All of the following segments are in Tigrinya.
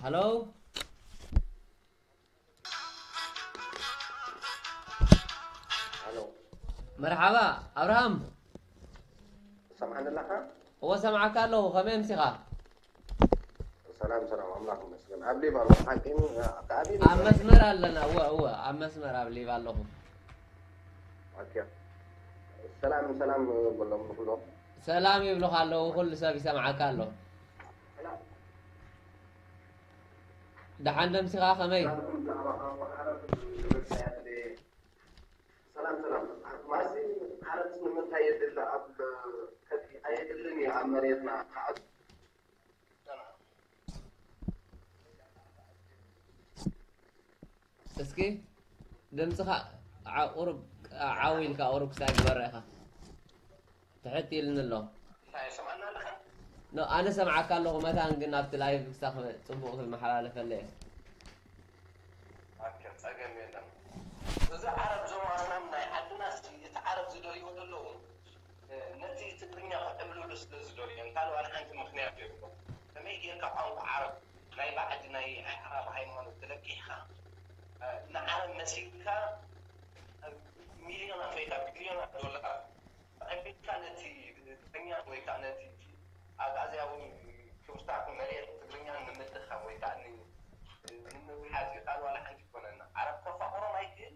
ሃሎ። ሃሎ። መርሓባ ኣብርሃም። ሰምዓኒ ኣለኻ? እወ ሰምዓካ ኣለኹ። ከመይ ኣምሲኻ? ሰላም ሰላም፣ ኣምላኽ ይመስገን። ኣብ ሊብ ኣለኹ። ሓቂ ኣብ ኣብ ሊብ ኣብ ኣለኹ። መስመር ኣለና። እወ እወ ኣብ መስመር ኣብ ሊብ ኣለኹ። ኦኬ። ሰላም ሰላም በሎም ንኹሎም። ሰላም ይብሉኻ ኣለዉ። ኩሉ ሰብ ይሰምዓካ ኣሎ። ደሓን ደምሲኻ ከመይ? ሰላም ሰላም። ማሲ ዓረብ ንምንታይ የድሊ ኣብ ከፊ ኣየድልን እዩ ኣብ መሬትና ክዓብ እስኪ ድምፅኻ ዓ- ቁሩብ ዓው ኢልካ ቁሩብ ክሳይ ግበረ ኢኻ ትሕት ኢልኒ ኣሎ። ኖ ኣነ ሰምዓካ ኣለኹ መታን ግን ኣብቲ ላይቭ ክሳብ ፅቡቕ ክመሓላለፈለ እየ። ኦኬ፣ ጸገም የለን። እዚ ዓረብ ዞም ኣስላም ናይ ዓድና ሲ እቲ ዓረብ ዝደልይዎ ዘለዉ ነቲ ትግርኛ ክዕብልሉ ስለ ዝደልዩ እንታ ዋላ ሓንቲ ምኽንያት የብሎ። ከመይ ጌርካ ቋንቋ ዓረብ ናይ ባዕዲ ናይ ኣዕራብ ሃይማኖት ተለቂሕካ ንዓረብ መሲልካ ሚልዮናት ወይ ከዓ ቢልዮናት ዶላር ኣቢልካ ነቲ ትግርኛ ወይ ከዓ ነቲ ኣግኣዝያዊ ክብርታት መሬት ትግርኛ ንምድኻም ወይ ከዓ ንምብሓዝ እዩ። ካልእ ዋላ ሓንቲ ይኮነና። ዓረብ ከፋቕሮም ኣይክእል።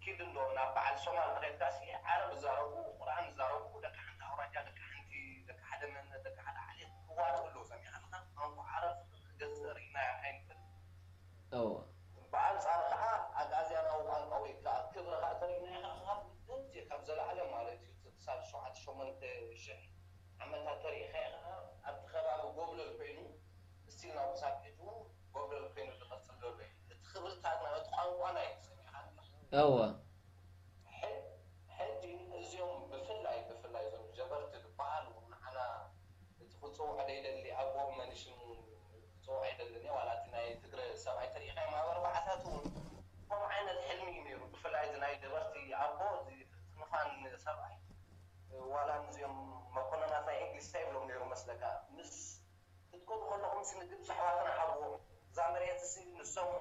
ኪድ እንዶ ናብ በዓል ሶማል ተኸድካ ሲ ዓረብ ዝዛረቡ ቁርኣን ዝዛረቡ ደቂ ሓንቲ ኣውራጃ ደቂ ሓንቲ ደቂ ሓደ መንነት ደቂ ሓደ ዓሌት ክዋጡ ኣለዉ ሰሚዕካ ኣለኻ። ቋንቋ ዓረብ ክገዝእ ርኢና ኣይንፈልጥ። እወ ብኣንጻሩ ከኣ ኣግኣዝያናዊ ቋንቋ ወይ ከኣ ክብሪ ከኣ ተሪእናዮ ከኣ ካብ ጥንቲ ካብ ዘለኣለም ማለት እዩ እቲ ክሳብ ሸውዓተ ሸሞንተ ሽሕ ዓመታት ተሪእኻዮ ከኣ ኣብቲ ከባቢ ጎብለል ኮይኑ እስቲል ናብ ክሳብ ሕጂ እውን ጎብለል ኮይኑ ዝቐጽል ዘሎ እዩ። እቲ ክብርታትና እቲ ቋንቋና እዩ ሰሚዕካ ኣለኻ። እወ ሕጂ እዚኦም ብፍላይ ብፍላይ እዞም ጀበርቲ ዝበሃሉ ንዓና እቲ ክፅውዕ ደይደሊ ኣቦ መን ሽሙ ክፅውዕ ኣይደልን እየ ዋላ እቲ ናይ ትግረ ሰብኣይ ተሪኢኻዮም ኣብ ኣርባዓታት እውን ከምኡ ዓይነት ሕልሚ እዩ ነይሩ ብፍላይ እዚ ናይ ጀበርቲ ኣቦ እዚ ፍንፋን ሰብኣይ ዋላ ንዚኦም መኮነናት ናይ እንግሊዝ እንታይ ይብሎም ነይሩ መስለካ ምስ ክትከዱ ከለኹም ሲ ንግብፂ ኣሕዋትና ሃብዎም እዛ መሬት ሲ ንሶም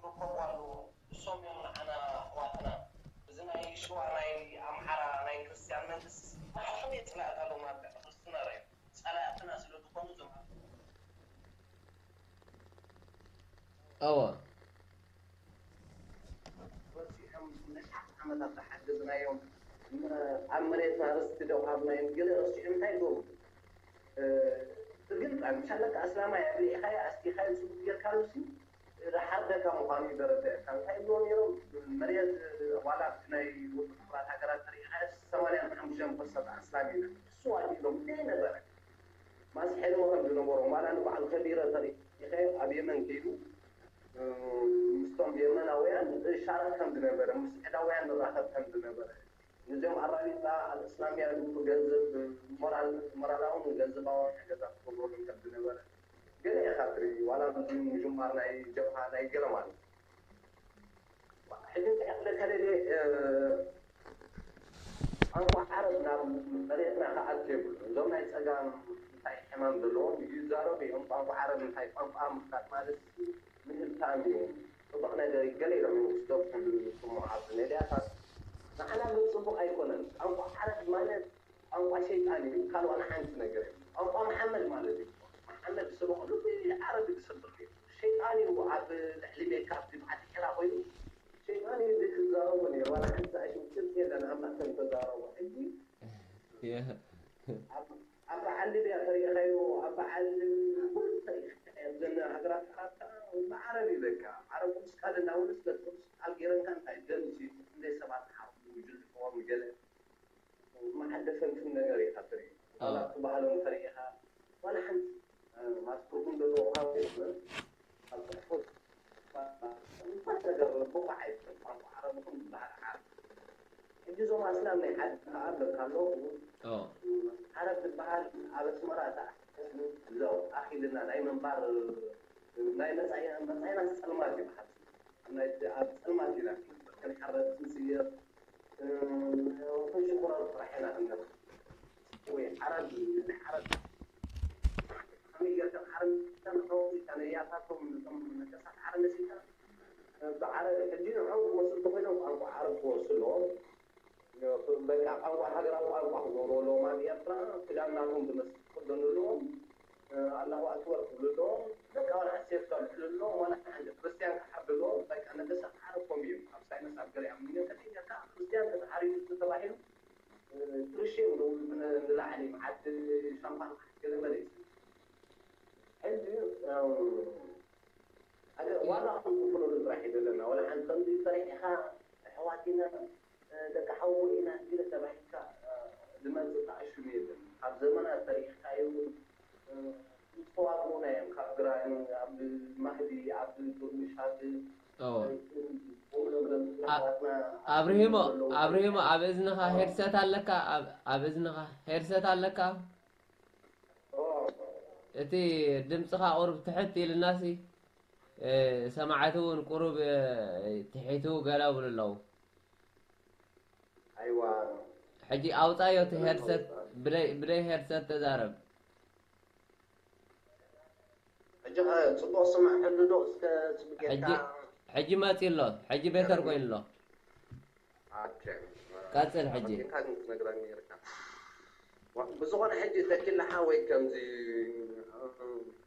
ክርከቡ ኣለዎም ንሶም እዮም ንዓና ኣሕዋትና እዚ ናይ ሽዋ ናይ ኣምሓራ ናይ ክርስትያን መንግስቲ ንዓኹም እየ ፀላእቲ ኣለዎም ኣብ ልዕሊ ክርስትና ርኣዮም ፀላእትና ስለ ዝኾኑ እዞም እወ ረሲዖም ንኣሽሓት ዓመታት ዝሓገዝናዮም ኣብ መሬትና ርስቲ ደው ሃብናዮም ገለ ረሲዖም እንታይ ይገብሩ ብግልፂ ምሻለካ ኣስላማይ ኣግሊዕኻዮ ኣስቲኻዮ ፅቡቅ ጌርካሉ ሲ ዝሓርደካ ምዃኑ እዩ ዘረድኣካ እንታይ ይብልዎ ነይሮም መሬት ዋላ ኣብቲ ናይ ውድብ ሕቡራት ሃገራት ተሪኢኻዮ ሰማንያን ሓሙሽተን ፐርሰንት ኣስላም ኢና ንሱ ኣዲሎም ዘይነበረ ማስ ሕልሚ ከም ዝነበሮም ዋላ ንበዓል ከቢረ ተሪኢኻዮ ኣብ የመን ከይዱ ምስቶም የመናውያን ሻረክ ከም ዝነበረ ምስ ስዕዳውያን ንራኸብ ከም ዝነበረ ነዚኦም ኣራቢጣ ኣልእስላምያ ዝብሉ ገንዘብ ሞራል ሞራላውን ገንዘባውን ሓገዛት ክገብረሎም ከም ዝነበረ ገለ ኢኻ ትርኢ ዋላ ብዙ ምጅማር ናይ ጀብሃ ናይ ገለ ማለት እዩ ሕጂ እንታይ ክብለካ ደልየ ቋንቋ ዓረብ ናብ መሬትና ክኣቱ የብሉ እዞም ናይ ፀጋም እንታይ ሕማም ዘለዎም ይዛረቡ እዮም ቋንቋ ዓረብ እንታይ ቋንቋ ምፍላጥ ማለት ምህብታም እዩ ፅቡቕ ነገር እዩ ገለ ኢሎም እዮም ክስደፉ ዝስሙ ኣብዚ ሜድያታት ንዓና ግን ፅቡቕ ኣይኮነን ቋንቋ ዓረብ ማለት ቋንቋ ሸይጣን እዩ ካልእ ዋላ ሓንቲ ነገር የለን ቋንቋ መሓመድ ማለት እዩ መሓመድ ዝስበኸሉ ዓረብ እዩ ዝሰብኽ ነይሩ ሸይጣን እዩ ኣብ ልዕሊ ሜካ ኣብቲ በዓል ሒራ ኮይኑ ሸይጣን እዩ እዚ ክዛረቦ ነይሩ ዋላ ሓንቲ ኣይሽም ጭብጢ የለን ኣምላኽ ከም ተዛረቦ ሕጂ ኣብ በዓል ሊብያ ተሪእኻዮ ኣብ በዓል ኩሉ ተሪእኻዮ ኣብዘን ሃገራት ዓረብ ከዓ ብዓረብ እዩ በቃ ዓረብ ቅዱስ ቃል እንዳበሉ ስለ ቅዱስ ቃል ገይረንካ እንታይ ደምሲ ክንደይ ሰባት ሓሙ ይጅልሕዎም ገለ መዓደሰንትን ነገር ኢኻ ትርኢ ዋላ ክበሃሎም ተሪኢኻ ዋላ ሓንቲ ማለት ትርጉም ዘለዎ ቋንቋ ይኹን ኣብ ፅሑፎት እንኳን ነገር ብቑዕ ኣይኮን ቋንቋ ዓረብ ይኹን ዝበሃል ዓረብ ሕጂ እዞም ኣስላም ናይ ዓዲ ከዓ ኣለካ ኣለዉ ዓረብ ዝበሃል ኣብ ኣስመራ እዛ እዞም ኣኺልና ናይ ምንባር ናይ መፃኢና መፃኢና ፀልማት ይበሃል ናይቲ ኣብ ፀልማት ኢና ክንበር ክንሓረድ ክንስየር ክንሽቁረር ጥራሕ ኢና ክንነብር ወይ ዓረብ ዓረብ ከመይ ጌርካ ዓረብ ናቶም እቶም ነገስታት ዓረብ መሲልካ፣ ብዓረ-፣ ሕጂ ንዕኦም ክወስዱ እንተኾይኖም ቋንቋ ዓረብ ክወርሱ ኣለዎም። በቃ ቋንቋ፣ ሃገራዊ ቋንቋ ክገብሩ ኣለዎም። ኣብ ኤርትራ ክዳን ናቶም ዝመስል ክኽደኑ ኣለዎም። ኣላሁ ኣክበር ክብሉ ኣለዎም። በቃ ዋላ ሓንቲ ሴፍ ከልዕሉ ኣለዎም። ዋላ ሓንቲ ክርስትያን ክሓርዱ ኣለዎም። በቃ ነገስታት ዓረብ ከምኡ እዮም። ኣብ ሳይንስ ኣብ ገለ እዮም። እንተ ተተሓሒዝካ ክርስትያን ተተሓሪዱ ተባሂሉ፣ እ፣ ትርሽም ንላዕሊ መዓት ሻምፓን ገለ መለ እዩ። ሕጂ፣ እም፣ ሓደ ዋጋ ክንክፍለሉ ጥራሕ እዩ ዘለና። ወላ ሓንቲ ከምዚ ሰሪሕኻ ኣሕዋት ኢና፣ እ፣ ደቂ ሓዉ ኢና ኢለ ተባሂልካ፣ እ፣ ዝመጽእ ተኣሽሙ የለን። ካብ ዘመናት ሰሪሕካዮ፣ እ፣ ዝተዋግኡና እዮም። ካብ ግራኝ፣ ኣብ ማህዲ፣ ኣብ ዱርሚሻት፣ ኦ። እ፣ ቁም ነገርን ኣ-፣ ኣሕዋትና ኣብርሂሞ፣ ዘለዉ ኣብርሂሞ፣ ኣብ እዝንኻ ኦ። ሄድሰት ኣለካ? ኣብ፣ ኣብ እዝንኻ ሄድሰት ኣለካ? ኦ። እቲ ድምጽኻ ቁሩብ ትሕት ኢልናሲ፣ እ፣ ሰማዕቲ እውን ቁሩብ፣ እ፣ ትሒቱ ገለ ይብሉ ኣለዉ። ኣይዋ። ሕጂ ኣውጻዮ እቲ ሄድሰት፣ ብደይ፣ ብደይ ሄድሰት ተዛረብ። ሕጂ ኸ ጽቡቕ ስማዕ ሕሉ ዶ? እስከ ጽቡቕ ጌርካ። ሕጂ፣ ሕጂ መጺ ኣሎ። ሕጂ ቤተር ኮይኑ ኣሎ። ኦኬ። ቀጽል ሕጂ። ኣቐዲምካ ግን ክትነግረኒ ነይርካ። ዋ-፣ ብዝኾነ ሕጂ ተኪላ ሓወይ ከምዚ፣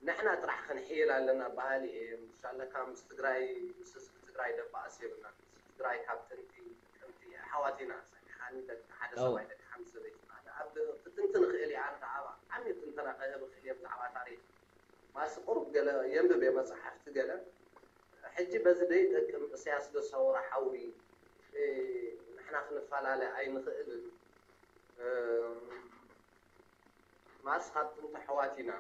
ንሕና ጥራሕ ክንሕይል ኣለና በሃሊ እየ። ምሻለካ ምስ ትግራይ፣ ምስ ህዝቢ ትግራይ ደባኣስ የብልናን። ህዝቢ ትግራይ ካብ ጥንቲ፣ ጥንቲ ኣሕዋት ኢና። ሰሚዕኻኒ? ደቂ ሓደ ኣዎ። ሰብኣይ፣ ደቂ ሓንቲ ሰበይቲ ኢና። ኣብ ክትንትን እኽእል እየ። ኣነ ከዓ ዓሚቕ ትንተና ክህብ እኽእል እየ ብዛዕባ ታሪኽ። ማስ ቁሩብ ገለ የንብብ እየ መጽሓፍቲ ገለ። ሕጂ በዚ ደይጠቅም እሰያስ ዶ ሰውራ ሓዊ፣ እ፣ ንሕና ክንፈላለ ኣይንኽእልን። እ፣ ማስ ካብ ጥንቲ ኣሕዋት ኢና።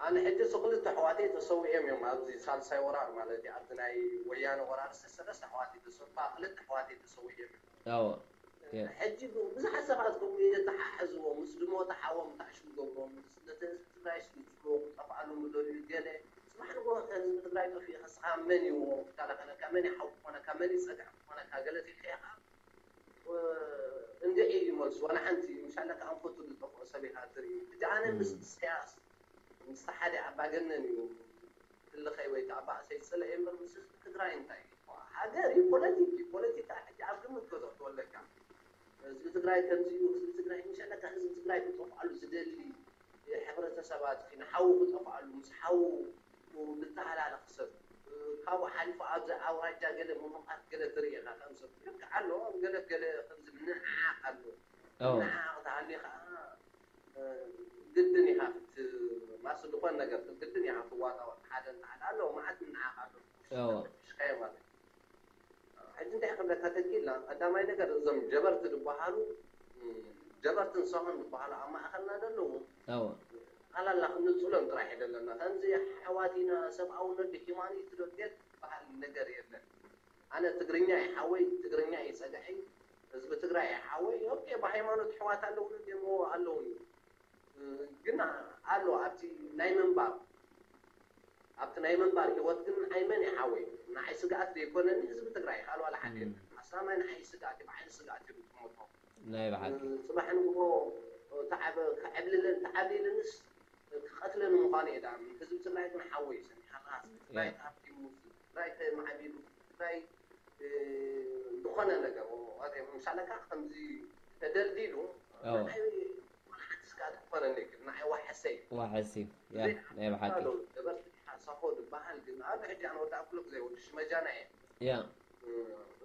ኣነ ሕጂ እሱ ክልተ ኣሕዋተይ ተሰዊኦም እዮም ኣብዚ ሳልሳይ ወራር ማለት እዩ። ኣብዚ ናይ ወያነ ወራር ሰለስተ ኣሕዋተይ ተሰው-፣ ክልተ ኣሕዋተይ ተሰዊኦም እዮም። ኣዎ። የ- ሕጂ ብ-፣ ብዙሓት ሰባት ከምኡ የተሓሕዝዎ፣ ምስ ድሞት ሓዎም ታዕሽም ገብሮም፣ ነቲ ህዝቢ ትግራይ ስልጥዎ ክጠፍኣሉ ምደልዩ ገለ። ጽባሕ ንግሆ ከ ህዝቢ ትግራይ ጠፊኡ ከስኻ መን እዩ ክከላኸለካ? መን ይሓው ክኾነካ? መን ይጸግዕ ክኾነካ? ገለ ትልካ ኢኻ። እ፣ እንድዒ እዩ መልሱ። ዋላ ሓንቲ ምሻለካ ኣንፈቱ ዝጠፍኦ ሰብ ኢኻ ትርኢ። ሕጂ ኣነ ምስ እም። ኢሳያስ፣ ምስ ሓደ ኣምባገነን እዩ ህልኸይ ወይ ከዓ ባእሰይ ዝጸልአ እምበር ምስ ህዝቢ ትግራይ እንታይ እዩ? ሃገር እዩ፣ ፖለቲክ እዩ። ፖለቲካ ሕጂ ኣብ ግምት ከተእትዎ ኣለካ። ህዝቢ ትግራይ ከምዚ እዩ፣ ህዝቢ ትግራይ ምሻለካ ህዝቢ ትግራይ ክጠፍኣሉ ዝደሊ ሕብረተሰባት ንሓዉ ክጠፍኣሉ፣ ምስ ሓዉ ዝተሃላለኸ ሰብ፣ ካብኡ ሓሊፉ ኣብዚ ኣውራጃ ገለ ምሙቓት ገለ ትርኢ ኢኻ ከም ሰብ። ልክዕ ኣሎ፣ ኣብ ገለ ገለ ከምዚ ምንዕዓቕ ኣሎ። ኣዎ። ምንዕዓቕ ተሃልዩ ኸዓ፣ እ፣ ግድን ኢኻ ክት-፣ ማስ ዝኾነ ነገር ግድን ኢኻ ክትዋጣ ሓደ እንተሓደ ኣሎ፣ መዓት ምንዕዓቕ ኣሎ። ኣዎ። ሽካዮ ማለት እዩ። ሕጂ እንታይ ክብለካ ተኪላ፣ ቀዳማይ ነገር እዞም ጀበርቲ ዝበሃሉ፣ እም፣ ጀበርትን ሰሆን ዝበሃሉ ኣብ ማእኸልና ዘለዉ፣ ኣዎ። ኣላላ ክንጽሎም ጥራሕ እዩ ዘለና። ከምዚ ኣሕዋት ኢና፣ ሰብኣውነት ዶ ሂማኒቲ ዶ ድሌት ዝበሃል ነገር የለን። ኣነ ትግርኛ እዩ ሓወይ፣ ትግርኛ እዩ ጸግዐይ፣ ህዝቢ ትግራይ እዩ ሓወይ። ኦኬ፣ ብሃይማኖት ኣሕዋት ኣለውኒ ድሞ ኣለውኒ። እ፣ ግን ኣሎ ኣብቲ ናይ ምንባር፣ ኣብቲ ናይ ምንባር ህይወት ግን ንዓይ መን እዩ ሓወይ? ንዓይ ስግኣት ዘይኮነኒ ህዝቢ ትግራይ ካልእ ዋላ ሓደ እም። የለን። ኣስላማይ ንዓይ ስግኣት እዩ፣ ብዓይኒ ስግኣት እዩ ዝጥምቶ። ናይ ብሓቂ። እ፣ ጽባሕ ንግሆ ተዓበ-፣ ክዕብልለን፣ ተዓብሊልንስ ክቐትለን ምዃኑ እየ ደኣ። ህዝቢ ትግራይ ግን ሓወይ እዩ ሰሚዕካ ኣለኻ። ህዝቢ ትግራይ ያ። ተሃብቲሙ፣ ህዝቢ ትግራይ ተማዕቢሉ፣ ህዝቢ ትግራይ፣ እ፣ ዝኾነ ነገር፣ ምሳሌ ከኣ ከምዚ ተደልዲሉ፣ ኣዎ። ንዓይ ዋላ ሓንቲ ስግኣት ክኾነኒ ኣይክእልን። ንዓይ ዋሕሰይ። ዋሕሲ፣ ያ፣ ብዘይ ናይ ብሓቂ። ሓሳብ ዶ ነበርቲ ዲኻ ሳሆ ዝበሃል ግን፣ ኣብ ሕጂ ኣነ ወዲ ኣኩሎ ግዜ ወዲ ሽመጃና እየ። ያ። እ፣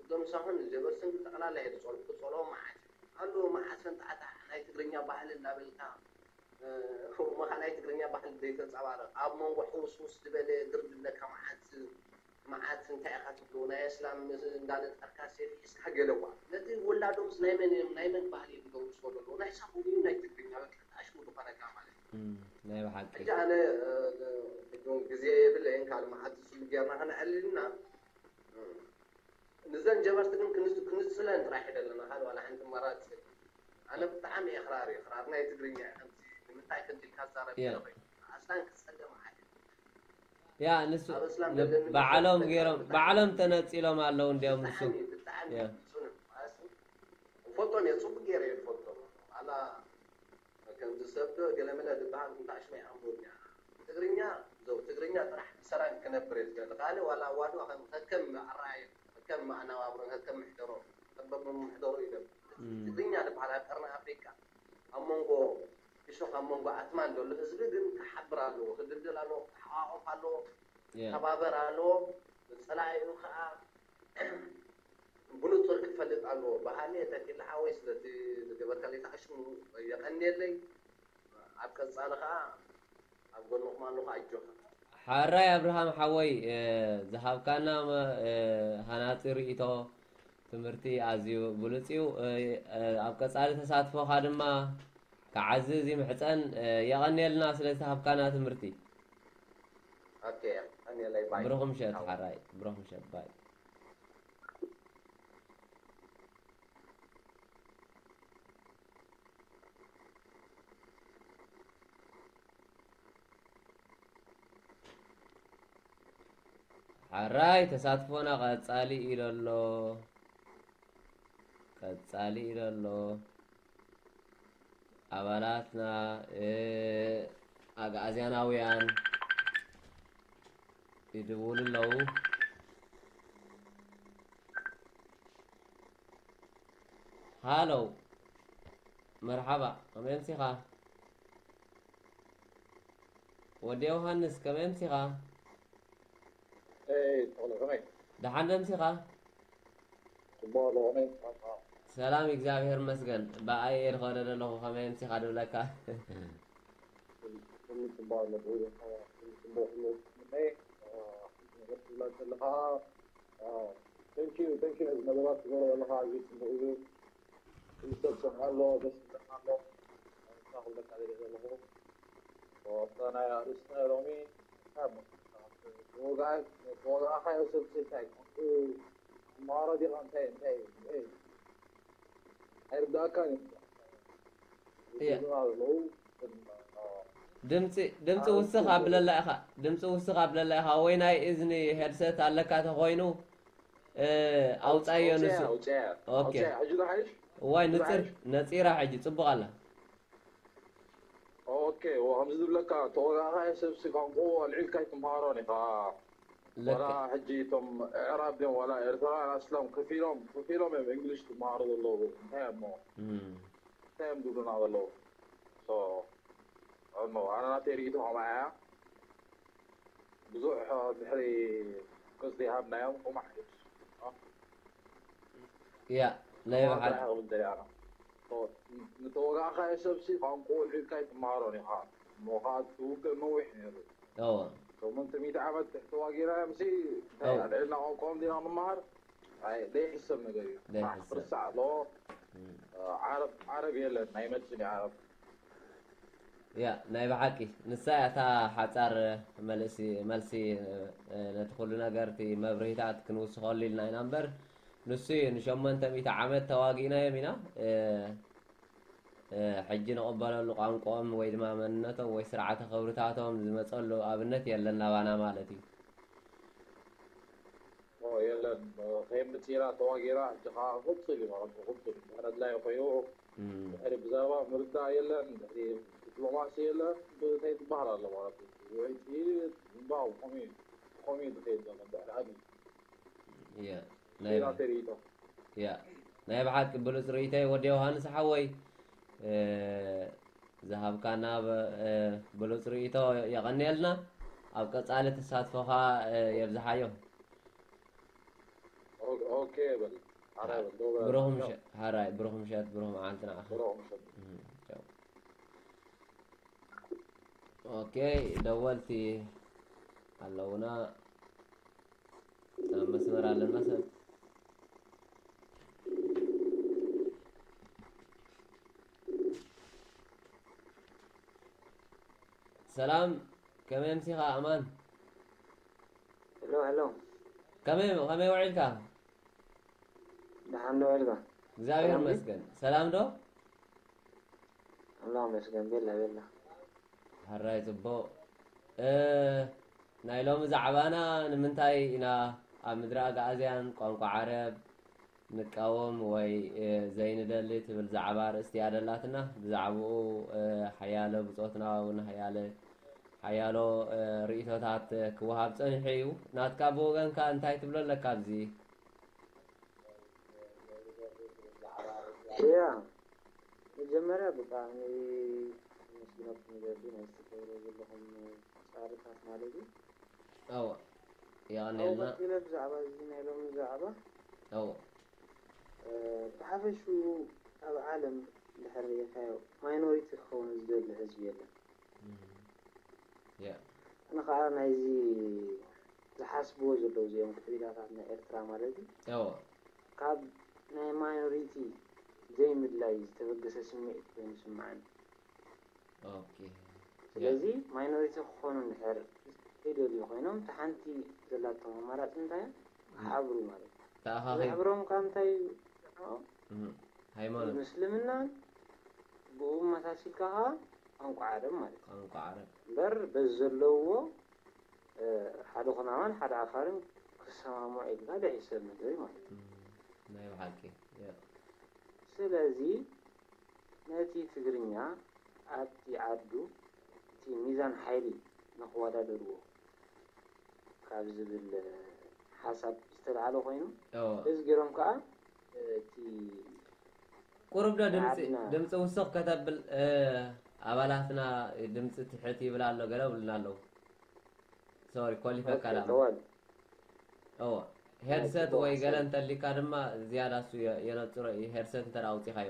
እዞም ሳሆን ጀበርትን ብጠቕላላ እየ ዝጸልኦ፣ ክጸልኦ መዓት እዩ። ኣሎ መዓት ፈንጣዕታዕ ናይ ትግርኛ ባህሊ እንዳበልካ፣ እ፣ እሞ ኸዓ ናይ ትግርኛ ባህሊ ዘይተንጸባርቕ፣ ኣብ መንጎ ሕውስውስ ዝበለ ግር ዝብለካ መዓት፣ መዓት እንታይ ኢኻ ትብሎ? ናይ ኣስላም እንዳነጠርካ ሴፍ ሒዝካ ገለዋ። ነቲ ውላዶምስ ናይ መን እዮም፣ ናይ መን ባህሊ እዮም ዝገብሩ ዝኸዱ ኣለዉ? ናይ ሳሆን እዩ ናይ ትግርኛ፣ በቃ ኣሽሙ ዝኾነካ ማለት እዩ። እም፣ ናይ ብሓቂ። ሕጂ ኣነ፣ እ፣ ቅድም ግዜ የብለይን፣ ካልእ መዓት ዝስሉ ጌርና ከነዕልልና፣ እ፣ ንዘን ጀበርቲ ግን ክንዝ-፣ ክንዝለን ጥራሕ እዩ ዘለና፣ ካልእ ዋላ ሓንቲ ኣማራጺ የለን። ኣነ ብጣዕሚ እየ ክራር እየ፣ ክራር ናይ ትግርኛ እየ። ከምዚ ንምንታይ ከምዚ ኢልካ ትዛረብ ያ። ገለ ኮይኑ፣ ኣስላም ክጸገም ሓደ። ያ፣ ንሱ ኣብ ኣስላም ን-፣ ዘለኒ ባዕሎም መሰል ገይሮም፣ ብጣዕሚ ባዕሎም ተነጺሎም ኣለዉ እንዲያውም ንሱ። ብጣዕሚ፣ ብጣዕሚ ያ። ጽኑዕ። ኣስ-፣ እፈልጦም እየ፣ ጽቡቅ ገይረ እየ ዝፈልጦም። ኣላ ከምዚ ሰብ ዶ ገለመለ ዝበሃል እንታይ ሽመይ ኣንቡብኛ። ትግርኛ፣ ዘው ትግርኛ ጥራሕ ብሰላም ክነብር እየ ዝደሊ። ካልእ ዋላ ኣዋድባ ከም ከከም ኣረኣእያ፣ ከከም ኣነባብሮ፣ ከከም ምሕደሮ፣ ጸበብ ምሕደሮ እዩ ደሊ። ትግርኛ ዝበሃል ኣብ ቀርኒ ኣፍሪቃ ኣብ መንጎ እሾኽ ኣብ መንጎ ኣትማን ዘሎ ህዝቢ ግን ክሓብር ኣለዎ፣ ክድልድል ኣለዎ፣ ክተሓቋቆፍ ኣለዎ፣ ክተባበር ኣለዎ። ጸላኢኡ ከኣ ብንጹር ክፈልጥ ኣለዎ። ብሃኒ ተኪለ ሓወይ ስለቲ ዝገበርካለይ ተኣሽሙ የቐንየለይ። ኣብ ቀጻሊ ከኣ ኣብ ጎንኹም ኣለኹ ኣጆኻ። ሓራይ ኣብርሃም ሓወይ ዝሃብካና ሃናጺ ርእይቶ ትምህርቲ ኣዝዩ ብሉጽ እዩ። ኣብ ቀጻሊ ተሳትፎኻ ድማ ክዓዝዝ ይምሕጸን። የቐንየልና ስለ ዝተሃብካና ትምህርቲ። ኦኬ፣ የቐንየለይ ባይ። ብሩኽ ምሸት ሓራይ፣ ብሩኽ ምሸት ባይ። ሓራይ ተሳትፎና ቀጻሊ ኢሉ ኣሎ። ቀጻሊ ኢሉ ኣሎ። ኣባላትና ኣግኣዝያናውያን ይድውሉ ኣለዉ። ሃሎ መርሓባ፣ ከመይ ኣምሲኻ? ወዲ ዮሃንስ ከመይ ኣምሲኻ? ኤይ ተኽለ ከመይ? ደሓን ዶ ኣምሲኻ? ጽቡቕ ኣለኹ፣ ከመይ ኣምሲኻ? ሰላም እግዚኣብሔር ይመስገን። ብኣይ እየ ዝኸደ ዘለኹ፣ ከመይ ኣምሲኻ ድብለካ። ኩሉ ጽቡቕ ኣሎ፣ ኩሉ ጽቡቕ፣ ኩሉ ጽቡቕ። ከመይ፣ እ፣ ነገር ትብላ ዘለኻ፣ እ፣ thank you፣ thank you ነዚ ነገራት ትገብሮ ዘለኻ ኣዝዩ ጽቡቕ እዩ። ክልተ ዝሰምዖ ኣሎ፣ ደስ ዝብለካ ኣሎ። ንሳ ክብለካ ደልየ ዘለኹ። ወቅታ ናይ ኣርእስትና ሎሚ፣ እንታይ እሞ፣ ተወጋኣይ፣ ተወጋእካዮ ሰብ እንታይ፣ ከምኡ፣ ተምሃሮ ዲኻ፣ እንታይ፣ እንታይ፣ እንታይ፣ ኣይርዳእካን እዩ። እያ። ዝብሉና ዘለዉ፣ ድምፂ ድምፂ ውስኽ ኣብለላ ኢኻ። ድምፂ ውስኽ ኣብለላ ኢኻ። ወይ ናይ እዝኒ ሄድሰት ኣለካ ተኾይኑ፣ እ፣ ኣውፃዮ ንሱ። ኣውፅያ፣ ኦኬ። ኣውፅያ፣ ሕጂ ዶ ሓይሽ? ዋይ ንፅር ነፂራ ሕጂ ፅቡቕ ኣላ። ኦኬ፣ ወ-፣ ከምዚ ዝብለካ፣ ተወጋእካዮ ሰብሲ ቋንቋኡ ኣልዒልካ ኣይትምሃሮን ኢኻ። ዋላ ልክዕ። ሕጂ እቶም ኣዕራብ ድዮም ዋላ ኤርትራውያን ኣስሎም ከፊሎም፣ ከፊሎም እዮም እንግሊሽ ዝመሃሩ ዘለዉ። እንታይ እሞ፣ እም። እንታይ እዮም ዝብሉና ዘለዉ? ሶ፣ ኣኖ፣ ኣነ ናተይ ርእይቶ ከምኣ እያ። ብዙሕ ድሕሪ ቅጽ ዘይሃብናዮም፣ ቁማሕ እዩ። ያ፣ ናይ ብሓቂ። ጥራሕ ክብል ደልየ ኣነ። ሶ፣ ንተወጋእካዮ ሰብሲ ቋንቋኡ ኣልዒልካ ኣይትምሃሮን ኢኻ። እሞ ኸኣ እቲ ውግእ ነዊሕ ነይሩ። እወ። ሸሞንተ ሚእቲ ዓመት ተዋጊእናዮምሲ፣ እንታይ ኣው። ኣልዒልና ቋንቋኦም ዲና ንመሃር? ኣይ፣ ዘይሕሰብ ነገር እዩ። ዘይሕሰብ። ክርስዕ ኣለዎ። እም። ዓረብ፣ ዓረብ የለን፣ ኣይመጽን እዩ ዓረብ። ያ፣ ናይ ብሓቂ ንሳ እያ እታ ሓጻር መልሲ፣ መልሲ፣ እ፣ ነቲ ኩሉ ነገር እቲ መብርሂታት ክንውስኸሉ ኢልና ኢና እምበር፣ ንሱ እዩ ንሸሞንተ ሚእቲ ዓመት ተዋጊእናዮም ኢና፣ እ፣ እ፣ ሕጂ ንቕበለሉ ቋንቋኦም ወይ ድማ መንነቶም ወይ ስርዓተ ክብርታቶም ዝመጸሉ ኣብነት የለን ናባና ማለት እዩ። ኦ፣ የለን፣ ከየምጽእና ተዋጊእና፣ ሕጂ ኸኣ ክቕጽል እዩ ማለት እዩ፣ ክቕጽል እዩ። ድሕሪ ኣድላዩ ኮይኑ፣ እም። ድሕሪ ብዛዕባ ምርዳእ የለን፣ ድሕሪ ዲፕሎማሲ የለን፣ እንታይ ትበሃል ኣሎ ማለት እዩ። ወይ እቲ ምንባው ከምኡ እዩ፣ ከምኡ እዩ ዝኸይድ ዘሎ፣ ድሕሪ ዓቢ። ያ፣ ናይ ሌላ ተርእይቶ። ያ፣ ናይ ብሓቂ ብሉጽ ርእይቶ እዩ ወዲ ዮሃንስ ሓወይ። እ፣ ዝሃብካና ብ-፣ እ፣ ብሉጽ ርእይቶ የቐንየልና። ኣብ ቀጻሊ ተሳትፎኻ፣ እ፣ የብዝሓዮ። ኦ-፣ ኦኬ በል። ሓራይ በል፣ ደው በል። ብሩኽ ምሸት፣ ሓራይ፣ ብሩኽ ምሸት፣ ብሩኽ መዓልቲ ንዓኻ። ብሩኽ ምሸት። እም፣ ቻው። ኦኬ፣ ደወልቲ ኣለውና። ኣብ መስመር ኣለና ሰብ። ሰላም፣ ከመይ ኣምሲኻ ኣማን? ሄሎ ሄሎ፣ ከመይ፣ ከመይ ውዒልካ? ደሓን ዶ ውዒልካ? እግዚኣብሔር ሰላም ድዩ? ይመስገን። ሰላም ዶ? ኣምላኽ ይመስገን፣ ቤላ ቤላ። ሕራይ ጽቡቕ። እ፣ ናይ ሎሚ ዛዕባና ንምንታይ ኢና ኣብ ምድሪ ኣግኣዝያን ቋንቋ ዓረብ ንቃወም ወይ፣ እ፣ ዘይንደሊ ትብል ዛዕባ ኣርእስቲ እያ ደላትና። ብዛዕባኡ፣ እ፣ ሓያለ ብጾትና እውን ሓያለ ሓያሎ ርእይቶታት ክወሃብ ጸኒሑ እዩ። ናትካ ብወገንካ እንታይ ትብሎ ኣለካ ኣብዚ? ያ መጀመርያ ብጣዕሚ መስግነኩም ዘቢ ናይ ዝተገብረ ዘለኹም ጻዕርታት ማለት እዩ። ኣዎ፣ የቐንየልና። ቀፂለ ብዛዕባ እዚ ናይ ሎሚ ዛዕባ ኣዎ፣ ብሓፈሽኡ ኣብ ዓለም ድሕር ሪኢኻዮ ማይኖሪቲ ክኸውን ዝደሊ ህዝቢ የለን። ያ ኣነ ከዓ ናይዚ ዝሓስብዎ ዘለዉ እዚኦም ክዕቢዳታት ናይ ኤርትራ ማለት እዩ ኣዎ፣ ካብ ናይ ማይኖሪቲ ዘይምድላይ ዝተበገሰ ስምዒት ኮይኑ ይስምዓኒ። ኦኬ። ስለዚ ማይኖሪቲ ክኾኑ እንድሕር ዘይደልዩ ኮይኖም፣ እቲ ሓንቲ ዘላቶም ኣማራፂ እንታይ እያ? ክሓብሩ ማለት እዩ። ተኣኻኺብ ዝሕብሮም ካብ እንታይ እዩ? ሃይማኖት ምስልምናን ብኡ መሳሲልካ ከዓ ቋንቋ ዓረብ ማለት እዩ። ቋንቋ ዓረብ እምበር በዚ ዘለውዎ ሓደ ኩናማን ሓደ ዓፋርን ክሰማምዑ ኢልካ ደሒሰብ መደብ ማለት እዩ። ናይ ብሓቂ ያ። ስለዚ ነቲ ትግርኛ ኣብቲ ዓዱ እቲ ሚዛን ሓይሊ ንክወዳደርዎ ካብ ዝብል ሓሳብ ዝተልዓለ ኮይኑ እዎ። እዚ ገይሮም ከዓ እቲ ቁሩብ ዶ ድምፂ ዓድና ድምፂ ውስኽ ከተብል እ፣ ኣባላትና ድምፂ ትሕት ይብል ኣሎ ገለ ብልና ኣለዉ። ሶሪ ኮሊፈካ ኦኬ፣ ዳ ተዋል እዎ። ሄድሰት ጽቡቕ ወይ ገለ ሓሳብ። እንተሊካ ድማ ዝያዳ እሱ የ- የነፅሮ እዩ። ሄድሰት እንተ ኣውፂኻዮ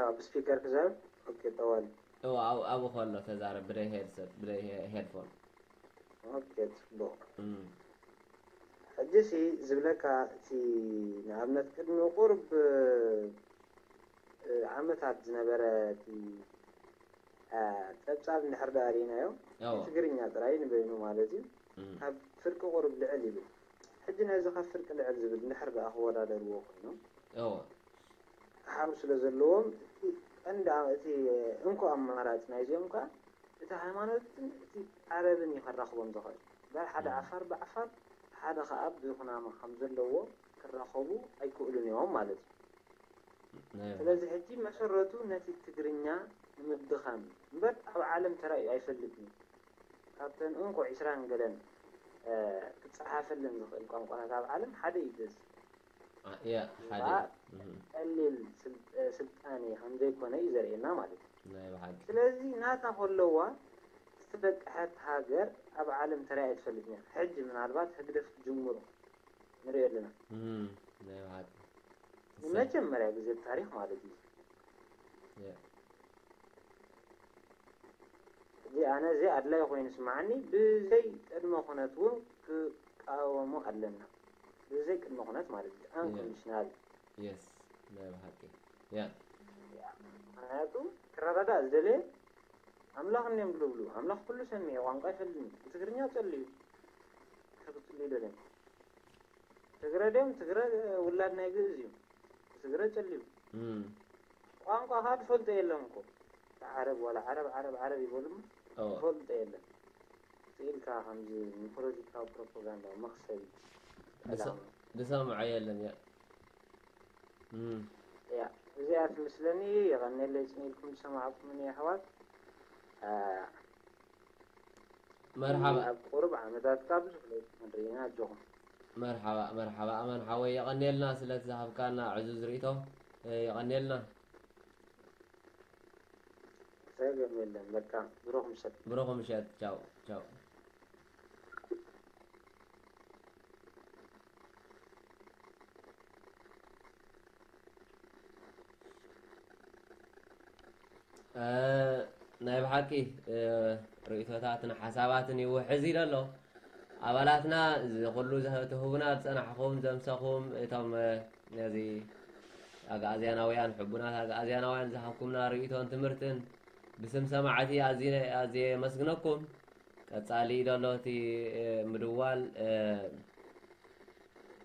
ኣብ ስፒከር ክዛረብ ኦኬ፣ ጠዋል እዎ፣ ኣብኡ ኣብኡ ከሎ ተዛረብ ብደይ ሄድሰት ብደይ ሄ- ሄድፎን። ኦኬ፣ ጽቡቕ። እም። ሕጂሲ ዝብለካ እቲ ንኣብነት ቅድሚ ቁሩብ እ፣ ዓመታት ዝነበረ እቲ እ፣ ጸብጻብ እንድሕር ደኣ ርኢናዮ እዎ። ትግርኛ ጥራይ ንበይኑ ማለት እዩ እም። ካብ ፍርቂ ቁሩብ ልዕል ይብል። ሕጂ ነዚ ካብ ፍርቂ ልዕል ዝብል እንድሕር ደኣ ክወዳደርዎ ኮይኖም እዎ። ሓሩ ስለ ዘለዎም እቲ ቀንዲ ኣ- እቲ እንኮ ኣማራፂ ናይዚኦም ከዓ እቲ ሃይማኖትን እቲ ዓረብን እዩ ከራኽቦም ዝኽእል። እምበር ሓደ ዓፋር ብዓፋር ሓደ ከዓ ብኩናማ ከም ዘለዎ ክራኸቡ ኣይክእሉን እዮም ማለት እዩ። ናይ ስለዚ ሕጂ መሰረቱ ነቲ ትግርኛ ንምድኻም እዩ። እምበር ኣብ ዓለም ተራእዩ ኣይፈልጥን እዩ። ካብተን እንኮ ዒስራን ገለን እ፣ ክፀሓፈለን ዝኽእል ቋንቋታት ኣብ ዓለም ሓደ እዩ እዚ። ያ ሓደ ከዓ እም። ቀሊል ስል- ስልጣኔ ከም ዘይኮነ እዩ ዘርእየና ማለት እዩ። ናይ ብሓቂ ስለዚ ናታ ከለዋ ዝተበቅሐት ሃገር ኣብ ዓለም ተራእያ ኣይትፈልጥን እያ። ሕጂ ምናልባት ህግደፍ ክጅምሩ ንሪኦ ኣለና። እም፣ ናይ ብሓቂ ንመጀመርያ ግዜ ኣብ ታሪኽ ማለት እዩ። ያ። እዚ ኣነ እዚ ኣድላይ ኮይኑ ስምዓኒ ብዘይ ቅድመ ኩነት እውን ክቃወሞ ኣለና። ብዘይ ቅድመ ኩነት ማለት እዩ። ኣንኮንዲሽናል የስ ናይ ብሓቂ ያ ምክንያቱ ክረዳዳእ ዝደለየ ኣምላኽ እንዲዮም ዝብሉ ኣምላኽ ኩሉ ሰሚዐ ቋንቋ ይፈልኒ ብትግርኛ ጸልዩ ክጽልዩ ደለዮም ትግረ ድዮም ትግረ ውላድ ናይ ግእዝ እዩ ትግረ ጸልዩ እም፣ ቋንቋ ከዓ ዝፈልጦ የለን እኮ ዓረብ ዋላ ዓረብ ዓረብ ዓረብ ይበሉ እሞ እዎ። ዝፈልጦ የለን ስኢልካ ከምዚ ንፖለቲካዊ ፕሮፓጋንዳ መክሰቢ ዝሰ- ዝሰምዖ የለን ያ እም። ያ እዚኣ ትምስለኒ የቐኔለይ ጽኒልኩም ዝሰማዕኩምኒ ኣሕዋት ኣ፣ መርሓባ ኣብ ቁሩብ ዓመታት ካብ ዝፍለጥ ክንርኢና ኣጆኹም መርሓባ መርሓባ ኣማን ሓወይ የቐንየልና ስለቲ ዝሃብካና ዕዙዝ ርእቶ የቐንየልና። ጸገም የለን በቃ ብሩኽ ምሸት ብሩኽ ምሸት ቻው ቻው። እ፣ ናይ ብሓቂ እ፣ ርእይቶታትን ሓሳባትን ይውሕዝ ኢለ ኣሎ። ኣባላትና እዚ ኩሉ ዘህ- ትህቡና ዝጸናሕኹም ዘምሰኹም እቶም እ፣ ነዚ ኣግኣዝያናውያን ሕቡናት ኣግኣዝያናውያን ዝሃብኩምና ርእይቶን ትምህርትን ብስም ሰማዕቲ ኣዝየ ኣዝየ የመስግነኩም። ቀጻሊ ደሎ እቲ እ፣ ምድዋል እ፣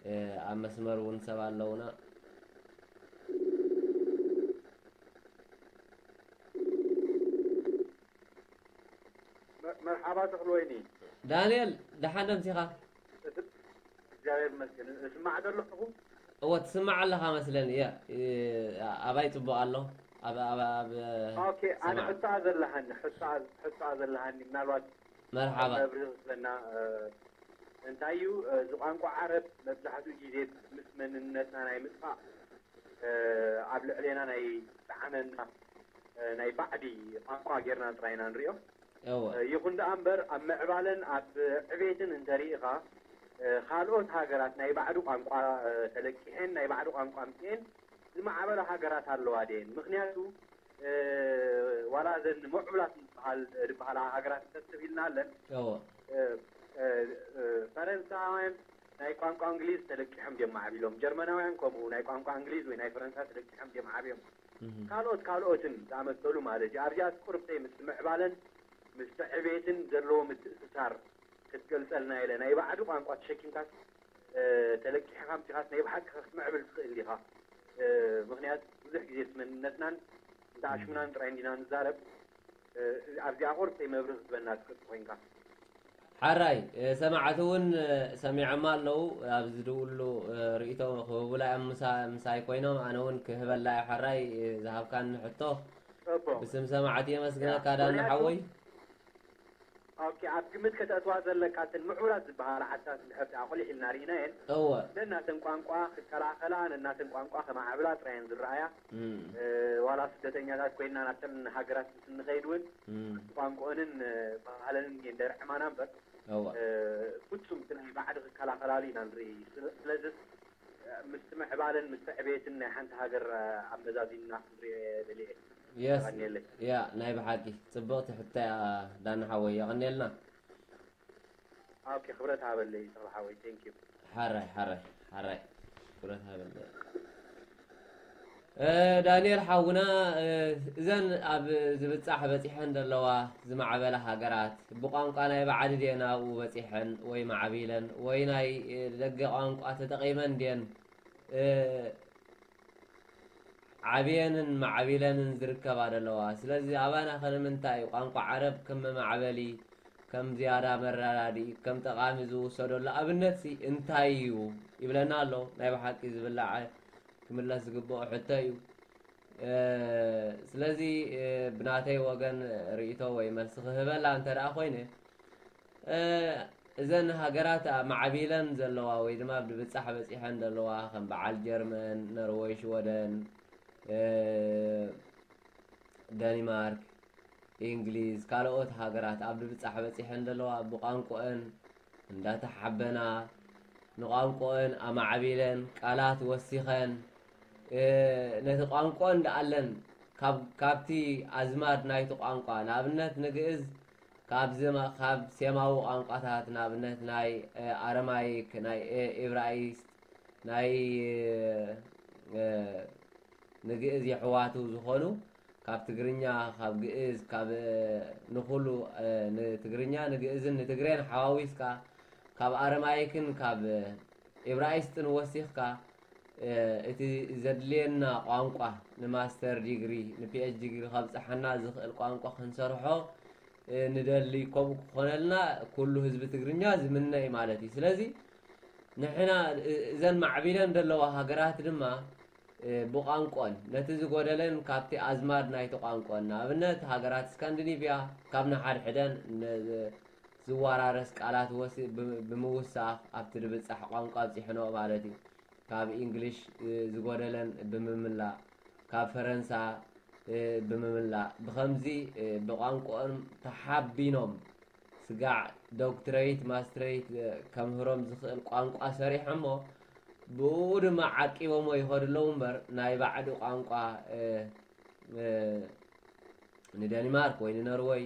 እ፣ ኣብ መስመር እውን ሰብ ኣለውና። መ- መርሓባ ተኽሉ ወይኒ። ዳንኤል ደሓን ደምሲኻ? እቲ- እግዚኣብሔር ይመስገን። እስማዕ ዶ ኣለኹ? እወ ትስማዕ ኣለኻ መስለኒ። ያ እ፣ ኣባይ ጽቡቕ ኣሎ። ኣብ ኣብ ኣብ ኦኬ ኣነ ሰማዕ ሕቶ ዘለሃኒ ሕቶ ሕቶ ዘለሃኒ ምናልባት መርሓባ መብርህ ዝበና እንታይ እዩ እዚ ቋንቋ ዓረብ መብዛሕትኡ ግዜ ምስ መንነትና ናይ ምጥፋእ ኣብ ልዕሌና ናይ ጣዕመና ናይ ባዕዲ ቋንቋ ጌርና ጥራይና ንሪኦ እወ ይኹን ደኣ እምበር ኣብ ምዕባለን ኣብ ዕቤትን እንተሪኢኻ ካልኦት ሃገራት ናይ ባዕዱ ቋንቋ ተለቂሐን ናይ ባዕዱ ቋንቋ ኣምፅኤን ዝማዕበላ ሃገራት ኣለዋ ድየን ምክንያቱ ዋላ እዘን ምዕቡላት ዝበሃል ዝበሃላ ሃገራት እንተስብ ኢልና ኣለን እወ ፈረንሳውያን ናይ ቋንቋ እንግሊዝ ተለቂሖም ድዮም ማዕቢሎም ጀርመናውያን ከምኡ ናይ ቋንቋ እንግሊዝ ወይ ናይ ፈረንሳ ተለቂሖም ድዮም ዓብዮም እህ ካልኦት ካልኦትን ዝኣመሰሉ ማለት እዩ ኣብዚኣ ቁርብተይ ምስ ምዕባለን ምስ ዕቤትን ዘለዎ ምትእስሳር ክትገልፀልና ኢለ ናይ ባዕዲ ቋንቋ ተሸኪምካስ ተለቂሕካ ምፂኻስ ናይ ብሓቂ ክትምዕብል ትኽእል ኢኻ ምክንያት ብዙሕ ግዜ መንነትናን እንተ ኣሽሙናን ጥራይ እንዲና ንዛረብ ኣብዚኣ ቁርብተይ መብርህ ዝበና ትክእል ኮይንካ ሓራይ ሰማዕቲ እውን ሰሚዖማ ኣለዉ ኣብዚ ዝድውሉ ርእቶ ክህቡላ እዮም ምሳይ ኮይኖም ኣነ እውን ክህበላ እዩ ሓራይ ዝሃብካኒ ሕቶ ጽቡቅ ብስም ሰማዕቲ የመስግነካ ያ፣ ዳኒ ምክንያቱ- ሓወይ ኦኬ ኣብ ግምት ከተእትዋ ዘለካ እተን ምዕቡላት ዝበሃላ ዓድታት እንድሕር ደኣ ኣቑሊሕ ኢልና ርኢናየን እወ ነናተን ቋንቋ ክከላኸላ ነናተን ቋንቋ ከማዕብላ ጥራየን ዝረኣያ እም፣ እ፣ ዋላ ስደተኛታት ኮይንና ናብተን ሃገራት ምስ እንኸይድ እውን እም፣ ቋንቋኦንን እ፣ ባህለንን እየን ደርዕማና እምበር እወ እ፣ ፍጹም እቲ ናይ ባዕዲ ክከላኸላሉ ኢና ንርኢ ስለ- ስለዚ እ፣ ምስቲ ምዕባለን ምስቲ ዕቤትን ናይ ሓንቲ ሃገር እ፣ ኣመዛዚንና ክንሪኦ ደልየ የስ ቀኒየለይ ያ ናይ ብሓቂ ፅብቕቲ ሕቶ እያ ዳኒ ሓወይ የቐንየልና ኦኬ ክብረት ሃበለይ ተኽለ ሓወይ ቴንክ ዩ ሓራይ ሓራይ ሓራይ ክብረት ሃበለይ እ፣ ዳንኤል ሓውና እ፣ እዘን ኣብ ዝብፃሕ በፂሐን ዘለዋ ዝማዕበላ ሃገራት ብቋንቋ ናይ ባዕዲ ድየን ኣብኡ በፂሐን ወይ ማዕቢለን ወይ ናይ እ፣ ደገ ቋንቋ ተጠቒመን ድየን እ፣ ዓብየንን ማዕቢለንን ዝርከባ ዘለዋ ስለዚ ኣባና ከ ንምንታይ እዩ ቋንቋ ዓረብ ከም መማዕበሊ ከም ዝያዳ መረዳድኢ ከም ጠቓሚ ዝውሰደሉ ኣብነት ሲ እንታይ እዩ ይብለና ኣሎ ናይ ብሓቂ ዝብላዕ ክምለስ ዝግብኦ ሕቶ እዩ ስለዚ ብናተይ ወገን ርእቶ ወይ መልሲ ክህበላ እንተ ደኣ ኮይነ እዘን ሃገራት ማዕቢለን ዘለዋ ወይ ድማ ብብጻሕ በጺሐን ዘለዋ ከም በዓል ጀርመን፣ ኖርወይ፣ ሽወደን፣ ደኒማርክ፣ ኢንግሊዝ ካልኦት ሃገራት ኣብ ድብጻሕ በጺሐን ዘለዋ ብቋንቆአን እንዳተሓበና ንቋንቆአን ኣማዕቢለን ቃላት ወሲኸን ነቲ ቋንቆ እንዳኣለን ካብቲ ኣዝማድ ናይቲ ቋንቋ ንኣብነት ንግእዝ ካብ ዜማዊ ቋንቋታት ንኣብነት ናይ ኣረማይክ፣ ናይ ኤብራይስጥ፣ ናይ ንግእዝ የሕዋቱ ዝኾኑ ካብ ትግርኛ ካብ ግእዝ ካብ ንኹሉ ንትግርኛ ንግእዝን ንትግሬን ሓዋዊስካ ካብ ኣረማይክን ካብ ኤብራይስጥን ወሲኽካ እቲ ዘድልየና ቋንቋ ንማስተር ዲግሪ ንፒኤች ዲግሪ ከብፅሓና ዝኽእል ቋንቋ ክንሰርሖ ንደሊ። ከምኡ ክኾነልና ኩሉ ህዝቢ ትግርኛ ዝምነ እዩ ማለት እዩ። ስለዚ ንሕና እዘን ማዕቢለን ዘለዋ ሃገራት ድማ ብቋንቆን ነቲ ዝጎደለን ካብቲ ኣዝማድ ናይቲ ቋንቆን ንኣብነት ሃገራት ስካንዲኒቭያ ካብ ንሓድሕደን ዝወራረስ ቃላት ወሲ ብምውሳኽ ኣብቲ ድብጻሕ ቋንቋ ኣብጺሕንኦ ማለት እዩ። ካብ ኢንግሊሽ ዝጎደለን ብምምላእ ካብ ፈረንሳ ብምምላእ ብኸምዚ ብቋንቆኦም ተሓቢኖም ስጋዕ ዶክትረይት ማስትረይት ከምህሮም ዝኽእል ቋንቋ ሰሪሖሞ ብኡ ድማ ዓቂቦሞ ይኸዱ ኣለዉ እምበር ናይ ባዕዲ ቋንቋ ንደኒማርክ ወይ ንኖርወይ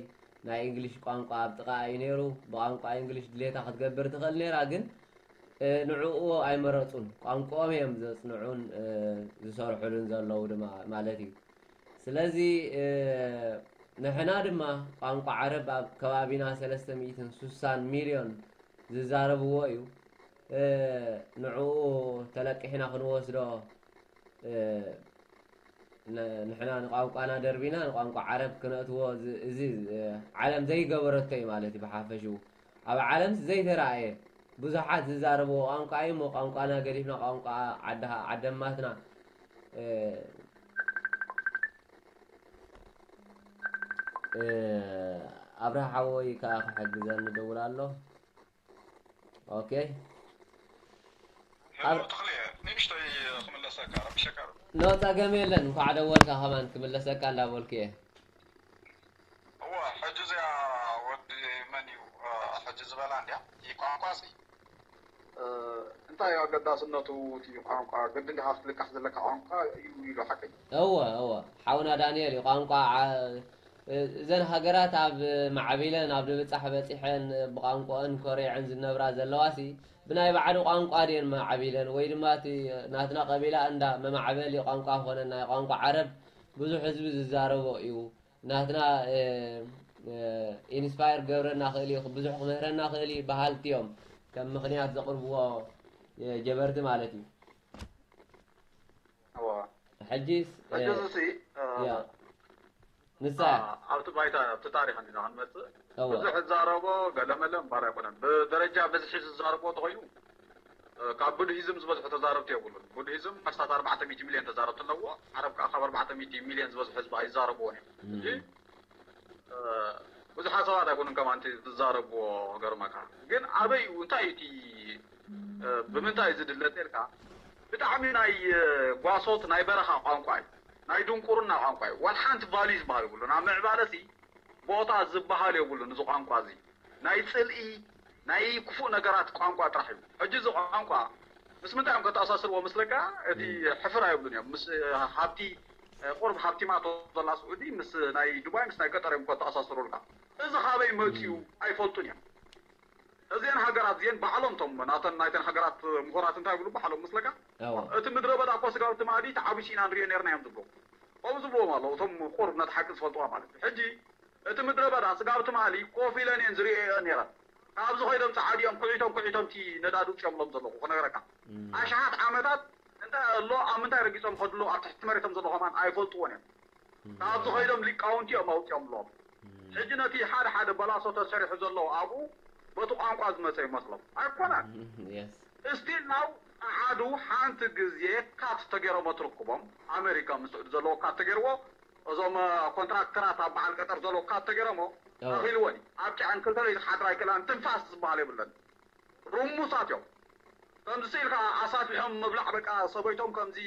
ናይ እንግሊሽ ቋንቋ ኣብ ጥቓ እዩ ነይሩ። ብቋንቋ እንግሊሽ ድሌታ ክትገብር ትኽእል ነይራ፣ ግን ንዕኡ ኣይመረፁን። ቋንቋኦም እዮም ዘፅንዑን ዝሰርሑሉን ዘለዉ ድማ ማለት እዩ። ስለዚ ንሕና ድማ ቋንቋ ዓረብ ኣብ ከባቢና ሰለስተ ሚእትን ስሳን ሚልዮን ዝዛረብዎ እዩ። ንዕኡ ተለቂሕና ክንወስዶ ንሕና ንቋንቋና ደርቢና ንቋንቋ ዓረብ ክነእትዎ እዚ ዓለም ዘይገበረቶ እዩ ማለት እዩ። ብሓፈሽኡ ኣብ ዓለምስ ዘይተረኣየ ብዙሓት ዝዛረብዎ ቋንቋ እዩ እሞ ቋንቋና ገዲፍና ቋንቋ ዓደማትና ኣብርሃ ሓወይ ከዓ ክሕግዘኒ ደውል ኣሎ። ኦኬ። ሄሎ ተኽልየ፣ ንእሽተይ ክምለሰካ ረብሸካ። ኖ ጸገም የለን። እንኳዕ ደወልካ ከማን ክምለሰካ እንዳበልኩ እየ። እዋ ሕጂ እዚኣ ወዲ መን እዩ ሕጂ ዝበላ እንዲያ? ቋንቋ ሲ እንታይ ኣገዳስነቱ? እቲ ቋንቋ ግድን ዲኻ ክትልቃሕ ዘለካ ቋንቋ እዩ ኢሉ ሓቀይ። እወ እወ ሓውና ዳንኤል እዩ ቋንቋ እዘን ሃገራት ኣብ ማዕቢለን ኣብ ምብጻሕ በጺሐን ብቋንቋኦን ኮሪዐን ዝነብራ ዘለዋ ሲ ብናይ ባዕሉ ቋንቋ ድየን ማዕቢለን ወይ ድማ እቲ ናትና ቀቢላ እንዳ መማዕበሊ ቋንቋ ኮነ ናይ ቋንቋ ዓረብ ብዙሕ ህዝቢ ዝዛረቦ እዩ ናትና ኢንስፓየር ክገብረና ክእል እዩ ብዙሕ ክምህረና ክእል እዩ በሃልቲ እዮም ከም ምክንያት ዘቅርብዎ ጀበርቲ ማለት እዩ ሕጂስ ንሳ ኣብቲ ባይታ ኣብቲ ታሪክ እንዲና ክንመፅእ ብዙሕ ዝዛረቦ ገለመለ እምባር ኣይኮነን ብደረጃ ብዝሒ ዝዛረቦ ተኮይኑ ካብ ቡድሂዝም ዝበዝሑ ተዛረብቲ የብሉን ቡድሂዝም ኣስታት ኣርባዕተ ሚእቲ ሚልዮን ተዛረብቲ ኣለዎ ዓረብ ከዓ ካብ ኣርባዕተ ሚእቲ ሚልዮን ዝበዝሑ ህዝቢ ኣይዛረብዎን እዮም ብዙሓት ሰባት ኣይኮኑን ከማ እቲ ዝዛረብዎ ገርመካ ግን ኣበይ እዩ እንታይ እቲ ብምንታይ ዝድለ ተልካ ብጣዕሚ ናይ ጓሶት ናይ በረኻ ቋንቋ እዩ ናይ ድንቁርና ቋንቋ እዩ ዋላ ሓንቲ ቫልዩ ዝበሃል ይብሉን ኣብ ምዕባለ ሲ ቦታ ዝበሃል የብሉን እዚ ቋንቋ እዚ ናይ ፅልኢ ናይ ክፉእ ነገራት ቋንቋ ጥራሕ እዩ ሕጂ እዚ ቋንቋ ምስ ምንታይ እዮም ከተኣሳስርዎ መስለካ እቲ ሕፍር ኣይብሉን እዮም ምስ ሃብቲ ቁርብ ሃብቲማቶ ዘላ ስዑዲ ምስ ናይ ዱባይ ምስ ናይ ቀጠር እዮም ከተኣሳስሩልካ እዚ ካበይ መፅኡ ኣይፈልጡን እዮም እዚአን ሃገራት እዚአን ባዕሎም ቶም ናተን ናይተን ሃገራት ምሁራት እንታይ ይብሉ ባዕሎም መስለካ እቲ ምድረ በዳ እኮ ስጋብ ትማሊ ተዓቢሱ ኢና ንሪኦ ነርና እዮም ዝብሉ ከምኡ ዝብልዎም ኣለዉ እቶም ቁርብ ነቲ ሓቂ ዝፈልጥዋ ማለት እዩ ሕጂ እቲ ምድረ በዳ ስጋብ ትማሊ ኮፍ ኢለን እየን ዝሪኦ ነይረን ካብዚ ኮይዶም ፃዓዲኦም ኩዒቶም ኩዒቶም እቲ ነዳዲ ውፅኦምሎም ዘለኹ ክነግረካ ኣሽሓት ዓመታት እንታይ ኣሎ ኣብ ምንታይ ረጊፆም ከድሎ ኣብ ትሕቲ መሬቶም ዘሎ ከማን ኣይፈልጥዎን እዮም ካብዚ ኮይዶም ሊቃውንቲ እዮም ኣውፅኦምሎም ሕጂ ነቲ ሓደ ሓደ በላሶ ተሰሪሑ ዘሎ ኣብኡ በቲ ቋንቋ ዝመፀ ይመስሎም ኣይኮነን ስቲል ናው ኣሓዱ ሓንቲ ግዜ ካት ተገይሮሞ ትርክቦም ኣሜሪካ ምስ ስዑዲ ዘለዎ ካት ተገይርዎ እዞም ኮንትራክተራት ኣብ በዓል ቀጠር ዘሎ ካት ተገይሮሞ ኣኺልወን ኣብ ጭዐን ክልተ ለይቲ ክሓድራ ኣይክእላን ትንፋስ ዝበሃል የብለን ርሙሳት እዮም ከምዚ ስኢልካ ኣሳፊሖም ምብላዕ በቃ ሰበይቶም ከምዚ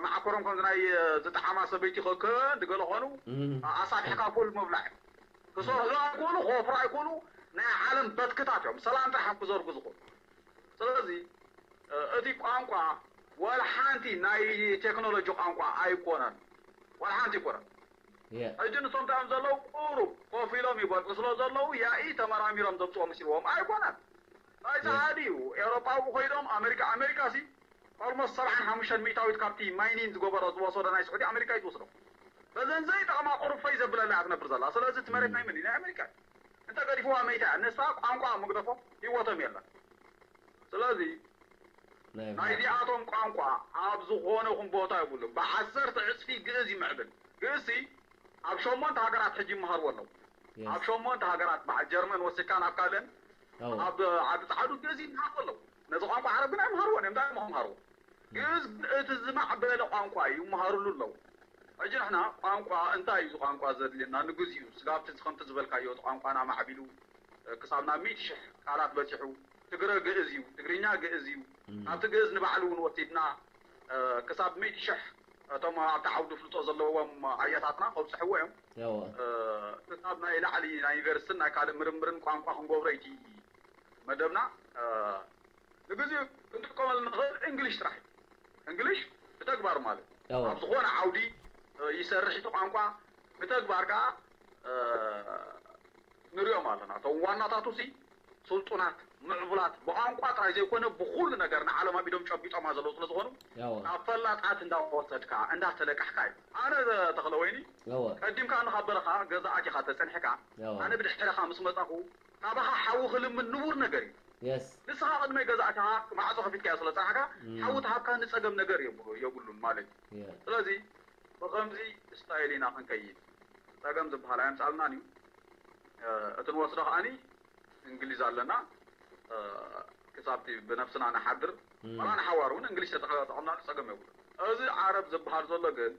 መዓኮሮም ከምዚ ናይ ዝጠዓማ ሰበይቲ ክክን ድገለ ኮኑ ኣሳፊሕካ ኩል ምብላዕ ክሰርሑ ኣይኮኑ ክወፍሩ ኣይኮኑ ናይ ዓለም በትክታት እዮም ሰላም ጥራሕ እዮም ክዘርጉ ዝኽእሉ ስለዚ እቲ ቋንቋ ወላ ሓንቲ ናይ ቴክኖሎጂ ቋንቋ ኣይኮነን ወላ ሓንቲ ኣይኮነን ሕጂ ንሶም ታዮም ዘለዉ ቁሩብ ኮፍ ኢሎም ይበልዑ ስለ ዘለዉ ያኢ ተመራሚሮም ዘምፅኦ መሲልዎም ኣይኮነን ናይ ፀሓዲ እዩ ኤውሮጳዊ ኮይዶም ኣሜሪካ ኣሜሪካ ሲ ኦልሞስት ሰብዓን ሓሙሽተን ሚእታዊት ካብቲ ማይኒን ዝገበሮ ዝወሰዶ ናይ ስዑዲ ኣሜሪካ እዩ ዝወስዶ በዘን ዘይጠቕማ ቁሩብ ፈይ ዘብለላ እያ ትነብር ዘላ ስለዚ እቲ መሬት ናይ መን ናይ ኣሜሪካ እዩ እንተ ገዲፍዋ መይታ እያ ንሳ ቋንቋ ምግደፎ ህይወቶም የለን ስለዚ ናይዚኣቶም ቋንቋ ኣብ ዝኾነ ኹን ቦታ ይብሉ ብዓሰርተ ዕፅፊ ግእዝ ይምዕብል ግእዝሲ ኣብ ሸሞንተ ሃገራት ሕጂ ይመሃርዎ ኣለዉ ኣብ ሸሞንተ ሃገራት በዓል ጀርመን ወሲድካ ናብ ካልእን ኣብ ዓዲ ፃዕዱ ግእዝ ይመሃርዎ ኣለዉ ነዚ ቋንቋ ዓረብ ግን ኣይመሃርዎን እዮም እንታይ ምሃርዎ ግእዝ ግን እቲ ዝማዕበለ ቋንቋ እዩ ይመሃርሉ ኣለዉ ሕጂ ንሕና ቋንቋ እንታይ እዩ ቋንቋ ዘድልየና ንግዜኡ ስጋብቲ ከምቲ ዝበልካዮ እቲ ቋንቋና ማዕቢሉ ክሳብ ናብ ሚእቲ ሽሕ ቃላት በፂሑ ትግረ ግእዝ እዩ ትግርኛ ግእዝ እዩ ኣብቲ ግእዝ ንባዕሉ እውን ወሲድና ክሳብ ሚእቲ ሽሕ እቶም ኣብቲ ዓውዲ ፍልጦ ዘለዎም ኣያታትና ከብፅሕዎ እዮም ክሳብ ናይ ላዕሊ ናይ ዩኒቨርሲቲን ናይ ካልእ ምርምርን ቋንቋ ክንገብሮ ይቲ መደብና ንግዜኡ ክንጥቀመሉ ንኽእል እንግሊሽ ጥራሕ እዩ እንግሊሽ ብተግባር ማለት ኣብ ዝኾነ ዓውዲ ይሰርሕ እቲ ቋንቋ ብተግባር ከዓ ንሪኦም ኣለና እቶም ዋናታቱ ሲ ስልጡናት ምዕቡላት ብቋንቋ ጥራይ ዘይኮነ ብኩሉ ነገር ንዓለም ኣብ ኢዶም ጨቢጦማ ዘለዉ ስለ ዝኾኑ ካብ ፈላጣት እንዳወሰድካ እንዳተለቃሕካ እዩ ኣነ ተኽለ ወይኒ ቀዲምካ ንካብ በረኻ ገዛኣት ኢኻ ተፀኒሕካ ኣነ ብድሕረኻ ምስ መፃኹ ካባኻ ሓዊ ክልምን ንቡር ነገር እዩ ንስኻ ቅድመይ ገዛእትኻ ማዕፆ ከፊትካዮ ስለ ፀናሕካ ሓዊ ትሃብካ ንፀገም ነገር የብሉን ማለት እዩ ስለዚ ብኸምዚ ስታይል ኢና ክንከይድ ፀገም ዝበሃል ኣየምፃልናን እዩ እቲ ንወስዶ ከዓኒ እንግሊዝ ኣለና ክሳብቲ ብነብስና ንሓድር ዋላ ንሓዋር እውን እንግሊዝ ተጠቐምናሉ ፀገም የብሉ እዚ ዓረብ ዝበሃል ዘሎ ግን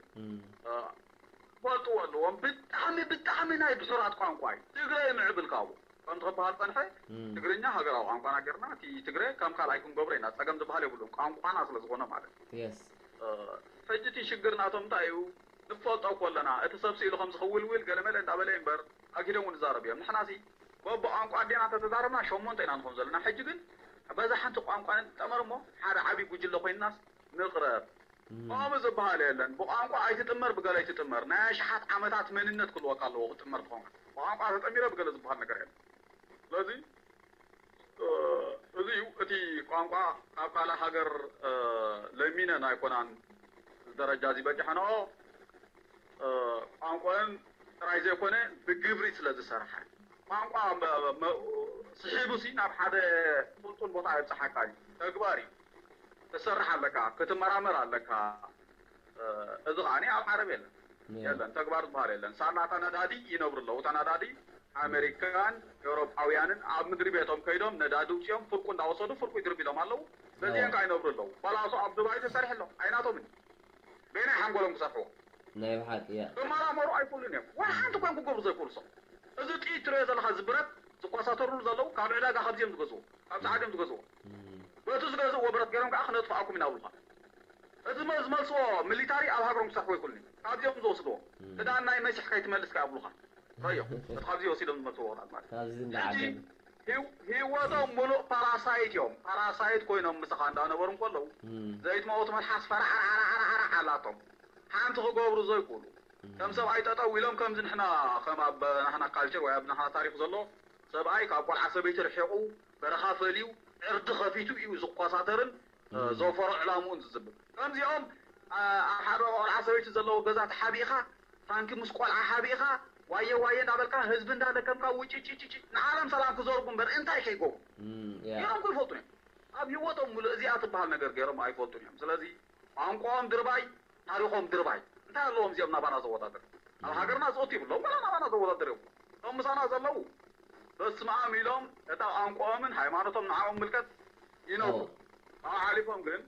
ክፈልጥዎ ኣለዎም። ብጣዕሚ ብጣዕሚ ናይ ድሑራት ቋንቋ እዩ። ትግረ ይምዕብል ካብኡ ከምቲ ክበሃል ጸንሐ። ትግርኛ ሃገራዊ ቋንቋና ጌርና እቲ ትግረ ከም ካልኣይ ክንገብሮ ኢና። ጸገም ዝበሃል የብሉን። ቋንቋና ስለ ዝኾነ ማለት እዩ። የስ ሕጂ እቲ ሽግር ናቶም እንታይ እዩ? ንፈልጦ እኮ ኣለና። እቲ ሰብ ስኢሉ ከም ዝኽውልውል ገለመለ እንዳበለ እምበር ኣኪዶም እውን ይዛረቡ እዮም። ንሕናሲ በብቋንቋ ኣዴና እንተተዛረብና ሸሞንተ ኢና ንኾን ዘለና። ሕጂ ግን በዛ ሓንቲ ቋንቋ ንጠመር እሞ ሓደ ዓብዪ ጉጅለ ኮይንናስ ንቕረብ። ከምኡ ዝበሃል የለን። ብቋንቋ ኣይትጥመር፣ ብገለ ኣይትጥመር። ናይ ኣሽሓት ዓመታት መንነት ክህልወካ ኣለዎ ክትጥመር ትኾንካ። ብቋንቋ ተጠሚረ ብገለ ዝበሃል ነገር የለን። ስለዚ እዚ እዩ እቲ ቋንቋ ካብ ካልእ ሃገር ለሚነን ኣይኮናን እዚ ደረጃ እዚ በፂሐንኦ። ቋንቋን ጥራይ ዘይኮነ ብግብሪ ስለ ዝሰርሓ ቋንቋ ስሒቡ ሲ ናብ ሓደ ስልጡን ቦታ የብፅሓካ እዩ። ተግባር እዩ። ትሰርሕ ኣለካ፣ ክትመራመር ኣለካ። እዚ ከዓኒ ኣብ ዓረብ የለን የለን፣ ተግባር ዝበሃል የለን። ሳላ እታ ነዳዲ ይነብሩ ኣለዉ። እታ ነዳዲ ኣሜሪካን ኤውሮጳውያንን ኣብ ምድሪ ቤቶም ከይዶም ነዳዲ ውፅኦም ፍርቁ እንዳወሰዱ ፍርቁ ይድርብሎም ኣለዉ። በዚአን ከዓ ይነብሩ ኣለዉ። ባላሶ ኣብ ዱባይ ተሰሪሑ ኣሎ። ኣይናቶምን በይናይ ሓንጎሎም ክሰርሕዎ ናይ ብሓቂ እያ ክመራመሩ ኣይክእሉን እዮም። ዋላ ሓንቲ እኳ ክገብሩ ዘይክእሉ ሰብ። እዚ ጥይት ትሪኦ ዘለካ እዚ ብረት ዝቆሳተሩሉ ዘለዉ ካብ ዕዳጋ ካብዚኦም ዝገዝዎ ካብ ሰዓት እዮም ዝገዝዎ። በቲ ዝገዝእዎ ብረት ገይሮም ከዓ ክነጥፍኣኩም ኢና ብሉካ። እቲ ዝመልስዎ ሚሊታሪ ኣብ ሃገሮም ክሰርሕዎ ኣይክእሉን እዮም። ካብዚኦም ዝወስድዎ ክዳን ናይ መሲሕ ከይትመልስ ከዓ ብሉካ። ረዮ እቲ ካብዚ ወሲዶም ዝመልስዎ ወራት ማለት ካብዚ እንዳዓደም ህይወቶም ሙሉእ ፓራሳይት እዮም። ፓራሳይት ኮይኖም ምሳኻ እንዳነበሩ እንከለዉ ዘይትመውት መልሓስ ፈራዕራዕራዕራዕ ኣላቶም። ሓንቲ ክገብሩ ዘይክእሉ ከም ሰብኣይ ጠጠው ኢሎም ከምዚ ንሕና ከም ኣብ ናሕና ካልቸር ወይ ኣብ ናሕና ታሪክ ዘሎ ሰብኣይ ካብ ቆልዓ ሰበይቲ ርሒቑ በረኻ ፈልዩ ዕርዲ ከፊቱ እዩ ዝቆሳተርን ዘውፈሮ ዕላምኡን ዝዝብር። ከምዚኦም ኣብ ሓደ ቆልዓ ሰበይቲ ዘለዎ ገዛ ተሓቢእኻ ታንኪ ምስ ቆልዓ ሓቢእኻ ዋየ ዋየ እንዳበልካ ህዝቢ እንዳለከምካ ውጭጭጭጭ ንዓለም ሰላም ክዘርጉ እምበር እንታይ ከይገብሩ ገይሮም ክይፈልጡ እዮም። ኣብ ህይወቶም ሙሉእ እዚኣ ትበሃል ነገር ገይሮም ኣይፈልጡን እዮም። ስለዚ ቋንቋኦም ድርባይ፣ ታሪኾም ድርባይ። እንታይ ኣለዎም እዚኦም ናባና ዘወዳደር? ኣብ ሃገርና ዝእቱ ይብሎም ወላ ናባና ዘወዳደር እዮም። እቶም ምሳና ዘለዉ በስመ ኣብ ኢሎም እታ ቋንቋኦምን ሃይማኖቶም ንዓኦም ምልከት ይነብሩ። ካብኡ ሓሊፎም ግን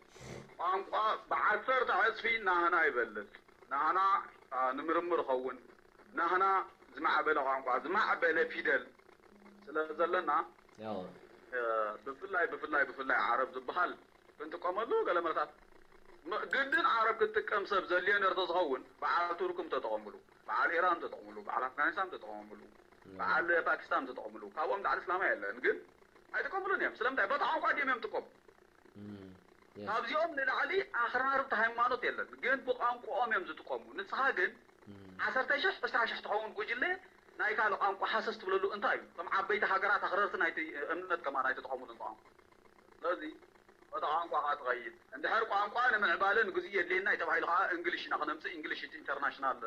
ቋንቋ ብዓሰርተ ዕፅፊ ናህና ይበልፅ። ናህና ንምርምር ኸውን ናህና ዝማዕበለ ቋንቋ ዝማዕበለ ፊደል ስለ ዘለና ብፍላይ ብፍላይ ብፍላይ ዓረብ ዝበሃል ክንጥቀመሉ ገለ መለታት ግድን ዓረብ ክትጥቀም ሰብ ዘድልዮ ነርተ ዝኸውን በዓል ቱርክ ተጠቐምሉ፣ በዓል ኢራን ተጠቕምሉ፣ በዓል ኣፍጋኒስታን ተጠቐምሉ፣ በዓል ፓኪስታን ተጠቐምሉ። ካብኦም ላዕሊ እስላማይ የለን ግን ኣይጥቀምሉን እዮም። ስለምንታይ? በታ ቋንቋ ድዮም እዮም ጥቀሙ። ካብዚኦም ንላዕሊ ኣኽራርብቲ ሃይማኖት የለን ግን ብቋንቋኦም እዮም ዝጥቀሙ። ንስኻ ግን ዓሰርተ ሽሕ ዕስራ ሽሕ ትኸውን ጉጅለ ናይ ካልእ ቋንቋ ሃሰስ ትብለሉ እንታይ እዩ? እቶም ዓበይቲ ሃገራት ኣኽረርቲ ናይቲ እምነት ከማን ኣይተጠቐሙሉን ቋንቋ። ስለዚ በታ ቋንቋ ኸዓ ትኸይድ። እንድሕር ቋንቋ ንምዕባለ ንግዜኡ የድልየና እዩ ተባሂሉ ኸዓ እንግሊሽ ኢና ክነምፅእ። እንግሊሽ እቲ ኢንተርናሽናል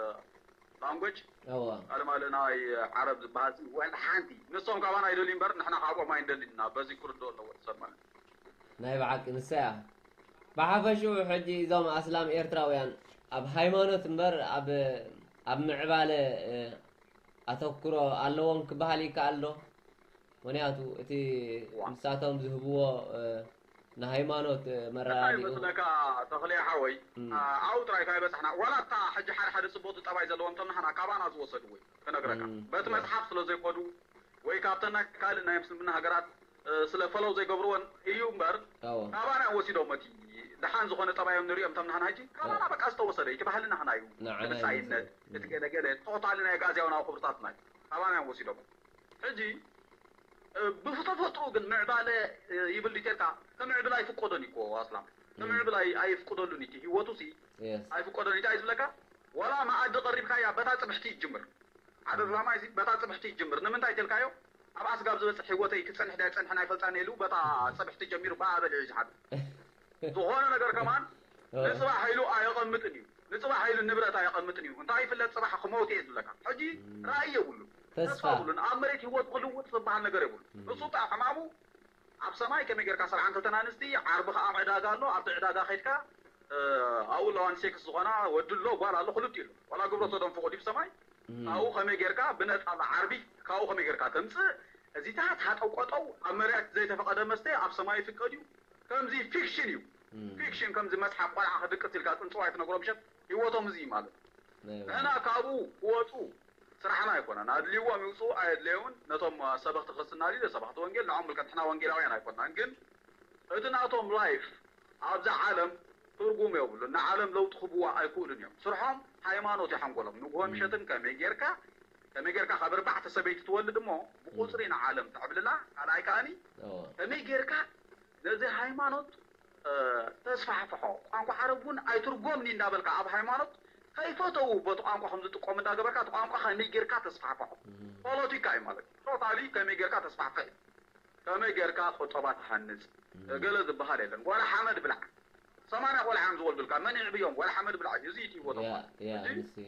ላንጎጅ እዋ ካልእ ማልእ ናይ ዓረብ ዝበሃል ወላ ሓንቲ። ንሶም ካባና ኣይደልዩ እምበር ንሕና ካብኦም ኣይንደልን ኢና። በዚ ክርድኦ ኣለዎ ሰብ ማለት እዩ። ናይ ብሓቂ ንሳ እያ። ብሓፈሽኡ ሕጂ እዞም ኣስላም ኤርትራውያን ኣብ ሃይማኖት እምበር ኣብ ኣብ ምዕባለ ኣተኩሮ ኣለዎም ክበሃል ይከኣል ዶ? ምክንያቱ እቲ ንሳቶም ዝህብዎ ንሃይማኖት መረዳድኡ መስለካ ተኽልየ ሓወይ ኣብኡ ጥራይ ካይበፃሕና ዋላ እታ ሕጂ ሓደ ሓደ ፅቡቅ ጠባይ ዘለዎም ተምናሕና ካባና ዝወሰድዎ እዩ ክነግረካ በቲ መፅሓፍ ስለ ዘይኮዱ ወይ ካብተን ናይ ካልእ ናይ ምስልምና ሃገራት ስለ ፈለው ዘይገብርወን እዩ እምበር ካባና እዮም ወሲዶም እቲ ደሓን ዝኾነ ጠባዮም ንሪኦም ተምናሕና ሕጂ ካባና በቃ ዝተወሰደ እቲ ባህልና ህና እዩ እቲ ብፃይነት እቲ ገለገለ ቶታሊ ናይ ኣግኣዝያዊ ናብ ክብርታትና እዩ ካባና እዮም ወሲዶም ሕጂ ብተፈጥሩ ግን ምዕባለ ይብል ድዩ ተልካ ክምዕብል ኣይፍቀዶን እዩ ኣስላም ክምዕብል ኣይፍቀደሉን እዩ ህይወቱ ሲ ኣይፍቀዶን እንታይ ዝብለካ ዋላ መኣዲ ቀሪብካያ በታ ፅብሕቲ ይጅምር ሓደ እስላማይ ሲ በታ ፅብሕቲ ይጅምር ንምንታይ ተልካዮ ኣብ ኣስጋብ ዝበፅሕ ህይወተይ ክፀንሕ ዳይ ፀንሕን ኣይፈልጣን ኢሉ በታ ፅብሕቲ ጀሚሩ ብኣ በሊዑ እዩ ዝሓድር ዝኾነ ነገር ከማን ንፅባሕ ኢሉ ኣየቐምጥን እዩ ንፅባሕ ኢሉ ንብረት ኣየቐምጥን እዩ እንታይ ይፍለጥ ፅባሕ ክመውት እየ ዝብለካ ሕጂ ራእይ የብሉ ተስፋ የብሉን ኣብ መሬት ህይወት ክልውጥ ዝበሃል ነገር የብሉ ንሱ ጣ ሕማሙ ኣብ ሰማይ ከመይ ጌርካ ሰብዓን ክልተን ኣንስቲ ዓርቢ ከዓ ዕዳጋ ኣሎ ኣብቲ ዕዳጋ ከድካ ኣብኡ ኣለዋን ሴክስ ዝኾና ወዲ ኣሎ ጓል ኣሎ ክልቲ ኣሎ ዋላ ግብረ ሰዶም ፍቑድ እዩ ብሰማይ ካብኡ ከመይ ጌርካ ብነፃ ዓርቢ ካብኡ ከመይ ጌርካ ተምፅእ እዚታት ሃጠው ቆጠው ኣብ መሬት ዘይተፈቐደ መስተ ኣብ ሰማይ ይፍቀድ እዩ ከምዚ ፊክሽን እዩ ፊክሽን ከምዚ መስሓቅ ቆልዓ ክድቅስ ኢልካ ፅንፅዋይ ትነግሮ ምሸት ህይወቶም እዚ እዩ ማለት ንሕና ካብኡ ክወፁ ስራሕና ኣይኮነን። ኣድልይዎም ይውፅኡ ኣየድለዮምን ነቶም ሰበኽቲ ክርስትና ድዩ ሰበኽቲ ወንጌል ንዖም ምልከት ንሕና ወንጌላውያን ኣይኮናን። ግን እቲ ናቶም ላይፍ ኣብዛ ዓለም ትርጉም የብሉን። ንዓለም ለውጢ ክብዋ ኣይክእሉን እዮም። ስርሖም ሃይማኖት እዩ ሓንጎሎም። ንግሆ ምሸትን ከመይ ጌርካ ከመይ ጌርካ ካብ ኣርባዕተ ሰበይቲ ትወልድ እሞ ብቁፅሪ ንዓለም ተዕብልላ ካልኣይ ከኣኒ ከመይ ጌርካ ነዚ ሃይማኖት ተስፋሕፍሖ። ቋንቋ ዓረብ እውን ኣይትርጎምኒ እንዳበልካ ኣብ ሃይማኖት ከይፈተው በቲ ቋንቋ ከም ዝጥቀሙ እንዳገበርካ እቲ ቋንቋ ከመይ ጌርካ ተስፋሕፍሖ። ፖለቲካ እዩ ማለት እዩ። ቶታሊ ከመይ ጌርካ ተስፋሕፍሕ እዩ። ከመይ ጌርካ ቁጠባ ትሃንፅ ገለ ዝበሃል የለን። ጓላ ሓመድ ብላዕ ሰማንያ ቆልዓ እዮም ዝወልዱልካ። መን ይዕብዮም? ጓላ ሓመድ ብላዕ እዩ። እዚ እዩ ህይወቶም ማለት እዩ።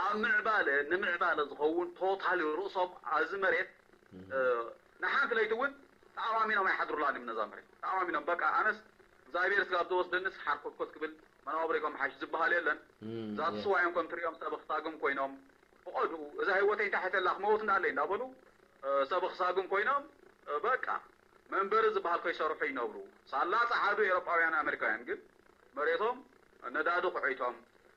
ኣብ ምዕባለ ንምዕባለ ዝኸውን ቶታሊ ርእሶም ኣብዚ መሬት ንሓንቲ ለይቲ እውን ተኣማሚኖም ኣይሓድሩላን እዮም ነዛ መሬት ተኣማሚኖም በቃ ኣነስ እግዚኣብሔር ስጋብ ዝወስደንስ ሓርኮትኮት ክብል መናባብሪኦም ሓሽ ዝበሃል የለን። ዛትስዋ እዮም ከም ትሪኦም ሰብ ክሳግም ኮይኖም ብቐድኡ እዛ ህይወተይ እንታይ ሕተላ ክመውት እንዳለይ እንዳበሉ ሰብ ክሳግም ኮይኖም በቃ መንበሪ ዝበሃል ከይሰርሑ ይነብሩ። ሳላ ጸዓዱ ኤሮጳውያን ኣሜሪካውያን ግን መሬቶም ነዳዲ ኩዒቶም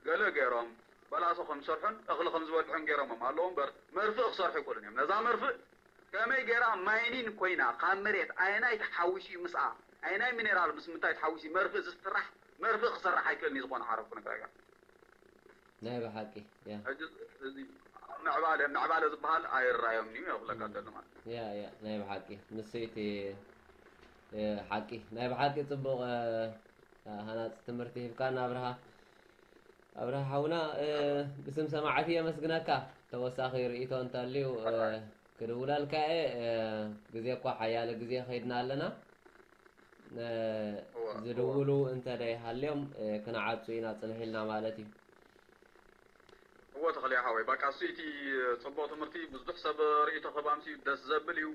ገለ ገይሮም በላሶ ከም ዝሰርሑን እኽሊ ከም ዝበልዑን ገይሮሞም ኣለዉ እምበር መርፍእ ክሰርሑ ይክእሉን እዮም። ነዛ መርፍእ ከመይ ገይራ ማይኒን ኮይና ካብ መሬት ኣየናይ ተሓዊሱ እዩ ምስኣ ኣየናይ ሚኔራል ምስ ምንታይ ተሓዊሱ እዩ መርፍእ ዝስራሕ መርፍእ ክሰርሕ ኣይክእልን እዩ ዝኾነ ዓረብ ክነግረካ። ናይ ብሓቂ ያ ሕጂ እዚ ምዕባለ ምዕባለ ዝበሃል ኣይራዮም እዩ ክብለካ ዘሎ ማለት እዩ። ያ ያ ናይ ብሓቂ ንሱ እቲ ሓቂ ናይ ብሓቂ ፅቡቕ ሃናፂ ትምህርቲ ሂብካና ኣብርሃ ኣብርሃ ሓውና ብስም ሰማዕቲ የመስግነካ ተወሳኺ ርእቶ እንተልዩ ክድውለልካ እየ ግዜ እኳ ሓያለ ግዜ ከይድና ኣለና ዝድውሉ እንተ ደይሃልዮም ክንዓጹ ኢና ጽንሕ ኢልና ማለት እዩ። እወ ተኽልያ ሓወይ ባቃ እሱ እቲ ፅቡቅ ትምህርቲ ብዙሕ ሰብ ርእይቶ ክህብ ኣምስዩ ደስ ዘብል እዩ።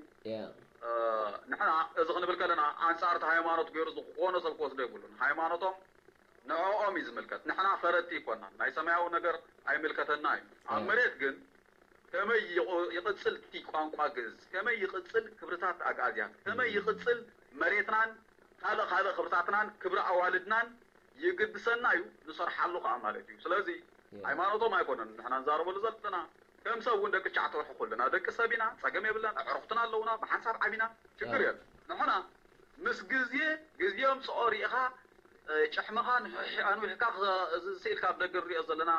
ንሕና እዚ ክንብል ከለና ኣንፃር እቲ ሃይማኖት ገይሩ ዝኾነ ሰብ ክወስዶ የብሉን። ሃይማኖቶም ንዕኦም እዩ ዝምልከት። ንሕና ፈረድቲ ኣይኮናን። ናይ ሰማያዊ ነገር ኣይምልከተና እዩ። ኣብ መሬት ግን ከመይ ይቕጽል እቲ ቋንቋ ግእዝ፣ ከመይ ይቕጽል ክብርታት ኣግኣዝያን፣ ከመይ ይቕጽል መሬትናን ካልእ ካልእ ክብርታትናን ክብሪ ኣዋልድናን ይግድሰና እዩ፣ ንሰርሓሉ ከኣ ማለት እዩ። ስለዚ ሃይማኖቶም ኣይኮነን ንሕና ንዛረበሉ ዘለና። ከም ሰብ እውን ደቂ ትሽዓተ ወርሒ ኩልና ደቂ ሰብ ኢና፣ ጸገም የብለን፣ ኣዕሩኽትና ኣለውና፣ ብሓንሳብ ዓቢና፣ ሽግር የለን። ንሕና ምስ ግዜ ግዜ ኣምጽኦ ሪኢኻ ጭሕምኻ ኣንዊሕካ እዚ ስኢልካ ኣብ ደገ ንሪኦ ዘለና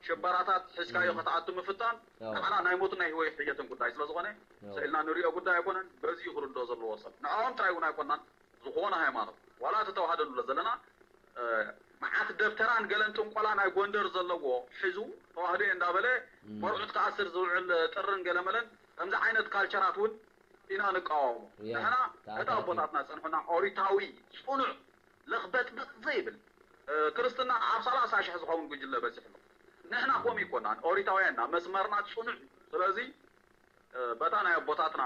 ሽበራታት ሒዝካዮ ከተኣቱ ምፍታን ንዓና ናይ ሞትን ናይ ህይወትን ጉዳይ ስለዝኾነ ስኢልና ንሪኦ ጉዳይ ኣይኮነን። በዚ እዩ ክርድኦ ዘለዎ ሰብ። ንዕኦም ጥራይ እውን ኣይኮናን ዝኾነ ሃይማኖት ዋላ እቲ ተዋህዶ ንብሎ ዘለና መዓት ደብተራን ገለን ጥንቆላ ናይ ጎንደር ዘለዎ ሒዙ ተዋህዶ እየ እንዳበለ መርዑት ክኣስር ዝውዕል ጥርን ገለመለን ከምዚ ዓይነት ካልቸራት እውን ኢና ንቃወሞ። ንሕና እቲ ኣቦታትና ዝፀንሑና ኦሪታዊ ፅኑዕ ለኽበጥበጥ ዘይብል ክርስትና ኣብ ሰላሳ ሽሕ ዝኸውን ጉጅለ በፂሑ ኣሎ። ንሕና ከምኡ ኣይኮናን ኦሪታውያን ኢና መስመርና ፅኑዕ እዩ። ስለዚ በታ ናይ ኣቦታትና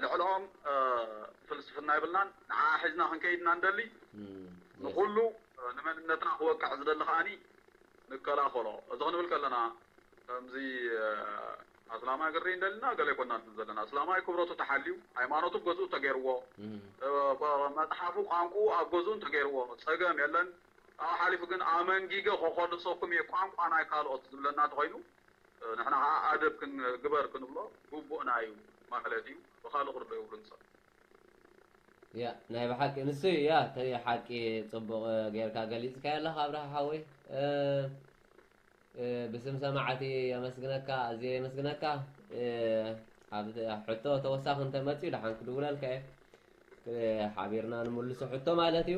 ልዕልኦም ፍልስፍና የብልናን። ንዓ ሒዝና ክንከይድ ኢና ንደሊ። ንኩሉ ንመንነትና ክወቅዕ ዝደሊ ከዓኒ ንከላኸሎ። እዚ ክንብል ከለና ከምዚ ኣስላማይ ክርኢ እንደልና ገለ ኣይኮናን ዘለና። ኣስላማይ ክብረቱ ተሓልዩ፣ ሃይማኖቱ ገዝኡ ተገይርዎ፣ መፅሓፉ ቋንቋኡ ኣብ ገዝኡ እንተገይርዎ ፀገም የለን። ካብኡ ሓሊፉ ግን ኣመንጊገ ከኾልሰኩም እየ ቋንቋ ናይ ካልኦት ዝብለና እንተኾይኑ ንሕና ከዓ ኣደብ ግበር ክንብሎ ግቡእና እዩ ማለት እዩ። ብካልእ ክርዶ የብሉን ሰብ። ያ ናይ ብሓቂ ንሱ እዩ ያ እቲ ሓቂ ፅቡቕ ጌርካ ገሊፅካዮ ኣለኻ ኣብርሃ ሓወይ ብስም ሰማዕቲ የመስግነካ ኣዝየ የመስግነካ ኣብ ሕቶ ተወሳኺ እንተመፅኡ ደሓን ክድውለልካ እየ ሓቢርና ንምልሶ ሕቶ ማለት እዩ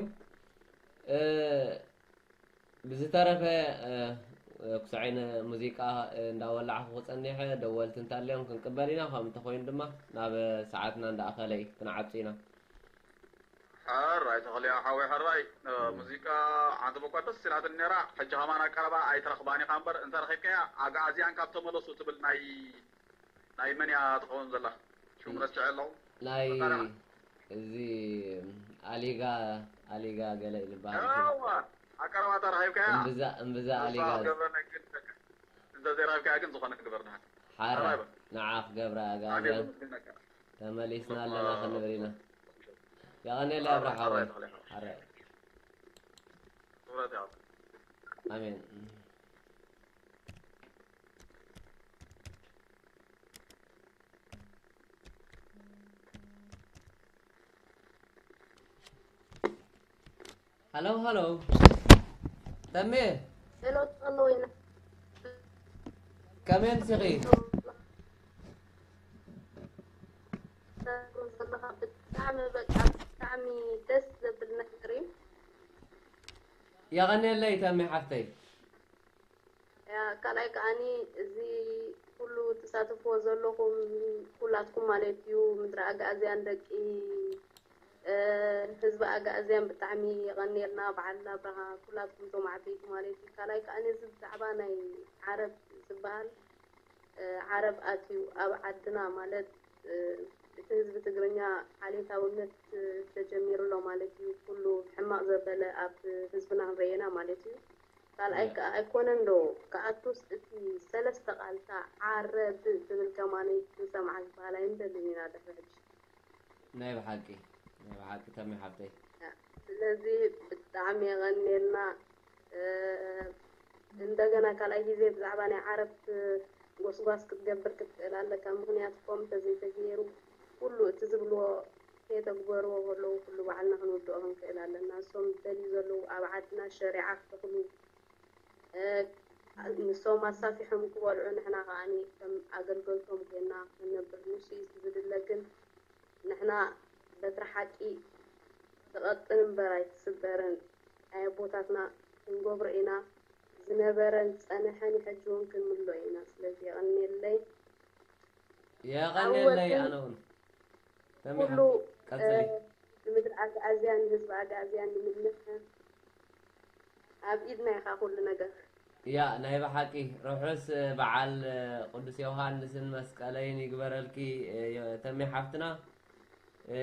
ብዝተረፈ ክስዐይ ንሙዚቃ እንዳወላዕኩ ክፀኒሐ ደወልቲ እንተልዮም ክንቅበል ኢና ከም እንተኮይኑ ድማ ናብ ሰዓትና እንዳኣኸለ እዩ ክንዓፁ ኢና ሕራይ ተኽልያ ሓወይ ሕራይ ሙዚቃ ሓንቲ በኳ ደስ ኢላትኒ ነራ ሕጂ ከማን ኣቀረባ ኣይትረኽባን ኢኻ እምበር እንተረኺብካያ ኣግኣዝያን ካብ ተመለሱ ትብል ናይ ናይ መን እያ ትኸውን ዘላ ሽም ረስዐ ኣለኹ ናይ እዚ ኣሊጋ ኣሊጋ ገለ ዝበሃል ኣቀረባ ተረኺብካያ እምብዛ እምብዛ ኣሊጋ እንተዘይረኺብካያ ግን ዝኾነ ክግበር ንሓ ሓራ ንዓ ክገብራ ኣጋብያ ተመሊስና ኣለና ክንብል ኢና የቐኔለ ኣብርሓ ሓራይ ኣሜን ሃሎ ሃሎ። ተሜ። ሄሎ፣ ተቐሎ ወይና። ከመይ ኣምሲኺ? ዘለኻ ብጣዕሚ፣ በቃ፣ ብጣዕሚ ደስ ዘብል ነገር እዩ። የቐንየለይ ተሜ ሓፍተይ። ያ፣ ካልኣይ ከዓኒ፣ እዚ ኩሉ ትሳተፍዎ ዘለኹም ኩላትኩም ማለት እዩ፣ ምድሪ ኣግኣዝያን፣ ደቂ፣ እ፣ ህዝቢ ኣግኣዝያን፣ ብጣዕሚ የቐንየልና፣ በዓል ኣብርሃ፣ ኩላትኩም እቶም ዓበይቲ ማለት እዩ። ካልኣይ ከዓኒ፣ እዚ ብዛዕባ ናይ ዓረብ ዝበሃል፣ እ፣ ዓረብ ኣትዩ ኣብ ዓድና ማለት፣ እ፣ እቲ ህዝቢ ትግርኛ ዓሌታውነት፣ እ፣ ተጀሚሩ ኣሎ ማለት እዩ። ኩሉ ሕማቕ ዘበለ ኣብ ህዝብና ንርእየና ማለት እዩ። ካልኣይ ከኣ ኣይኮነን ዶ ክኣቱስ እቲ ሰለስተ ቃልታ ዓረብ ትብል ከማነይ ክንሰምዓ ዝበሃል ኣይንደልን ኢና ድሕሪ ሕጂ። ናይ ብሓቂ፣ ናይ ብሓቂ ተሜ ሓብተይ። ስለዚ ብጣዕሚ የቐንየልና። እ፣ እንደገና ካልኣይ ግዜ ብዛዕባ ናይ ዓረብ ጎስጓስ ክትገብር ክትክእል ኣለካ። ምኽንያቱ ከምኡ እንተዘይተገይሩ ኩሉ እቲ ዝብልዎ ከየተግበርዎ ከለዉ ኩሉ ባዕልና ክንውድኦ ክንክእል ኣለና። እሶም ዝደልዩ ዘለዉ ኣብ ዓድና ሸሪዓ ክተኽሉ፣ እ፣ ንሶም ኣሳፊሖም ክበልዑ ንሕና ከኣኒ ከም ኣገልገልቶም ኮይና ክንነብር ንሱ እዩ ዝድለ። ግን ንሕና በትሪ ሓቂ ትቐጥን እምበር ኣይትስበርን። ናይ ኣቦታትና ክንገብሮ ኢና። ዝነበረን ዝጸንሐን ሕጂ እውን ክንምሎ ኢና። ስለዚ የቐንየለይ። የቐንየለይ። ኣወትን ኣነ እውን ተሜ ኩሉ፣ ሓፍተይ፣ ቀጽሊ። እ፣ ንምድሪ ኣግኣዝያን ንህዝቢ ኣግኣዝያን ንምድንሕ ኣብ ኢድና ኢኻ ኩሉ ነገር። ያ፣ ናይ ብሓቂ ርሑስ በዓል ቅዱስ ዮሃንስን መስቀለይን ይግበረልኪ፣ የ-፣ ተሜ ሓፍትና። እ፣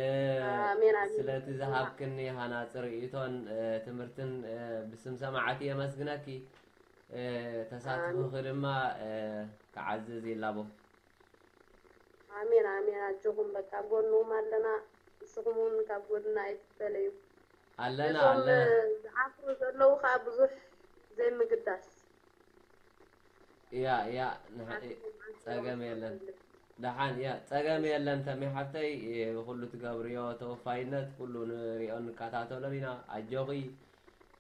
ኣሜን፣ ኣሜን። ስለቲ ዝሃብክኒ ሃናጺ ርእይቶን፣ እ፣ ትምህርትን፣ እ፣ ብስም ሰማዕቲ የመስግነኪ። እ፣ ተሳትፎኺ ኣሜን። ድማ፣ እ፣ ክዓዝዝ ይላቦ። ኣሜን፣ ኣሜን። ኣጆኹም፣ በቃ፣ ኣብ ጎንኹም ኣለና። ንስኹም እውን ካብ ጎንና ኣይትፈለዩ። ኣለና፣ ነዞም ኣለና። ዝዓፍሩ ዘለዉ ኸኣ ብዙሕ ዘይምግዳስ። ያ፣ ያ፣ ንሓ-፣ ኣሜን፣ ኣሜን። ጸገም የለን። ደሓን፣ ያ፣ ጸገም የለን ተሜ ሓፍተይ፣ ብኹሉ ትገብርዮ ተወፋይነት ኩሉ ንሪኦን ንከታተሎን ኢና። ኣጆኺ።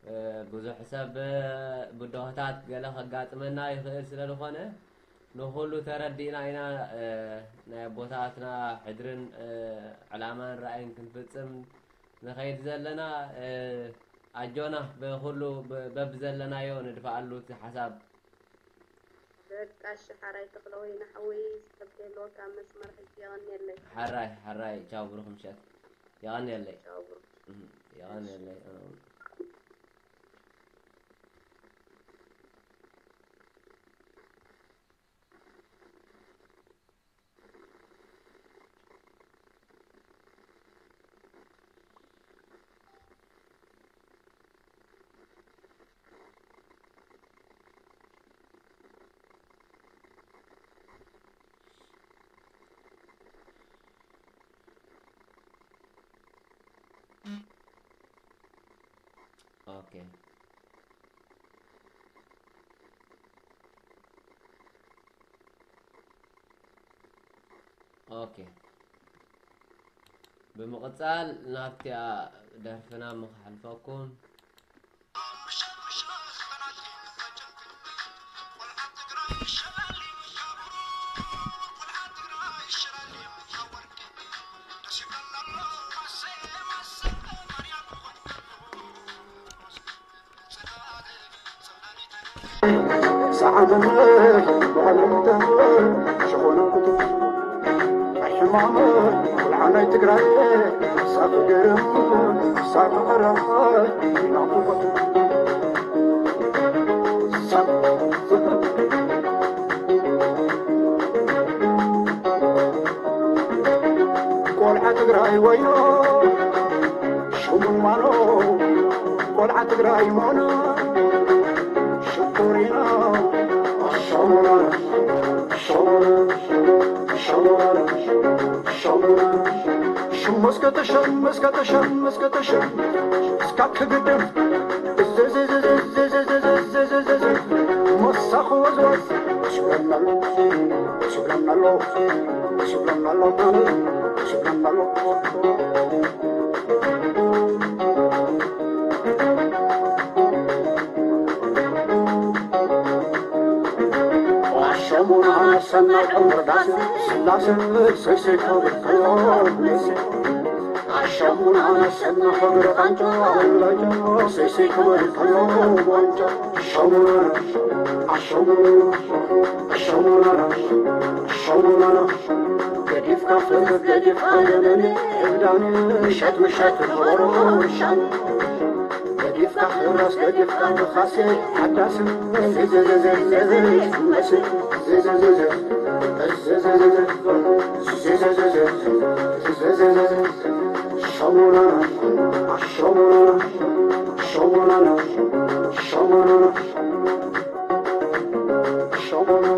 እ፣ ብዙሕ ሰብ፣ እ፣ ብድሆታት ገለ ከጋጥመና ይኽእል ስለ ዝኾነ፣ ንኹሉ ተረዲእና ኢና፣ እ፣ ናይ ኣቦታትና ሕድርን፣ እ፣ ዕላማን ራእይን ክንፍጽም ንኸይድ ዘለና። እ፣ ኣጆና ብኹሉ ብ-፣ በብዘለናዮ ንድፍኣሉ እቲ ሓሳብ። በቃ እሺ፣ ሓራይ ተኽለወይኒ ሓወይ፣ ሰብ ከይህልወካ ኣብ መስመር ሕጂ የቐንየለይ። ሓራይ፣ ሓራይ፣ ቻው፣ ብሩኽ ምሸት። የቐንየለይ። ቻው፣ ብሩኽ። እም፣ የቐንየለይ። እም። ኦኬ። ኦኬ። ብምቕጻል ናብቲኣ ደርፍና ምኽሓልፈኩም። ሰዓመመ ብቐለምተ ሸኾነ ኩቱ ኣይሕማመ ቆልዓ ናይ ትግራይ ሳብ ገረም ሳብ ዓራይ ናፍቆቱ ሳብ ቆልዓ ትግራይ ወይኖ ሽሙን ማኖ ቆልዓ ትግራይ ሞኖ ሽኮሪና ሸሙና ሸሙና ሸሙና ሸሙና ሽሙ እስከ ተሸም እስከ ተሸም እስከ ተሸም እስካ ክግድም እዝዝዝዝዝዝዝዝዝዝዝ መሳኹ ወዝወዝ ሽብለናሎ ሽብለናሎ ሽብለናሎ ሽብለናሎ ስላሰ ሰይሰይ ክብር ከሎ ነይሰ ኣሻሙና ነሰና ክብር ቃንጫ ላይታ ሰይሰይ ክብር ከሎ ዋንጫ ኣሻሙና ኣሻሙና ኣሻሙና ኣሻሙና ገዲፍካ ፍርድ ገዲፍካ ደመኒ እብዳኒ ምሸት ምሸት ነበሮ ሻን ገዲፍካ ክራስ ገዲፍካ ንኻሴ ሓዳስ ዝዝዝዝዝዝዝመስል ዝዝዝዝዝ ዝዝዝዝዝ ዝዝዝዝዝ ዝዝዝዝዝ ሸሞናና ሸሞናና ሸሞናና ሸሞናና ሸሞናና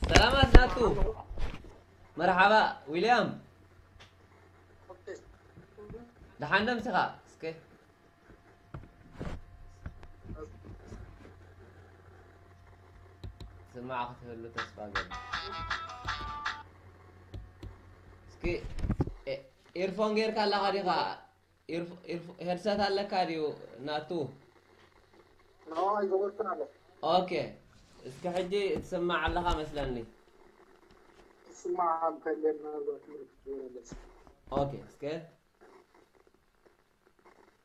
ሰላማት ናቱ። መርሓባ ዊልያም። ደሓን ዶ ምሲኻ? እስከ ስማዕ ክትህሉ ተስፋ ገይረ። እስኪ ኤ- ኤርፎን ጌርካ ኣለኻ ዲኻ? ኤርፎ- ኤርፎ- ሄድሰት ኣለካ ድዩ ናቱ? ንዕኡ ኣይገበርኩን ኣለኹ። ኦኬ፣ እስከ ሕጂ ትስማዕ ኣለኻ መስለኒ። ይስማዕ እንተልየ ምናልባት ምልክት ዝበለለስ። ኦኬ፣ እስከ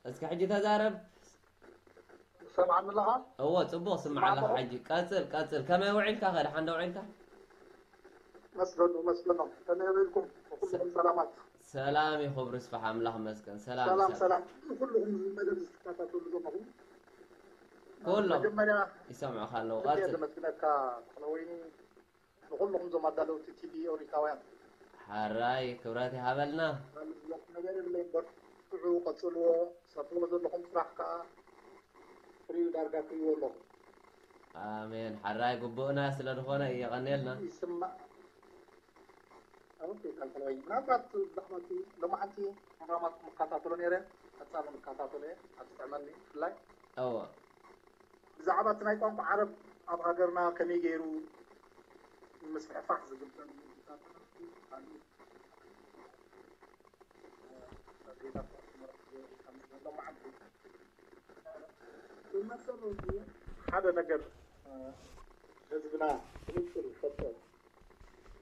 እስከ ሕጂ ተዛረብ። ሰማዕኒ ኣለኻ? እዎ፣ ጽቡቕ ስማዕ ኣለኻ ሕጂ። ቀጽል፣ ቀጽል። ከመይ ውዒልካ? ከ ደሓን ዶ ውዒልካ? መስገኑ መስገኖም ከመይ ውዒልኩም? ኩልኩም ሰላማት? ሰላም ይኹብ ርስፋሕ ኣምላኽ መስገን። ሰላም ሰላም ሰላም። ሰላም። ኩልኩም መደብ ዝትከታተሉ ዘለኹም ኩሎም መጀመርያ ይሰምዑኻ ኣለዉ። ብጣዕሚ ቀጽል። ዘመስግነካ ተኽለወይኒ ንኩልኹም ዞም ኣዳለውቲ ቲቪ ኦሪታውያን ሓራይ ክብረት ይሃበልና። ማለት ነገር የብለይ እምበር ትዑ ቀጽልዎ ሰርሕዎ ዘለኹም ስራሕ ከዓ ፍሪኡ ዳርጋ ትሪእዎ ኣለኹም። ኣሜን። ሓራይ ግቡእና ስለ ዝኾነ የቐንየልና። ይስማዕ። ኦኬ፣ ካልካልዋይ ምናልባት ብዛዕባ እቲ ሎማዓንቲ ፕሮግራማት ክከታተሎ ነይረ፣ ቀጻሊ ክከታተሎ እየ ኣብ ዝጥዕመኒ ብፍላይ እዎ ብዛዕባ እቲ ናይ ቋንቋ ዓረብ ኣብ ሃገርና ከመይ ገይሩ ምስፍሕፋሕ ዝግበር ሓደ ነገር ህዝብና ብንጹር ይፈልጦ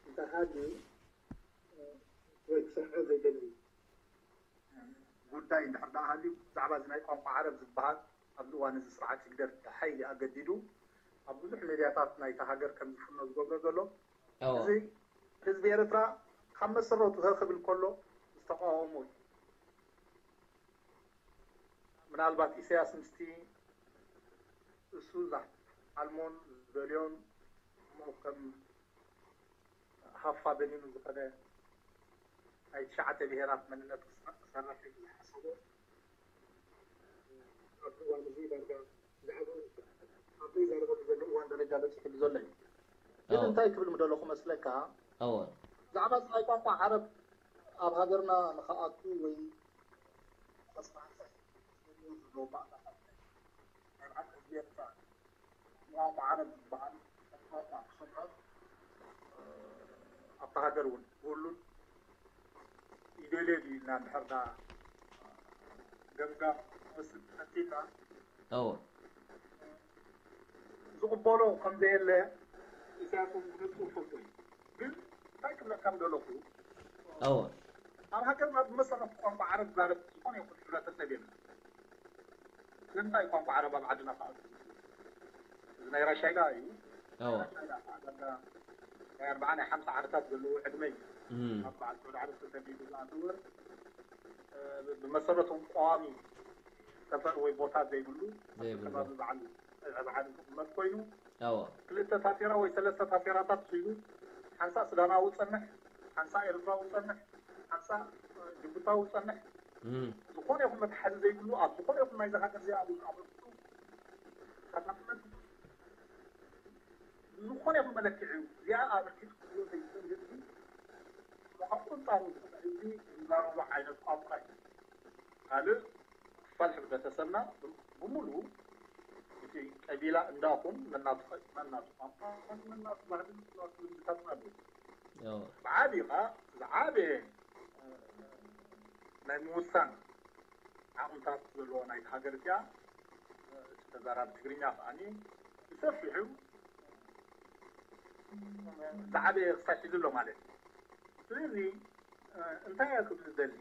እንተሃልዩ ወይ ክሰርሖ ዘይደሊ ጉዳይ እንድሕር ደኣ ሃልዩ ብዛዕባ እዚ ናይ ቋንቋ ዓረብ ዝበሃል ኣብዚ እዋን እዚ ስርዓት ህግደፍ ብሓይሊ ኣገዲዱ ኣብ ብዙሕ ሜድያታት ናይታ ሃገር ከም ዝፍኖ ዝገብሮ ዘሎ እዎ እዚ ህዝቢ ኤርትራ ካብ መሰረቱ ህኽ ክብል ከሎ ዝተቃወሞ እዩ። ምናልባት ኢሳያስ ምስቲ እሱ ዝሓልሞን ዝደልዮን እሞ ከም ሃፋ በኒኑ ዝኾነ ናይ ትሽዓተ ብሄራት መንነት ክሰርሕ ኢሉ ዝሓሰቦ ኣብዚ እዋን እዚ ዳርጋ ብዛዕባኡ ኣብ ዘይዛረበሉ ዘሎ እዋን ደረጃ በፂሕሉ ዘሎ እዩ። ግን እዎ እንታይ ክብል ምደለኹ መስለካ እዎ ብዛዕባ እዚ ናይ ቋንቋ ዓረብ ኣብ ሃገርና ንኽኣቱ ወይ ተስፋሕፋሕ ዘለዎ ባእታታት ናይ በዓል ህዝቢ ኤርትራ ቋንቋ ዓረብ ዝበሃል ቋንቋ ክሰምዖ ኣብታ ሃገር እውን ክህሉን ይደልዮ ድዩ ኢልና እንድሕር ዳ ገምጋም ክወስድ ተፈቲና እዎ ዝቕበሎ ከም ዘየለ ኢሳያስ እውን ብንጹር ፈልጦ እዩ። ግን እንታይ ክብለካ ምደለኹ እዎ ኣብ ሃገርና ብመሰረት ቋንቋ ዓረብ ዝዛረብ ዝኾነ ይኹን ሕብረተሰብ የለን። ስለምንታይ ቋንቋ ዓረብ ኣብ ዓድና ክኣቱ? እዚ ናይ ራሻይዳ እዩ። እዎ ራሻይዳ ከዓ ዳርጋ ናይ ኣርብዓ ናይ ሓምሳ ዓመታት ዘለዎ ዕድመ እዩ። እም፣ ኣብ በዓል ሰውዲ ዓረብ ተሰዲዱ ዝኣተወ እ፣ ብመሰረቱ ቀዋሚ ሰፈር ወይ ቦታ ዘይብሉ ዘይብሉ። ከባቢ በዓል ዕብዓድ ዝቕመጥ ኮይኑ እዎ ክልተ ታፌራ ወይ ሰለስተ ታፌራታት ሒዙ ሓንሳእ ሱዳናዊ ጸንሕ፣ ሓንሳእ ኤርትራዊ ጸንሕ፣ ሓንሳእ እ፣ ጅቡታዊ ጸንሕ እም፣ ዝኾነ ይኹን መትሓዚ ዘይብሉ ኣብ ዝኾነ ይኹን ናይዚ ሃገር እዚኣ ኣብ ኣበርክቱ ተጠቕመት ዝኾነ ይኹን መለክዒ እዚኣ ኣበርኪቱ ክህልዎ ዘይክእል ህዝቢ ብኣንጻሩ ዝኾነ ህዝቢ ዝዛረቦ ዓይነት ቋንቋ እዩ። ካልእ ክፋል ሕብረተሰብና ብምሉኡ እቲ ቀቢላ እንዳኹን መናቱ ኸ- መናቱ ቋንቋ መናቱ ባህልን መናቱ ልምድታትን ኣለዎ። ብዓብዩ ከዓ ዝዓበየ ናይ ምውሳን ዓቕምታት ዘለዎ ናይቲ ሃገር እቲኣ፣ እቲ ተዛራቢ ትግርኛ ከዓኒ ብሰፊሑ ዝዓበየ ክሳብ ሕዚ ኣሎ ማለት እዩ። ስለዚ እንታይ እየ ክብል ዝደሊ፣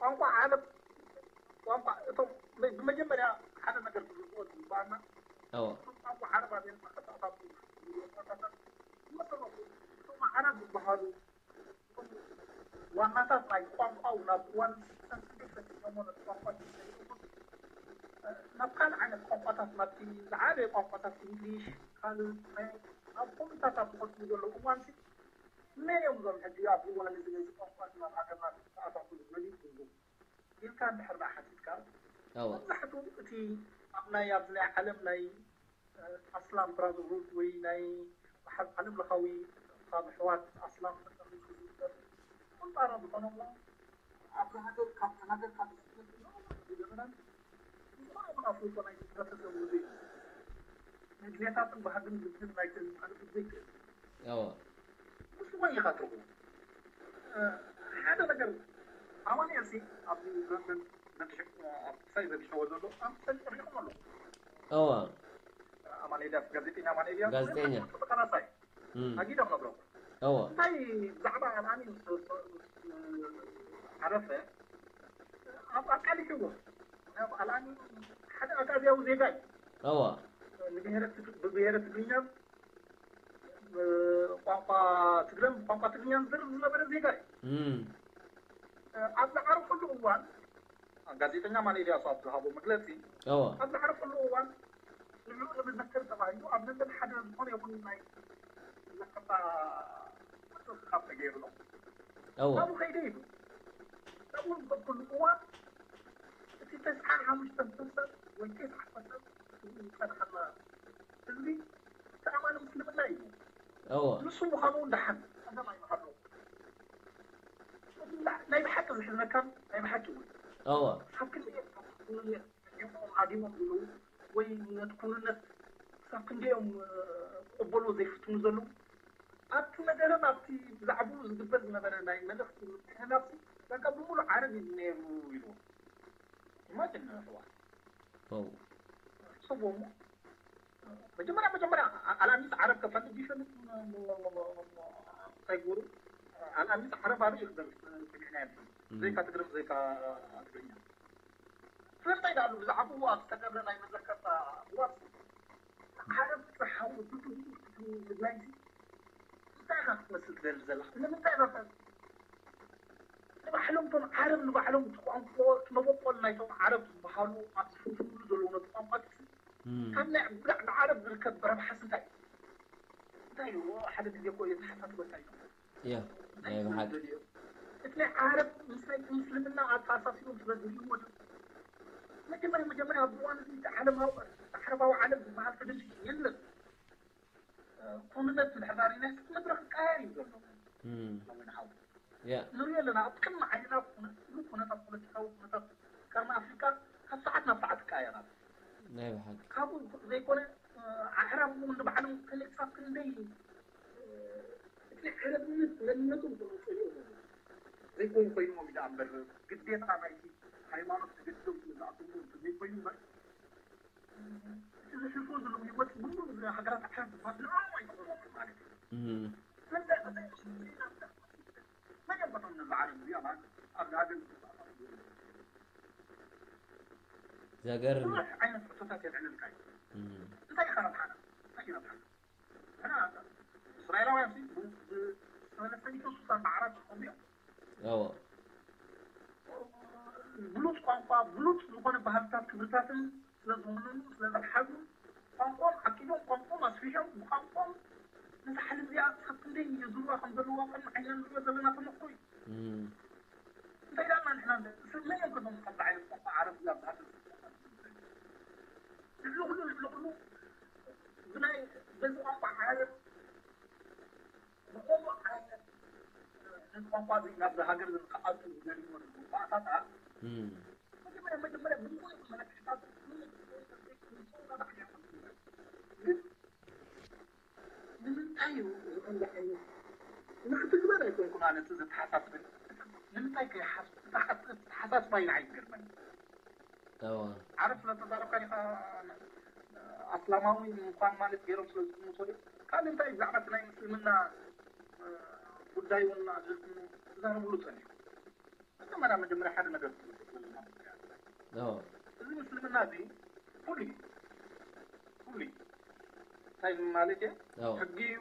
ቋንቋ ዓረብ፣ ቋንቋ እቶም ብመጀመርያ ሓደ ነገር ክርድኦ ዝግባኣና፣ እቶም ቋንቋ ዓረብ ኣበየን መቐጻዕታት ዝመሰረቱ፣ እቶም ዓረብ ዝበሃሉ ዋናታት ናይ ቋንቋ ናብ እዋን ስልሳን ክንደይ ፈቲኖሞ ነቲ ቋንቋ ዝሰይሩ፣ ናብ ካልእ ዓይነት ቋንቋታት፣ ናብቲ ዝዓበየ ቋንቋታት እንግሊሽ፣ ካልእ ናይ ኣብ ኮምፒታታት ዝኸድሉ ዘለዉ እዋንሲ፣ መን እዮም እዞም ሕጂ ኣብዚ እዋን እዚ ነዚ ቋንቋ እዚ ናብ ሃገርና ክተኣታትዉ ዝደልዩ ትብሉ? ኢልካ እንድሕር ደኣ ሓቲትካ፣ እወ። መብዛሕትኡ እቲ ኣብ ናይ፣ ኣብዚ ናይ ዓለም ናይ ኣስላም ብራዘርሁድ ወይ ናይ ዓለም ለኻዊ ካብ ኣሕዋት ኣስላም ተጠሪፉ ዝግበር ቁንጣሮ ዝኾነ እሞ ኣብዚ ሃገር ካብ ተናገር ካብ ዝስደድ ዝገበረን ዝኾነ ይኹን ኣፍልጦ ናይ ህብረተሰብ ውዙይ መድልየታትን ባህግን ግድን ናይ ተንጻልፍ ዘይክእል እወ። ንሱ ወይ ኢኻ ትርጉም ሓደ ነገር ኣማኑኤል ሲ ኣብዚ ዘመን ዘግሽ ኣብ ክሳይ ዘግሸዎ ዘሎ ኣብ ክሳይ ሪኹም ኣሎ እወ። ኣማኑኤል ጋዜጠኛ ኣማኑኤል ጋዜጠኛ። ተቃላሳይ እም። ኣጊዶም ነብሮ እወ። እንታይ ብዛዕባ ኣልኣሚን ዓረፈ ኣብ ኣቃሊሕዎ ኣብ ኣልኣሚን ሓደ ኣጋዝያዊ ዜጋ እዩ እወ። ንብሔረ ትግ- ብብሔረ ትግርኛ ቋንቋ ትግረን ቋንቋ ትግርኛን ዝርብ ዝነበረ ዜጋ እዩ። እም። ኣብ ዝዓረፈሉ እዋን ጋዜጠኛ ማን ኤልያስ ኣብ ዝሃቦ መግለፂ እወ። ኣብ ዝዓረፈሉ እዋን ንዕኡ ንምዘከር ተባሂሉ ኣብ ለንደን ሓደ ዝኾነ ይኹን ናይ መዘከርታ ቅርፂ ካብ ተገይሩ ነው። እወ። ካብኡ ከይደ ኢሉ ካብኡ ዝበኩሉ እዋን እቲ ተስዓ ሓሙሽተ ፐርሰንት ወይ ተስዓ ፐርሰንት ዝፀናሓና ህዝቢ ተኣማኒ ምስልምና እዩ። እወ። ንሱ ምዃኑ እውን ደሓን ጸገም ኣይምሃለዎ። ናይ ብሓቂ ዝሕዝነካን ናይ ብሓቂ እውን እወ። ካብ ክንደይ ሃዲሞም ዘለዉ ወይ ነቲ ኩንነት ክሳብ ክንደዮም ክቕበልዎ ዘይፍትኑ ዘለዉ ኣብቲ መደረን ኣብቲ ብዛዕባኡ ዝግበር ዝነበረ ናይ መልእኽቲ ምትሕልላፍ በቃ ብምሉእ ዓረብ እዩ ነይሩ ኢልዎ። ኢማጅን ሕዋ ዋው። ሕሰቦ እሞ መጀመርያ መጀመርያ ኣልኣሚስ ዓረብ ከፈልጥ ይፈልጥ እንታይ ገሩ ኣልኣሚስ ዓረብ ኣበይ እዩ ክደርስ ሰሚዕና የለን። ዘይካ ትግርም ዘይካ ትግርኛ ስለምንታይ ዳሉ ብዛዕባኡ ኣብ ዝተገብረ ናይ መዘከርታ እዋን ዓረብ ጥርሓዊ ብድኡ ምድላይ እንታይ ኢኻ ክትመስል ትደሊ ዘለኻ ንምንታይ ኢኻ ንባዕሎም እቶም ዓረብ ንባዕሎም እቲ ቋንቋ እቲ መበቆል ናይቶም ዓረብ ዝበሃሉ ኣብ ዝፍንፍንሉ ዘለዉ ነቲ ቋንቋ ካብ ናይ ብላዕ ንዓረብ ዝርከብ ረብሓስ እንታይ እዩ? እንታይ እዩ? ሓደ ግዜ እኮ የተሓሳስበካ እዩ። ያ ናይ ብሓቂ እቲ ናይ ዓረብ ምስ ናይ ምስልምና ኣተኣሳሲሮም ስለ ዝርእይዎ ድዩ? መጀመርያ መጀመርያ ኣብዚ እዋን እዚ እቲ ዓለማዊ ዓረባዊ ዓለም ዝበሃል ፍልልይ የለን። ኩንነት እንድሕር ዳሪና መድረኽ ክቀያየር እዩ ዘሎ። ሎሚ ንሓው ንሪኦ ኣለና ኣብ ቅድሚ ዓይንና ኩነታት ፖለቲካዊ ኩነታት ቀርኒ ኣፍሪካ ካብ ሰዓት ናብ ሰዓት ይቀያየር ኣሎ። ናይ ብሓቂ ካብኡ ዘይኮነ ኣዕራብ እውን ንባዕሎም ከመይ ክሳብ ክንደይ እቲ ናይ ዓረብነት መንነቶም ዝመፀ እዮም። ዘይኮኑ ኮይኖም እዩ ደኣ እምበር ግዴታ ናይቲ ሃይማኖት ተገዲዶም ስለ ዝኣተዉ ዘይኮይኑ እምበር እቲ ዝሕልፎ ዘለዉ ህይወት ብምሉእ እዚ ሃገራት ዓረብ ዝበሃል ንዕኦም ኣይጠቕሞምን ማለት እዩ። ስለዚ እዚ መን እዮም በቶም ነዚ ዓረብ እዚኣ ማለት ኣብዚ ሃገር ዘገርም ብዙሕ ዓይነት ሕቶታት የልዕለልካ እዩ። እንታይ ኢኻ ረብሓና? እንታይ እዩ ረብሓና? እስራኤላውያን ሰለስተ ሚእቲ ስሳን ኣርባዕተ ዝኾኑ እዮም። ብሉፅ ቋንቋ ብሉፅ ዝኾነ ባህልታት ክብርታትን ስለዝወነኑ ስለዝሓዙ ቋንቋኦም ዓቂቦም ቋንቋኦም ኣስፊሖም ብቋንቋኦም ነዛ ዓለም እዚኣ ክሳብ ክንደይ የዙርዋ ከም ዘለዋ ቅድሚ ዓይንና ንሪኦ ዘለና ተመክሮ እዩ። እንታይ ዳና ንሕና ስለ መን እዮም ከቶም ከምዚ ዓይነት ቋንቋ ዓረብ እዚኣ ብሃገር ልዕሊ ኩሉ ልዕሊ ኩሉ ብናይ በዚ ቋንቋ ዓረብ ዝኾኑ ዓይነት ነዚ ቋንቋ እዚ ናብዚ ሃገር እዚ ንክኣቱ ዝደልይዎ ባእታታት መጀመርያ መጀመርያ ብምሉእ መለክዕታት ግን ንምንታይ እዩ እዚ ከምዚ ዓይነት ንክትግበር ኣይኮንኩን ኣነ እቲ ዘተሓሳስብን። ንምንታይ ከይሓስብ? እቲ ሓሳስባይ ንዓይ ዝገርመኒ። እዎ ዓረብ ስለተዛረብካ ዲኻ ኣስላማዊ ምዃን ማለት ገይሮም ስለ ዝጥምቶ ድዩ? ካልእ እንታይ ብዛዕባ እቲ ናይ ምስልምና እ፣ ጉዳይ እውን ኣድልትኒ ትዛረብሉ ጸኒሑ። መጀመርያ መጀመርያ ሓደ ነገር እዎ እዚ ምስልምና እዚ ፍሉይ ፍሉይ እንታይ ማለት እየ እዎ ሕጊ እዩ፣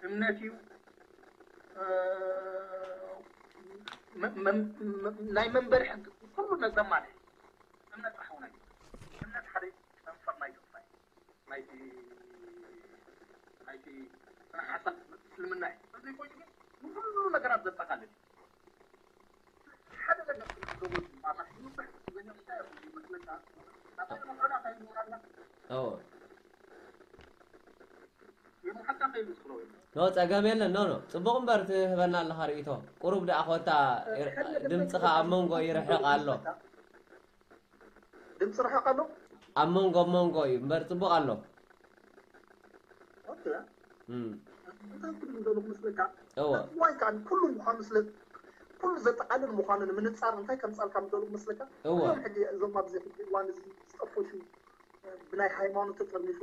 እምነት እዩ፣ እ፣ መ- መ- መ- ናይ መንበሪ ሕጊ ኩሉ ነዘማለ እምነት ጥራሕ እውን ኣይኮነን። እምነት ሓደ መንፈር ናይ ተስፋ እዩ። ናይቲ ናይቲ ስነ ሓሳብ እስልምና እዩ። ስለዚ ኮይኑ ግን ንኩሉ ነገራት ዘጠቃልል እዩ። ሓደ ነገር ክትገብሮ ማለት እዩ። እንታይ እዩ ዝመስለካ? ናባይ መቐዳ እንታይ ይኖራልና? እዎ የምሓካ ከይምስክሮ እዩ። ኖ ጸገም የለን። ኖ ኖ ጽቡቕ እምበር ትህበና ኣለኻ ርእይቶ። ቁሩብ ደኣ ኮታ ድምፅኻ ኣብ መንጎ ይርሕቕ ኣሎ። ድምፂ ርሕቕ ኣሎ። ኣብ መንጎ ኣብ መንጎ እዩ እምበር ጽቡቕ ኣሎ። ኦኬ። እም፣ እንታይ ክብል እንደሎ ክመስለካ? እወ። ዋይ ከኣ ኩሉ ምዃኑ ስለ ኩሉ ዘጠቃልል ምዃኑ ንምንጻር እንታይ ከምጻልካ ምደሎ ክመስለካ? እወ። እዞም ሕጂ እዞም ኣብዚ ሕጂ እዋን እዚ ዝጠፈሹ ብናይ ሃይማኖት ተጠርኒፉ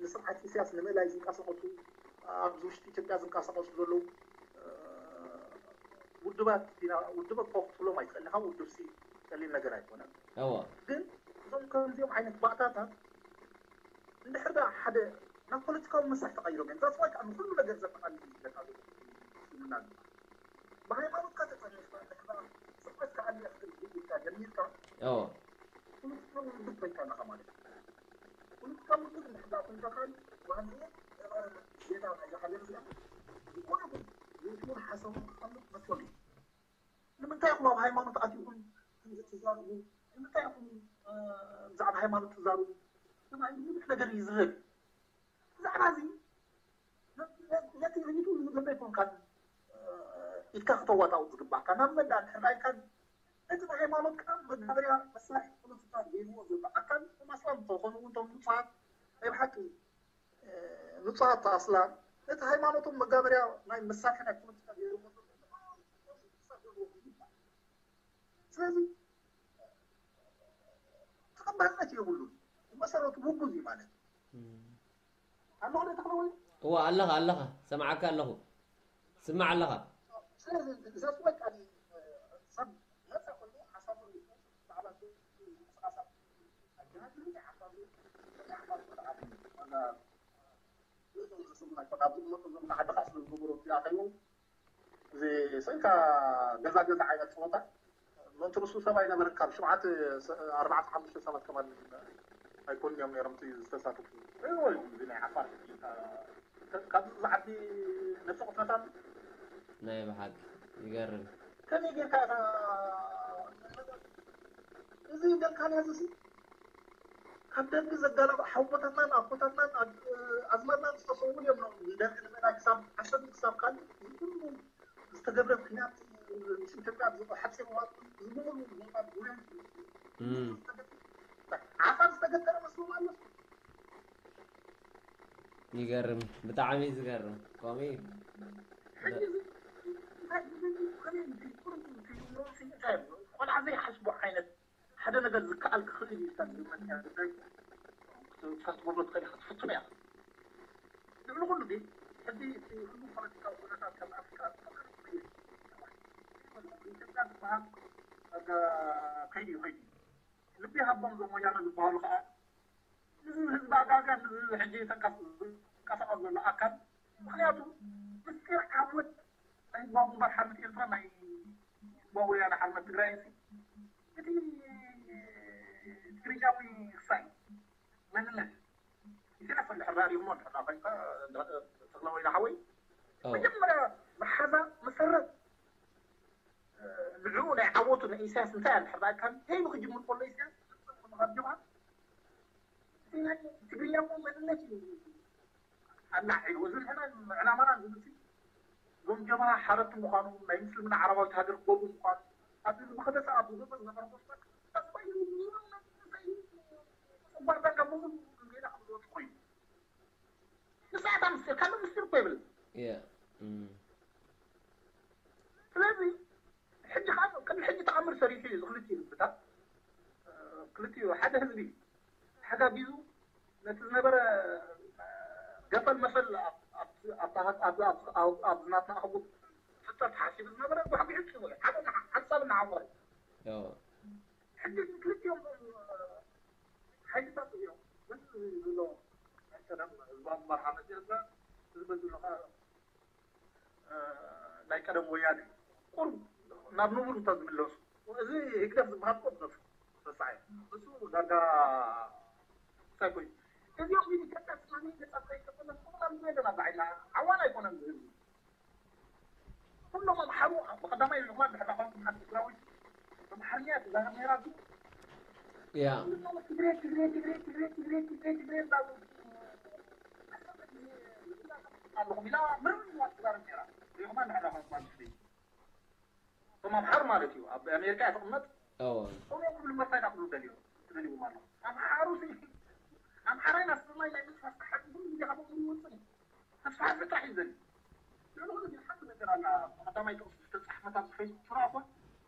ንስርዓት ኢሳያስ ንምእላይ ዝንቀሳቐሱ ኣብዚ ውሽጢ ኢትዮጵያ ዝንቀሳቐሱ ዘለዉ ውድባት ኢና ውድብ እኮ ክትብሎም ኣይትኽእልኻ ውድብ ሲ ቀሊል ነገር ኣይኮነን። እወ። ግን እዞም ከምዚኦም ዓይነት ባእታታት እንድሕር ዳ ሓደ ናብ ፖለቲካዊ መሳርሒ ተቐይሮም እዮም። ዛስ ዋይ ከዓ ንኩሉ ነገር ዘጠቓልል እዩ ዝብለካ ዘሎ እስልምና ድማ። ብሃይማኖትካ ተጠርኒፍካ እንድሕር ዳ ስርዓት ክኣልያ ክትብል ኢልካ ጀሚርካ እወ። ፖለቲካዊ ውድብ ኮይንካ ኣለኻ ማለት እዩ። ፖለቲካዊ ውድብ እንድሕር ዳ ኮይንካ ከኣ ዋንኡ ነባሪ ዜጋ ናይዛ ሃገር እዚኣ ዝኾነ ይኹን ርእይትኡን ሓሳቡን ክቐምጥ መሰሉ እዩ። ንምንታይ ኢኹም ኣብ ሃይማኖት ኣቲኹም ከምዚ ትዛረቡ? ንምንታይ ኢኹም እ፣ ብዛዕባ ሃይማኖት ትዛረቡ? ተባሂሉ ብዙሕ ነገር እዩ ዝህብ። ብዛዕባ እዚ ነ- ነ- ነቲ ርእይትኡ ዝገበ ኣይኮንካን እ፣ ኢድካ ክተዋጣው ዝግባእካ ናብ መዳ እንድሕር ዳ ኢልካ እቲ ናይ ሃይማኖት ከዓ መጋበርያ መሳርሒ ፖለቲካ ገይርዎ ዘሎ ኣካል እቶም ኣስላም እንተኾኑ እውን እቶም ንጹሃት ናይ ብሓቂ ንጹሃት ኣስላም ነቲ ሃይማኖቶም መጋበርያ ናይ መሳርሒ ናይ ፖለቲካ ገይርዎ ዘለዉ ስለዚ ተቐባልነት የብሉን። ብመሰረቱ ውጉዝ እዩ ማለት እዩ። ኣለኹ ዶ ተኽለወይኒ? እወ ኣለኻ ኣለኻ ሰምዓካ ኣለኹ። ስማዕ ኣለኻ። ስለዚ ዘስወቀኒ ሰብ ነፃ ኮይኑ ሓሳቡ ሪኢቶ ብዛዕባ ምንቅስቃሳት ኣገናዝብ ሓሳቡ እዚ ስእልካ ገዛ ገዛ ዓይነት ፀወታ ምእንቲ ንሱ ሰብ ኣይነበረን ካብ ሽውዓተ ኣርባዕተ ሓሙሽተ ሰባት ከማን ኣይኮኑን እዮም ነይሮም እቲ ዝተሳተፉ ሪእዎ እዮም እዚ ናይ ዓፋር ካብዚ ዝዓቢ ነብሲ ቅትለታት ናይ ብሓቂ ይገርም። ከመይ ጌርካ ኢኻ እዚ ደልካና እዚ ካብ ደርጊ ዘጋለቡ ሓወቦታትናን ኣቦታትናን ኣዝማድናን ዝተሰውኡ እዮም ደርጊ ንምእላይ ክሳብ ዓሰርተ ክሳብ ካልእ ዝኩሉ ዝተገብረ ኩናት ምስ ኢትዮጵያ ሓፂር እዋን ዝብሉ ዜጋ ጉዳይ ዓፋር ዝተገጠረ መስሎም ኣሎ። ይገርም ብጣዕሚ ዝገርም ከምኡ እዩ። ሕጂ እዚ እንታይ ዝብል ከመይ እንታይ ይብሎ እንታይ ይብሎ እንታይ ይብሎ ቆልዓ ዘይሓስቦ ዓይነት ሓደ ነገር ዝከኣል ክኽእል እዩ ኢልካ ዝግመት እያ ጉዳይ ክትገብሮ ትኽእል ኢኻ ትፍትን እያ። ልዕሊ ኩሉ ግን ሕዚ እቲ ኩሉ ፖለቲካዊ ኩነታት ካብ ኣፍሪካ ኢትዮጵያ ዝበሃል ከይዲ ከይዲ ልቢ ሃቦም ዞም ወያነ ዝበሃሉ ከዓ እዚ ህዝቢ ኣጋጋ እዚ ሕጂ ተንቀሳቐስ ዘሎ ኣካል ምክንያቱ ምስጢር ዓወት ናይ ህዝባዊ ግንባር ሓርነት ኤርትራ ናይ ህዝባዊ ወያነ ሓርነት ትግራይ እቲ ትግርኛዊ ክሳይ መንነት ኢሳያስ እንድሕር ዳሪኽሞ እንድሕር ኮይንካ ተኽለ ወይኒ ሓወይ መጀመርያ መሓዛ መሰረት ንዕኡ ናይ ዓወቱ ናይ ኢሳያስ እንታይ ኣለ ሕርዳእካ ከይኑ ክጅምር ከሎ ኢሳያስ ካብ ጀብሃ እቲ ናይ ትግርኛ እሞ መንነት እዩ ኣላዒሉ እዚ ንሕና ዕላማና ዝብል እዞም ጀብሃ ሓረቲ ምዃኑ ናይ ምስልምና ዓረባዊት ሃገር ክገብሩ ምዃኑ ኣብዚ ዝመኸተ ሰዓት ዝገበ ዝነበረ ፖስታ ተስፋ እዩ ጸባርታ ካብ ብዙ ጌና ከም ዝወጡ ኮይኑ ንስዓታ ምስጢር ካልእ ምስጢር እኮ የብልን Yeah. Mm. ሰሪሑ እዩ። እዚ ክልቲኡ ህዝብታት፣ እ፣ ክልቲኡ ሓደ ህዝቢ ተሓጋጊዙ ነቲ ዝነበረ፣ እ፣ ገፈል መፈል ኣብ፣ ኣብ፣ ኣብ፣ ኣብ፣ ኣብ፣ ኣብ፣ ኣብ ናትና ኣህጉር ፍጠር ተሓሲቡ ዝነበረ ጓሕጒሑ ጥሒዎ እዩ። ሓደ ንዓ-፣ ሓንሳብ ንዓወር። ሕጂ ክልቲኦም ሓይልታት እዮም። ግን ዘሎ ናይ ቀደም ህዝባዊ ግንባር ሓርነት ኤርትራ፣ እዚ በዚ ዘሎ ኸኣ፣ እ፣ ናይ ቀደም ወያነ ቁሩብ ናብ ንቡር እንተ ዝምለሱ፣ እዚ ህግደፍ ዝበሃል እኮ ዝነሱ ረሳዕ እዩ። እሱ ዳርጋ እንታይ ኮይኑ፣ እዚኦም ግን ኢትዮጵያ ስላም ገጻት ከይከፈለ፣ ስላም ዘለና ብዓይና ዓዋን ኣይኮነን ዝህብ። ኩሎም ኣምሓሩ ብቐዳማይ ልኽማ ድሕሪ ቋንቋ ትግራዊ ኣምሓርኛ ትዛረብ ነይራ። ያ ትግሬ ትግሬ ትግሬ ትግሬ ትግሬ ትግሬ ትግሬ እንዳሉ ኣለኹም ኢላ ምንም ትዛረብ ነይራ። ሪኹማ ድሕሪ ቋንቋ ትግሬ እቶም ኣምሓሩ ማለት እዩ። ኣብ ኣሜሪካ እያ ትቕመጥ። እዎ እቶም ክብሉ መርታይ ክብሉ ደልዩ ደልዎም ኣሎ። ኣምሓሩ ኣምሓራይ ናስናይ ናይ ምስፋስ ሓቂ ኩሉ ግዜ ካብኦም ይወፅእ እዩ። ተስፋ ጥራሕ እዩ ዘድሊ። ልዕሊ ኩሉ ግን ሓንቲ ነገር ኣላ። ቀዳማይ ጥቕሲ ዝተጻሕፈት ኣብዚ ፌስቡክ ትረኣ እኳ፣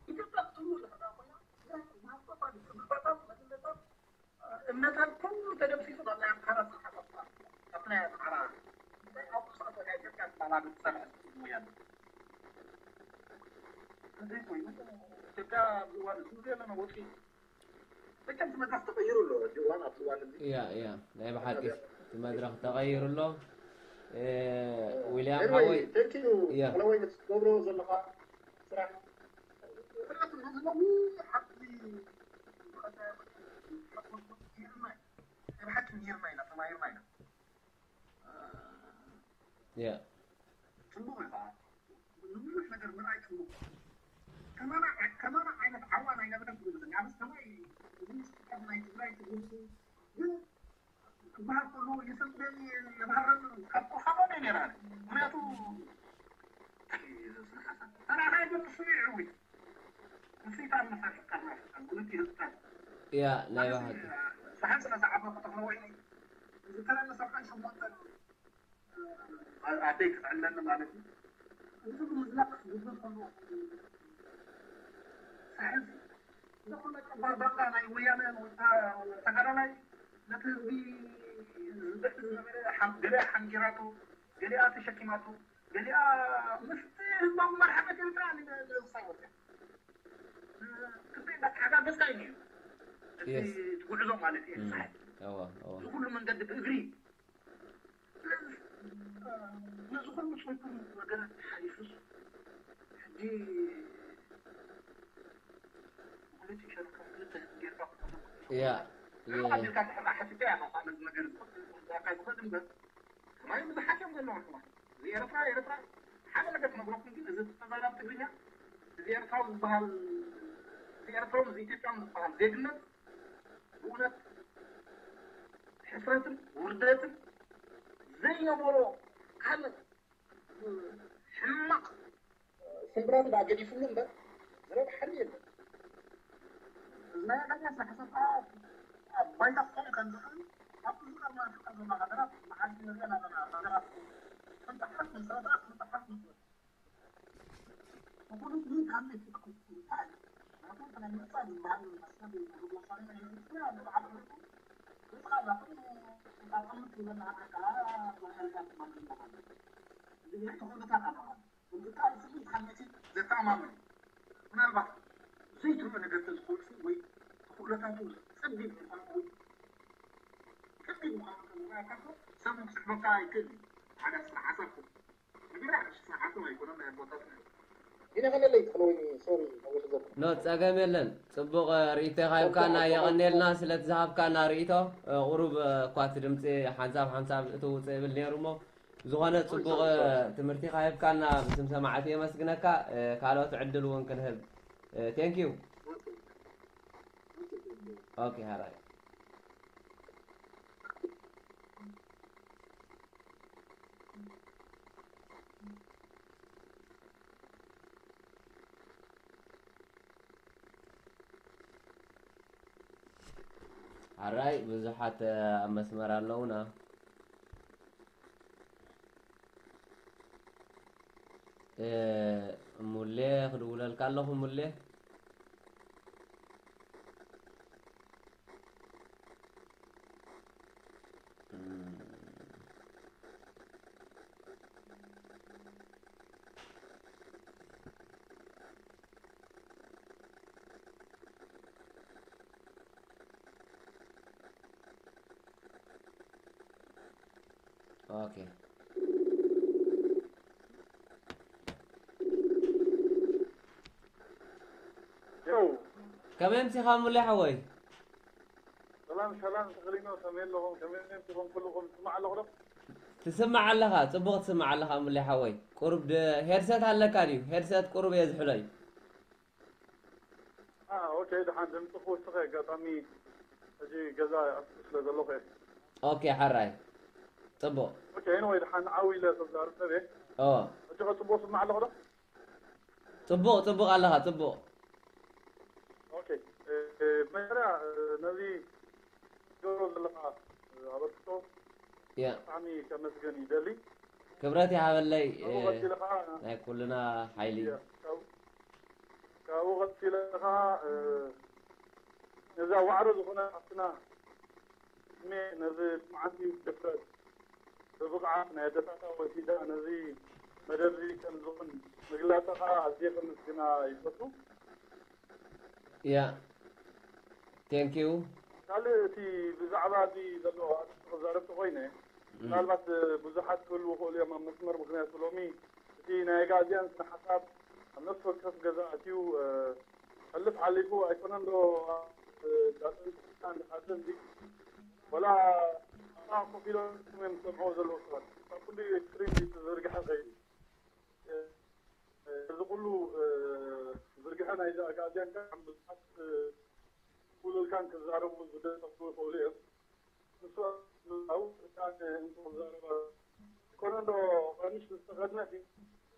ኢትዮጵያ ክትህሉ ዝኽእላ ኮይና፣ ግን ብሃፍቶታ፣ ብትምህርታታ፣ ብመንነታ፣ እምነታን ኩሉ ተደምሲሱ ናብ ናይ ኣምሓራ ዝሓፈፍካ፣ ኣብቲ ናይ ኣምሓራ፣ እንታይ ኣብ ውሽጢ ኣፍሪቃ ኢትዮጵያ ዝበሃላ ክትሰርሕ ትኽእል ወያነ። እንተዘይኮይኑ፣ ኢትዮጵያ ኣብዚ እዋን እዚ ዘለና ወጥሪ መቸም እቲ መድረኽ ተቐይሩ ኣሎ። ሕጂ እዋን ኣብዚ እዋን እዚ ያ ያ ናይ ብሓቂ እቲ መድረኽ ተቐይሩ ኣሎ። እ፣ ዊልያም ኤርማይ ሓወይ thank you ያ ሓወይ ነቲ ትገብሮ ዘለኻ ስራሕ። ምኽንያቱ ነዚ ነዊሕ ሓቂ ናይ ብሓቂ ምሂርና ኢና፣ ተማሂርና ኢና። ያ ጽቡቕ እዩ ከዓ። ንብዙሕ ነገር ምርኣይ ጽቡቕ እዩ። ከማና፣ ከማና ዓይነት ዓዋን ኣይነበረን ክብል እየ። ኣነስ ከማይ እዚ ምስጢር ናይ ትግራይ ትግርሲ ግን ክበሃል ከሎ የሰንብደኒ፣ የባህረኒ፣ ካብ ቆፋኖ እየ ነይረ። ምኽንያቱ ተራኻይ ግን ንሱ እዩ ይዕውት። ንሱ እዩ ታን መሳርሒ ቀርና ክልቲኡ ህዝብታት። ያ ናይ ብሓቂ ሰሓን ስለ ዝዓበኹ ተኽለወይኒ፣ እዚ ተረኒ ሰብዓን ሸሞንተን ኣደይ ክትዕለኒ ማለት እዩ። እዚ ኩሉ ምዝላቕ ክስጉግል ከሎ፣ ሳሕዚ፣ እዚ ኩሉ ነቀባር ባንዳ ናይ ወያነ ተጋዳላይ፣ ነቲ ህዝቢ ዝብሕት ዝነበረ፣ ሓን-፣ ገሊኣ ሓንጊራቶ፣ ገሊኣ ተሸኪማቶ፣ ገሊኣ ምስቲ ህዝባዊ መርሓ መጀመርታ ንሳይ ወፅያ። ክልተ እንዳተሓጋገዝካ እዩ ነይሩ። እቲ Yes። እቲ ጉዕዞ ማለት እዩ። ሳሕዚ። እዎ እዎ እዚ ኩሉ መንገዲ ብእግሪ። ስለዚ፣ ነዚ ኩሉ ጽንኩር ነገራት ሓሊፉስ፣ ሕጂ ክልተ ሸርካ ክልተ ህዝቢ ጌርካ ክትከውን ያ ርሑቕ ኣቢልካ እንድሕር ደኣ ሓሲብካ እያ፣ ነዚ ነገር እዚ ክዛካ ዝኽእል እምበር፣ ከማይ ብዙሓት እዮም ዘለዉ ኣሕዋት። እዚ ኤርትራ፣ ኤርትራ፣ ሓደ ነገር ክነግረኩም ግን፣ እዚ ተዛራቢ ትግርኛ፣ እዚ ኤርትራዊ ዝበሃል፣ እዚ ኤርትራዊ፣ እዚ ኢትዮጵያዊ ዝበሃል ዜግነት፣ ብእውነት ሕፍረትን ውርደትን ዘይነበሮ ካልእ ሕማቕ ስምብራት ደኣ ገዲፍሉ እምበር ዝረብሓሉ የለን። እዚ ናይ ኣዳልያ ስራሕ ሰብኣ ኣብ ባይታ ክኾኑ ከም ዝኽእል ኣብቲ ዝቐርና ፍቃድ ዘለና ሃገራት መዓልቲ ንሪኦ ኣለና። ሃገራት ክንጠሓስ፣ ንሰበታት ክንጠሓስ ንኽእል። ብኹሉ ግን ካብ ናይ ፍትሒ እንታይ? ናቱ እቲ ናይ ምርጫ ዝበሃል መሰል ሪቮሉሽናሪ ናይ ህዝቢ ትግራይ ኣብ ልዕሊ ዓቕሚ ንስኻ ዛኹም ተቐምጥ ዝበልና ኣካላት መሰልታት ማለት እዩ። እዚ ናይ ተኾነታት ኣለዋ። እዚ ቃል ስሙ ሓንቲ ዘተኣማምን ምናልባት ዘይትርኡ ነገር ተዝኾንሲ ወይ ተኽእሎታቱ ጸቢብ ምዃኑ ወይ ጸቢብ ምዃኑ ተዝረኣካ እኮ ሰብ ክስሕበካ ኣይክእልን እዩ። ሓደ ስነ ሓሳብ ንገለ ሓድሽ ስነ ሓሳብ ኣይኮነን ናይ ኣቦታትና እዩ። ግን የቐለለይ ትኽእሎ ወይ ሶሪ ነዊሕ ዘብኩ። ኖ ጸገም የለን። ጽቡቕ እ፣ ርእይቶ ሃብካና የቐኔልና ስለቲ ዝሃብካና ርእይቶ እ፣ ቁሩብ እ፣ እኳ እቲ ድምጺ ሓንሳብ ሓንሳብ እትውጽእ ይብል ነይሩ እሞ ዝኾነ ጽቡቕ እ፣ ትምህርቲ ካሂብካና ብስም ሰማዕቲ የመስግነካ እ፣ ካልኦት ዕድል እውን ክንህብ እ፣ thank you okay ሃራይ ሓራይ ብዙሓት ኣብ መስመር ኣለውና። ሙሌ ክድውለልካ ኣለኹ። ሙሌ ኦኬ። ዮው ከመይ ኣምሲኻ ሙሌ ሓወይ? ሰላም ሰላም፣ ተኽሊኖ ከመይ ኣለኹም? ከመይ ኣምሲኹም? ኩልኹም ትስማዕ ኣለኹ ዶ? ትስማዕ ኣለኻ፣ ጽቡቕ ትስማዕ ኣለኻ ሙሌ ሓወይ። ቁሩብ ድ-፣ ሄድሰት ኣለካ ድዩ? ሄድሰት ቁሩብ የዝሕሎ እዩ። ኦኬ፣ ደሓን ድምፂ ክውስኸ ኣጋጣሚ ሕጂ ገዛ ይኣቱ ስለ ዘለኹ እየ። ኦኬ፣ ሓራይ። ጽቡቕ። ኦኬ፣ ኤኒወይ ደሓን ዓው ኢለ ተዛርብ ሰብ እየ። ኦ፣ ሕጂ ከ ጽቡቕ ስማዕ ኣለኹ ዶ? ጽቡቕ፣ ጽቡቕ ኣለኻ፣ ጽቡቕ። ኦኬ፣ እ፣ እ፣ መጀመርያ፣ እ፣ ነዚ ገብሮ ዘለኻ፣ እ፣ ኣበርክቶ ያ፣ ብጣዕሚ ከመስገን ይደሊ። ክብረት ይሃበለይ፣ እ፣ ካብኡ ቀፂለ ኸዓ፣ ናይ ኩልና ሓይሊ። ያ፣ ካብ-፣ ካብኡ ቀፂለ ኸዓ፣ እ፣ ነዛ ዋዕሮ ዝኾነ ኣብትና እድሜ ነዚ መዓልቲ ድፍረት ብብቕዓት ናይ ኣደታታ ወሲዳ ነዚ መደብ እዚ ከም ዝኾን ምግላፃ ኸዓ ኣዝየ ከመስግና ይፈቱ። ያ፣ ቴንክ ዩ። ካልእ እቲ ብዛዕባ እዚ ዘሎ ኣርእስቲ ክዛረብ ተኾይነ፣ ምናልባት ብዙሓት ክህልዉ ይኽእሉ እዮም ኣብ መስመር፣ ምኽንያቱ ሎሚ እቲ ናይ ኣጋዝያን ስነ ሓሳብ ኣብ ነፍሲ ወከፍ ገዛ ኣትዩ፣ እ፣ ሕልፍ ሓሊፉ ኣይኮነን ዶ፣ እ፣ ዳጥን ሓዘን ዚ-፣ ወላ ኣብኣ ኮፍ ኢሎም እዮም ዝሰምዕዎ ዘለዉ ሰባት። ካብ ኩሉ ኤክስትሪም ዝተዘርግሐ ከይዱ። እ፣ እዚ ኩሉ፣ እ፣ ዝርግሐ ናይዚ ኣጋዝያን ከዓ ብዙሓት፣ እ፣ ክውልልካን ክዛረቡ ዝደሰቱ ይኽእሉ እዮም። ንሱ ኣብኡ እታ እንተዛረባ ኮነ ዶ ቀሚሽ ዝተኸድነት እዩ።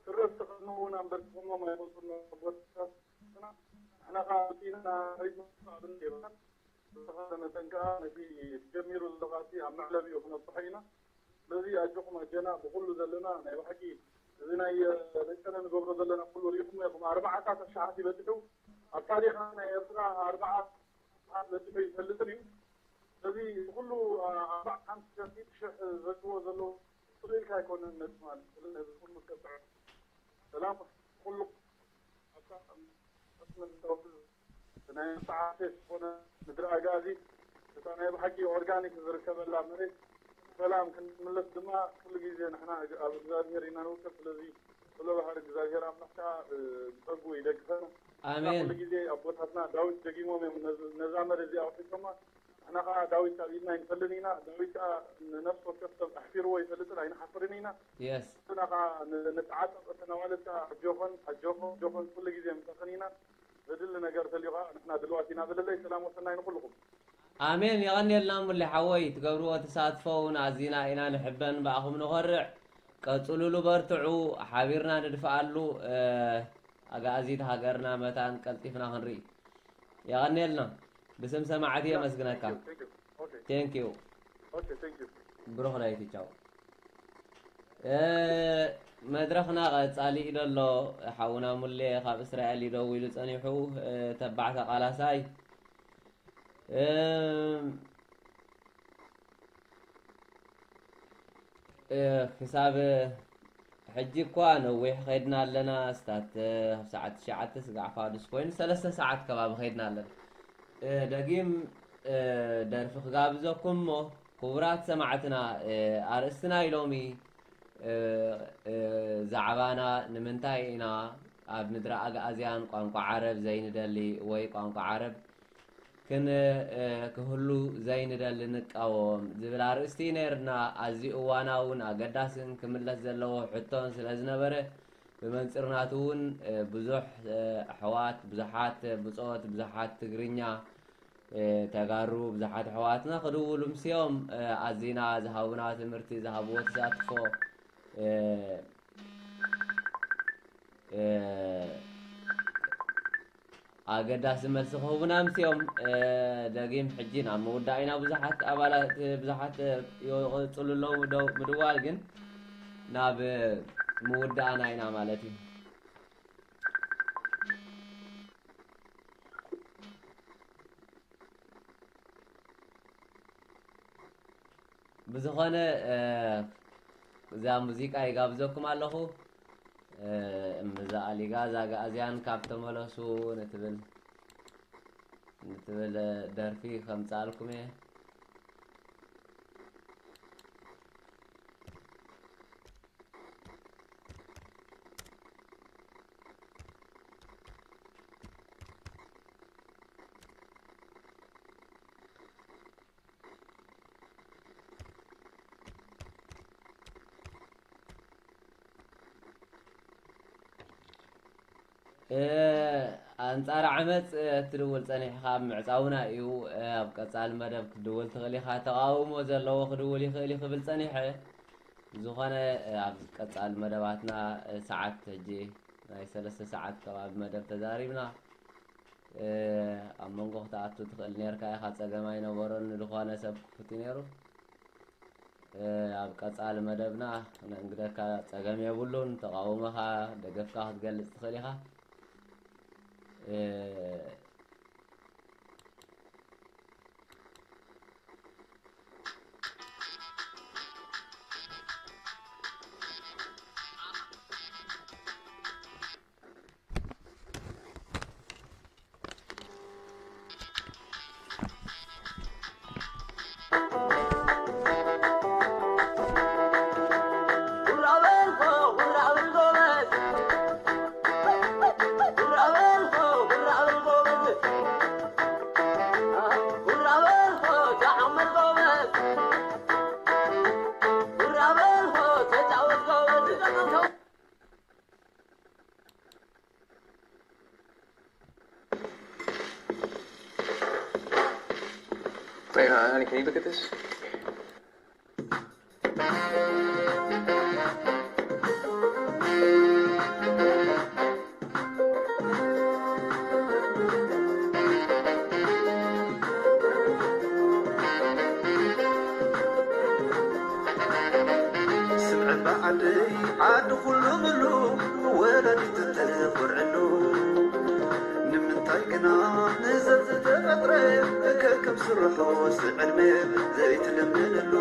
ስረ ዝተኸድኑ እውን ኣንበርኪኾሞም ኣይፈልጡን ነቦታትና። ንሕና ከዓ ኣውፂእና ሪት ምፍፃም የብልናን። ብዝተኻለ መጠን ከዓ ነቲ ጀሚሩ ዘሎ ቃልሲ ኣብ መዕለቢኡ ክነብፅሖ ኢና። ስለዚ ኣጆኹም ኣጀና ብኩሉ ዘለና ናይ ብሓቂ እዚ ናይ ለቀነ ንገብሮ ዘለና ኩሉ ሪኢኹም ኢኹም። ኣርባዓታት ኣሽሓት ይበፅሑ ኣብ ታሪኽና ናይ ኤርትራ ኣርባዓ ኣሽሓት በፂሑ ይፈልጥን እዩ። ስለዚ ኩሉ ኣርባዓ ሓምሳ ሽሕ ዘግቦ ዘሎ ስቕ ኢልካ ኣይኮነን ነቲ ማለት ስለዚ ነዚ ኩሉ ከብዕ ሰላም ኩሉ ኣብታ መስመር ዝተወስድ ናይ መተዓሰ ዝኾነ ምድሪ ኣጋዚ እታ ናይ ብሓቂ ኦርጋኒክ ዝርከበላ መሬት ሰላም ክንምለስ ድማ ኩሉ ግዜ ንሕና ኣብ እግዚኣብሔር ኢና ንውከል። ስለዚ ኩሎ ባሕሪ እግዚኣብሔር ኣምላኽ ከዓ ብጸጉ ይደግፈና። ኣሜን። ኩሉ ግዜ ኣቦታትና ዳዊት ደጊሞም እዮም ነዚ- ነዛ መሬት እዚኣ ኣውሒሶማ። ንሕና ከዓ ዳዊት ኣብ ኢድና ኣይንፈልጥን ኢና። ዳዊት ከዓ ንነፍሲ ወከፍ ሰብ ኣሕፊርዎ ይፈልጥን ኣይንሓፍርን ኢና። የስ። ንሕና ከዓ ን- ንተዓጠቕ እተን ኣዋልድ ከዓ ኣጆኸን ኣጆኹም ኣጆኸን ኩሉ ግዜ ምሳኽን ኢና። ዘድሊ ነገር ተልዩ ከዓ ንሕና ድልዋት ኢና። ዘለለይ ሰላም ወሰናይ ንኩልኹም። ኣሜን። የቐንየልና ሙሌ ሓወይ፣ ትገብርዎ ተሳትፎ እውን ኣዚና ኢና ንሕበን፣ ብኣኹም ንኾርዕ። ቀጽሉሉ፣ በርትዑ፣ ሓቢርና ንድፍኣሉ። ኣጋኣዚት ሃገርና መታን ቀልጢፍና ክንርኢ። የቐንየልና። ብስም ሰማዕቲ የመስግነካ። Thank you. Okay. ቴንክ ዩ። Okay, thank you. ብሩኽ ለይቲ፣ ቻው። መድረኽና ቀጻሊ እዩ ዘሎ። ሓውና ሙሌ ካብ እስራኤል እዩ ደዊሉ ጸኒሑ። ተባዕታ ቃላሳይ። ክሳብ ሕጂ እኳ ነዊሕ ኸይድና ኣለና። ስታት ኣብ ሰዓት ትሽዓተ ስጋዕ ፋዱስ ኮይኑ ሰለስተ ሰዓት ከባቢ ኸይድና ኣለና። ደጊም ደርፊ ክጋብዘኩም እሞ፣ ክቡራት ሰማዕትና፣ ኣርእስቲ ናይ ሎሚ ዛዕባና፣ ንምንታይ ኢና ኣብ ምድሪ ኣግኣዝያን ቋንቋ ዓረብ ዘይንደሊ ወይ ቋንቋ ዓረብ ክን ክህሉ ዘይንደሊ ንቃወም ዝብል ኣርእስቲ ነይርና። ኣዝዩ እዋናውን ኣገዳስን ክምለስ ዘለዎ ሕቶን ስለ ዝነበረ፣ ብመንጽር ናቱ እውን ብዙሕ ኣሕዋት፣ ብዙሓት ብጾት፣ ብዙሓት ትግርኛ ተጋሩ፣ ብዙሓት ኣሕዋትና ክድውሉ ምስኦም ኣዚና ዝሃቡና ትምህርቲ፣ ዝሃብዎ ተሳትፎ ኣገዳሲ መልሲ ክህቡና ምስኦም። ደጊም ሕጂ ናብ ምውዳእ ኢና። ብዙሓት ኣባላት ብዙሓት ይቕፅሉ ኣለዉ ምደው- ምድዋል፣ ግን ናብ ምውዳእና ኢና ማለት እዩ። ብዝኾነ እዛ ሙዚቃ ይጋብዘኩም ኣለኹ። እምብዛ ኣሊጋ እዛ ኣግኣዝያን ካብ ተመለሱ ንትብል ንትብል ደርፊ ከምጻልኩም እየ። ኣንጻር ዓመጽ እትድውል ጸኒሕኻ ምዕጻውና እዩ። ኣብ ቀጻሊ መደብ ክትድውል ትኽእል ኢኻ። ተቓውሞ ዘለዎ ክድውል ይኽእል እዩ ክብል ጸኒሐ። ዝኾነ ኣብ ቀጻሊ መደባትና ሰዓት ሕጂ ናይ ሰለስተ ሰዓት ከባቢ መደብ ተዛሪብና። ኣብ መንጎ ክትኣቱ ትኽእል ኔርካ ኢኻ፣ ጸገም ኣይነበሮን፣ ንድኾነ ሰብ ክፉት እዩ ነይሩ። ኣብ ቀጻሊ መደብና ክነእንግደካ ጸገም የብሉን። ተቓውሞኻ፣ ደገፍካ ክትገልጽ ትኽእል ኢኻ። Wait, uh, honey, can you look at this? ዓዲ ዓዲ ኩሉ ምሉ ወላዲት ትኮርዕሉ ንምንታይ ግና ንዘብ ዝተፈጥረ ከከም ስርሖ ስዕድመ ዘይትልምንሉ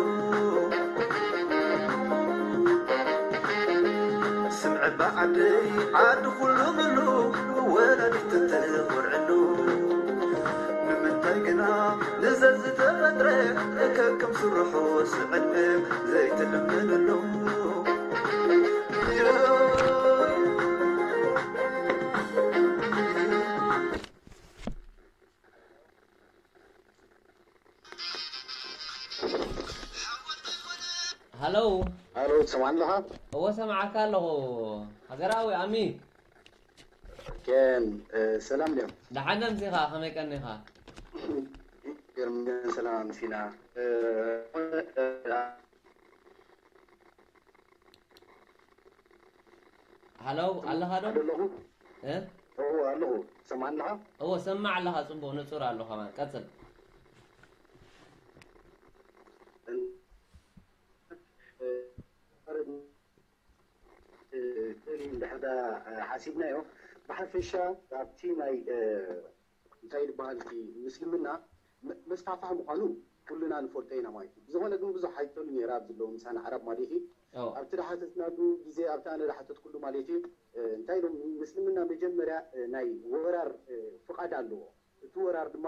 ስምዐ ባዓደይ ዓዲ ኩሉ ምሉ ወላዲት ትኮርዕሉ ንምንታይ ግና ንዘብ ዝተፈጥረ ከከም ስርሖ ስዕድመ ዘይትልምንሉ ሃሎ። ሃሎ፣ ትሰምዓኒ ኣለኻ? እወ፣ ሰምዓካ ኣለኹ። ሃገራዊ ኣሚ። ኬን፣ እ፣ ሰላም ድዮም? ደሓን ኣምሲኻ፣ ከመይ ቀኒኻ? ገርም ሰላም ኣምሲና። እ፣ እ፣ ሃሎ፣ ኣለኻ ዶ? ኣለኹ። እ? እወ፣ ኣለኹ። ትሰምዓኒ ኣለኻ? እወ፣ ሰማዕ ኣለኻ፣ ጽቡቕ ንጹር ኣሎ ከማን። ቀጽል። እ፣ እ፣ እንድሕር ደኣ ሓሲብናዮ፣ ብሓፈሻ ኣብቲ ናይ፣ እ፣ እንታይ ዝበሃል እቲ ምስልምና መ-፣ መስፋሕፋሒ ምዃኑ ኩልና ንፈልጦ ኢና ማለት እዩ። ብዝኾነ ግን ብዙሕ ኣይትህሉ ነይራ ኣብዚ ዘለዉ ምሳና ዓረብ ማለት እዩ። ኣዎ። ኣብቲ ዝሓተትናሉ ግዜ፣ ኣብቲ ኣነ ዝሓተትኩሉ ማለት እዩ፣ እ፣ እንታይ ኢሎም፣ ምስልምና መጀመርያ፣ እ፣ ናይ ወራር፣ እ፣ ፍቓድ ኣለዎ። እቲ ወራር ድማ፣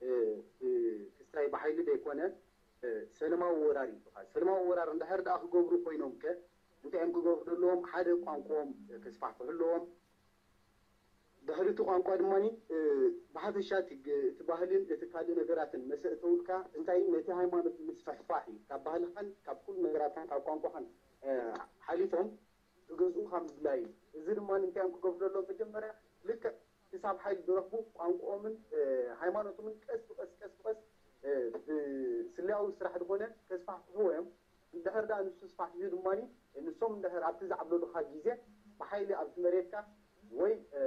እ፣ እ፣ ክስታይ ብሓይሊ ዘይኮነ፣ እ፣ ሰለማዊ ወራር ይበሃል። ሰለማዊ ወራር እንድሕር ደኣ ክገብሩ ኮይኖም ከ፣ እንታይ እዮም ክገብሩ ዘለዎም? ሓደ ቋንቋኦም ከስፋሕፍሑ ኣለዎም። ድሕሪ እቲ ቋንቋ ድማ፣ እ፣ ብሓፈሻ እቲ ግ-፣ እቲ ባህልን እቲ ካልእ ነገራትን መሰ እተውልካ፣ እንታይ ነቲ ሃይማኖት ምስፍሕፋሕ እዩ። ካብ ባህልኻን ካብ ኩሉ ነገራትካን ካብ ቋንቋኻን፣ እ፣ ሓሊፎም ክገዝኡኻ ምድላይ እዩ። እዚ ድማ እንታይ እዮም ክገብሩ ዘለዎም? መጀመርያ ልክዕ ክሳብ ሓይሊ ዝረኽቡ ቋንቋኦምን፣ እ፣ ሃይማኖቶምን ቀስ ብቐስ፣ ቀስ ብቐስ፣ እ፣ ብስለያዊ ስራሕ ዝኾነ ከስፋሕፍሕዎ እዮም። እንድሕር ደኣ ንሱ ስፋሕፊሑ ድማ ንሶም እንድሕር ኣብቲ ዝዓብለሉኻ ግዜ ብሓይሊ ኣብቲ መሬትካ ወይ፣ እ፣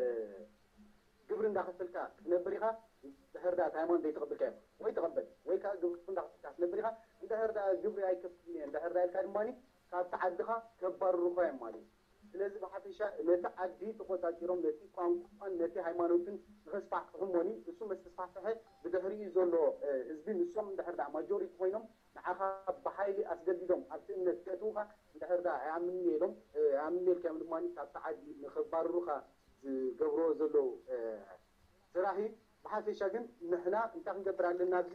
ግብሪ እንዳኸፈልካ ክትነብር ኢኻ፣ እንድሕር ደኣ እቲ ሃይማኖት ዘይተቐበልካዮ ወይ ተቐበል፣ ወይ ከኣ ግብሪ እንዳኸፈልካ ክትነብር ኢኻ፣ እንድሕር ደኣ ግብሪ ኣይከፍልን እየ እንድሕር ደኣ ኢልካ ድማ ካብቲ ዓድኻ ከባርሩኻ እዮም ማለት እዩ። ስለዚ ብሓፈሻ ነቲ ዓዲ ተቖጻጺሮም ነቲ ቋንቋን ነቲ ሃይማኖትን ንኸስፋሕፍሑ እሞኒ፣ እሱ ምስ ተስፋሕፍሐ ብድሕሪኡ ዘሎ፣ እ፣ ህዝቢ ንሶም እንድሕር ደኣ ማጆሪቲ ኮይኖም ንዓኻ ብሓይሊ ኣሩኻ ዝገብርዎ ዘለዉ ስራሕ እዩ። ብሓፈሻ ግን ንሕና እንታይ ክንገብር ኣለና? ኣብዚ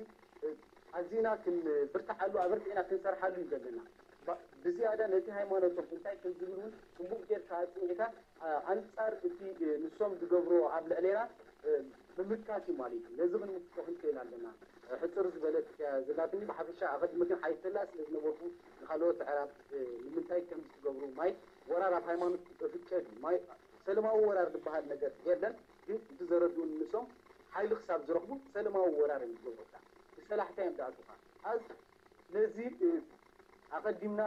ኣዚና ክንብርትዓሉ፣ ኣበርቲዕና ክንሰርሓሉ እዩ ዘለና። ብዝያዳ ነቲ ሃይማኖቶም እንታይ ከም ዝብል እውን ጽቡቕ ጌርካ ኣጽኒዕካ ኣንጻር እቲ ንሶም ዝገብርዎ ኣብ ልዕሌና ምምካት እዩ ማለት እዩ። ነዚ ክንምክቶ ክንክእል ኣለና። ሕጽር ዝበለት እያ ዘላትኒ። ብሓፈሻ ኣቐዲመ ግን ሓይተላ ስለ ዝነበርኩ ንኻልኦት ኣዕራብ ንምንታይ ከም ዝትገብሩ ማይ ወራር ኣብ ሃይማኖት እፍቀድ እዩ። ማይ ሰለማዊ ወራር ዝበሃል ነገር የለን። ግን እቲ ዘረድኡኒ ንሶም ሓይሊ ክሳብ ዝረኽቡ ሰለማዊ ወራር እዮም ዝገብሩካ። ብሰላሕታ እዮም ዝኣትዉኻ። ኣዝ ነዚ ኣቐዲምና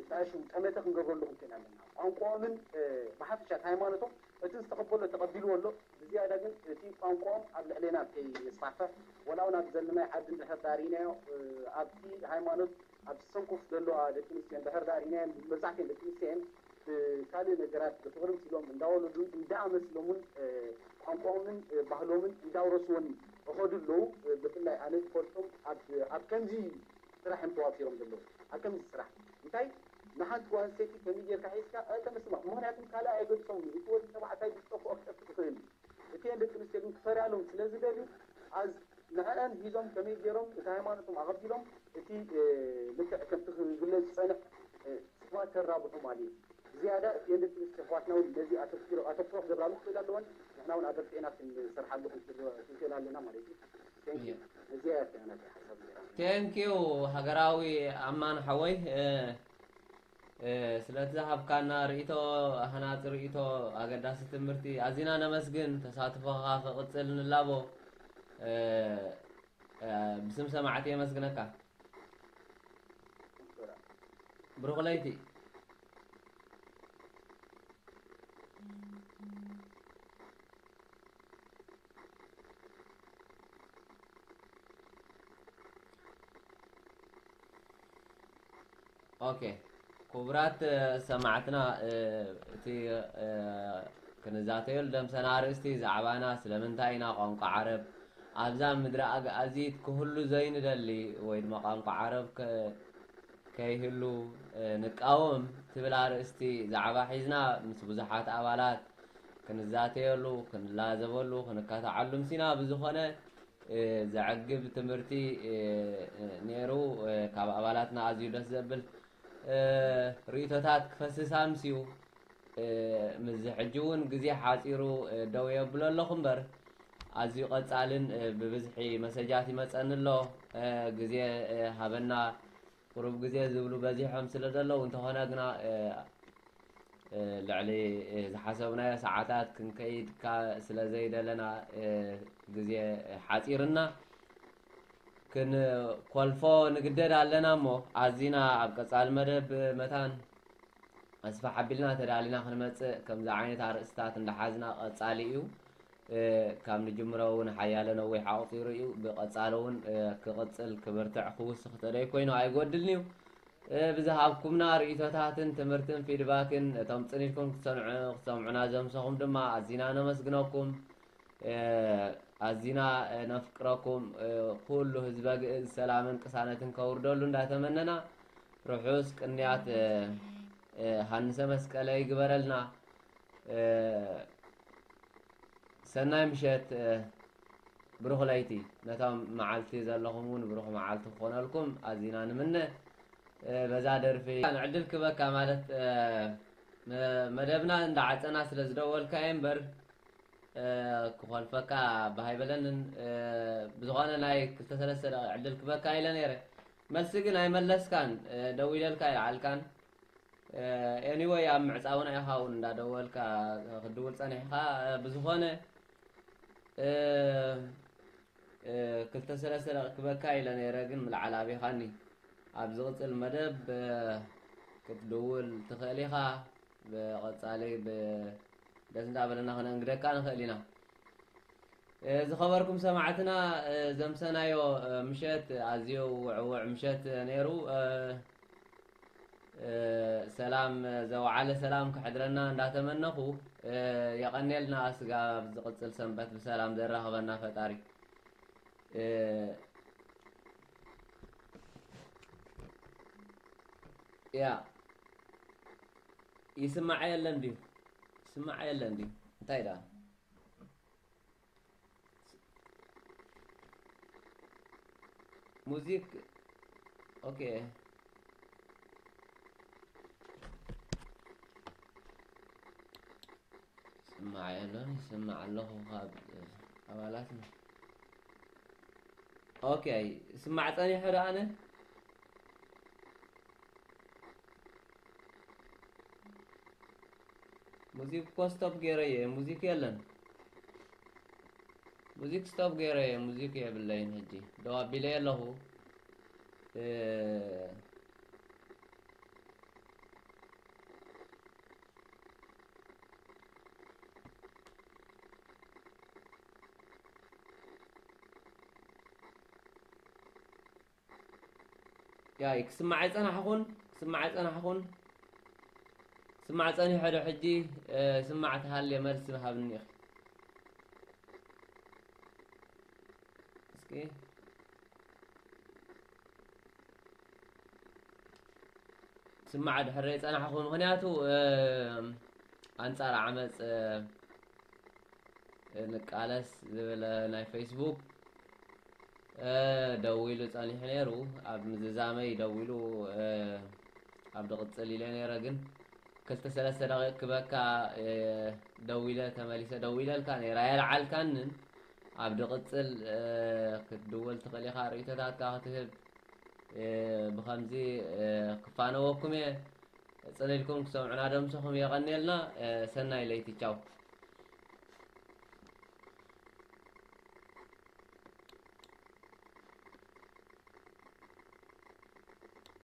ተኣሽሙ ጠመተ ክንገብረሉ ክንክእል ኣለና። ቋንቋኦምን ብሓፈሻ ሃይማኖቶም እቲ ዝተቐበሎ ተቐቢልዎ ኣሎ። ብዝያዳ ግን እቲ ቋንቋኦም ኣብ ልዕሌና ከይስፋሕፈሕ፣ ወላ እውን ኣብ ዘለናይ ዓዲ እንድሕር ዳርኢናዮ ኣብቲ ሃይማኖት ኣብ ሰንኮፍ ዘለዋ ደቂ ኣንስትዮ እንድሕር ዳርኢናየን፣ መብዛሕትኤን ደቂ ኣንስትዮ እየን። ካልእ ነገራት ብፍቕሪ ምስሎም እንዳወለዱ እንዳኣመስሎምን ቋንቋኦምን ባህሎምን እንዳውረስዎን ይኸዱ ኣለዉ። ብፍላይ ኣነ ዝፈልጦም ኣብ ከምዚ ስራሕ እዮም ተዋፊሮም ዘለዉ። ኣብ ከምዚ ስራሕ እንታይ ንሓንቲ ጓል ኣንስተይቲ ከመይ ጌርካ ሒዝካ ኣይተመስማ። ምኽንያቱም ካልእ ኣይገድሶም። እቲ ወዲ ተባዕታይ ብዝጠፍኦ ክጠፍእ ይኽእል እዩ። እተን ደቂ ኣንስትዮ ግን ክፈርያሎም ስለ ዝደልዩ ኣዝ ንዕአን ሒዞም ከመይ ገይሮም እቲ ሃይማኖቶም ኣቐቢሎም እቲ ልክዕ ከምቲ ክግለጽ ዝጸንሕ ስዋ ተራብሑ ማለት እዩ። ዝያዳ እተን ደቂ ኣንስትዮ ኣሕዋትና እውን ነዚ ኣተኪሮ ኣተኩሮ ክገብራሉ ክኽእል ኣለወን። ንሕና እውን ኣበርቲዕና ክንሰርሓሉ ክንክእል ኣለና ማለት እዩ። Thank you። እዚኣ እያ ናተይ ሓሳብ ነይራ። Thank you ሃገራዊ ኣማን ሓወይ። ስለቲ ዝሃብካና ርእይቶ፣ ሃናጺ ርእይቶ፣ ኣገዳሲ ትምህርቲ ኣዚና ነመስግን። ተሳትፎኻ ክቕጽል ንላቦ። ብስም ሰማዕቲ የመስግነካ። ብሩኽ ለይቲ። ኦኬ፣ ክቡራት ሰማዕትና፣ እቲ ክንዛተየሉ ደምሰና ኣርእስቲ ዛዕባና ስለምንታይ ኢና ቋንቋ ዓረብ ኣብዛ ምድሪ ኣግኣዚት ክህሉ ዘይንደሊ ወይ ድማ ቋንቋ ዓረብ ከይህሉ ንቃወም ትብል ኣርእስቲ ዛዕባ ሒዝና ምስ ብዙሓት ኣባላት ክንዛተየሉ፣ ክንላዘበሉ፣ ክንካታዓሉ ምሲና። ብዝኾነ ዘዕግብ ትምህርቲ ነይሩ። ካብ ኣባላትና ኣዝዩ ደስ ዘብል ርእይቶታት ክፈስስ ኣምስዩ። ምስዚ ሕጂ እውን ግዜ ሓፂሩ ደው የብሎ ኣለኹ እምበር ኣዝዩ ቀፃልን ብብዝሒ መሰጃት ይመፀኒ ኣሎ። ግዜ ሃበና፣ ቁሩብ ግዜ ዝብሉ በዚሖም ስለ ዘለዉ፣ እንተኾነ ግና ልዕሊ ዝሓሰብናዮ ሰዓታት ክንከይድ ስለ ዘይደለና ግዜ ሓፂርና ክንኮልፎ ንግደድ ኣለና። እሞ ኣዚና ኣብ ቀፃሊ መደብ መታን ኣስፍሕ ኣቢልና ተዳሊና ክንመፅእ ከምዚ ዓይነት ኣርእስታት እንዳሓዝና ቀፃሊ እዩ። ካብ ንጅምሮ እውን ሓያለ ነዊሕ ኣቑፂሩ እዩ። ብቐፃሊ እውን ክቕፅል፣ ክብርትዕ፣ ክውስኽ ተደይ ኮይኑ ኣይጎድልን እዩ። ብዝሃብኩምና ርእይቶታትን ትምህርትን ፊድባክን እቶም ፅን ኢልኩም ክትሰምዑ ክትሰምዑና ዘምሰኹም ድማ ኣዚና ነመስግነኩም። ኣዚና ነፍቅረኩም። ኩሉ ህዝበ ግእዝ ሰላምን ቅሳነትን ከውርደሉ እንዳተመነና ርሑስ ቅንያት ሃንሰ መስቀለ ይግበረልና። ሰናይ ምሸት፣ ብሩኽ ለይቲ። ነቶም መዓልቲ ዘለኹም እውን ብሩኽ መዓልቲ ክኾነልኩም ኣዚና ንምነ። በዛ ደርፊ ዕድል ክበካ ማለት መደብና እንዳዓፀና ስለ ዝደወልካ እየ እምበር ክኾልፈካ ባህ ኣይበለንን። ብዝኾነ ናይ ክልተ ሰለስተ ደቂቕ ዕድል ክበካ ኢለ ነይረ። መልሲ ግን ኣይመለስካን። ደዊለልካ ይልዓልካን። ኤኒወይ ኣብ ምዕፃውና ኢኻ እውን እንዳደወልካ ክትድውል ፀኒሕኻ። ብዝኾነ ክልተ ሰለስተ ደቂ ክበካ ኢለ ነይረ፣ ግን ምልዓል ኣቢኻኒ። ኣብ ዝቕፅል መደብ ክትድውል ትኽእል ኢኻ። ብቐፃሊ ደስ እንዳበለና ክነእንግደካ ንኽእል ኢና። ዝኸበርኩም ሰማዕትና፣ ዘምሰናዮ ምሸት ኣዝዩ ውዕውዕ ምሸት ነይሩ። ሰላም ዘውዓለ ሰላም ክሕድረና እንዳተመነኹ፣ የቐኔልና። ስጋ ኣብ ዝቕፅል ሰንበት ብሰላም ዘራኽበና ፈጣሪ። ያ ይስማዕ የለን ድዩ? ስማዕ የለን ድዩ? እንታይ ደኣ? ሙዚክ፣ ኦኬ። ስማዕ የለን፣ ይስማዕ ኣለኹ ካብ ኣባላትና። ኦኬ፣ ስማዕ ጸኒሑ ደኣ ኣነ። ሙዚክ እኮ ስቶፕ ገይረየ፣ ሙዚክ የለን። ሙዚክ ስቶፕ ገይረየ፣ ሙዚክ የብለይን። ሕጂ ደው ኣቢለ ኣለኹ። እ፣ ያይ፣ ክስማዕ ኣይጸናሕኹን፣ ክስማዕ ኣይጸናሕኹን። ስማዕ ጸኒሑ ዶ ሕጂ? እ፣ ስማዕ ተሃልየ መልሲ ሃብኒ ኢኺ። እስኪ። ስማዕ ድሕር ጸናሕኹ፣ ምኽንያቱ፣ እ፣ ኣንጻር ዓመጽ፣ እ፣ ንቃለስ ዝብል ናይ ፌስቡክ፣ እ፣ ደዊሉ ጸኒሑ ነይሩ። ኣብ ምዝዛመይ ደዊሉ፣ እ፣ ኣብ ድቕጽል ኢለ ነይረ፣ ግን ክልተ ሰለስተ ደቂቕ ክበካ፣ እ፣ ደዊለ፣ ተመሊሰ ደዊለልካ ነይረ። ኣየልዓልካንን። ኣብ ድቕጽል፣ እ፣ ክትድውል ትኽእል ኢኻ፣ ርእይቶታትካ ክትህብ። እ፣ ብኸምዚ፣ እ፣ ክፋነወኩም እየ። ጽን ኢልኩም ክሰምዑና ደምሰኹም የቐንየልና። እ፣ ሰናይ ለይቲ። ቻው።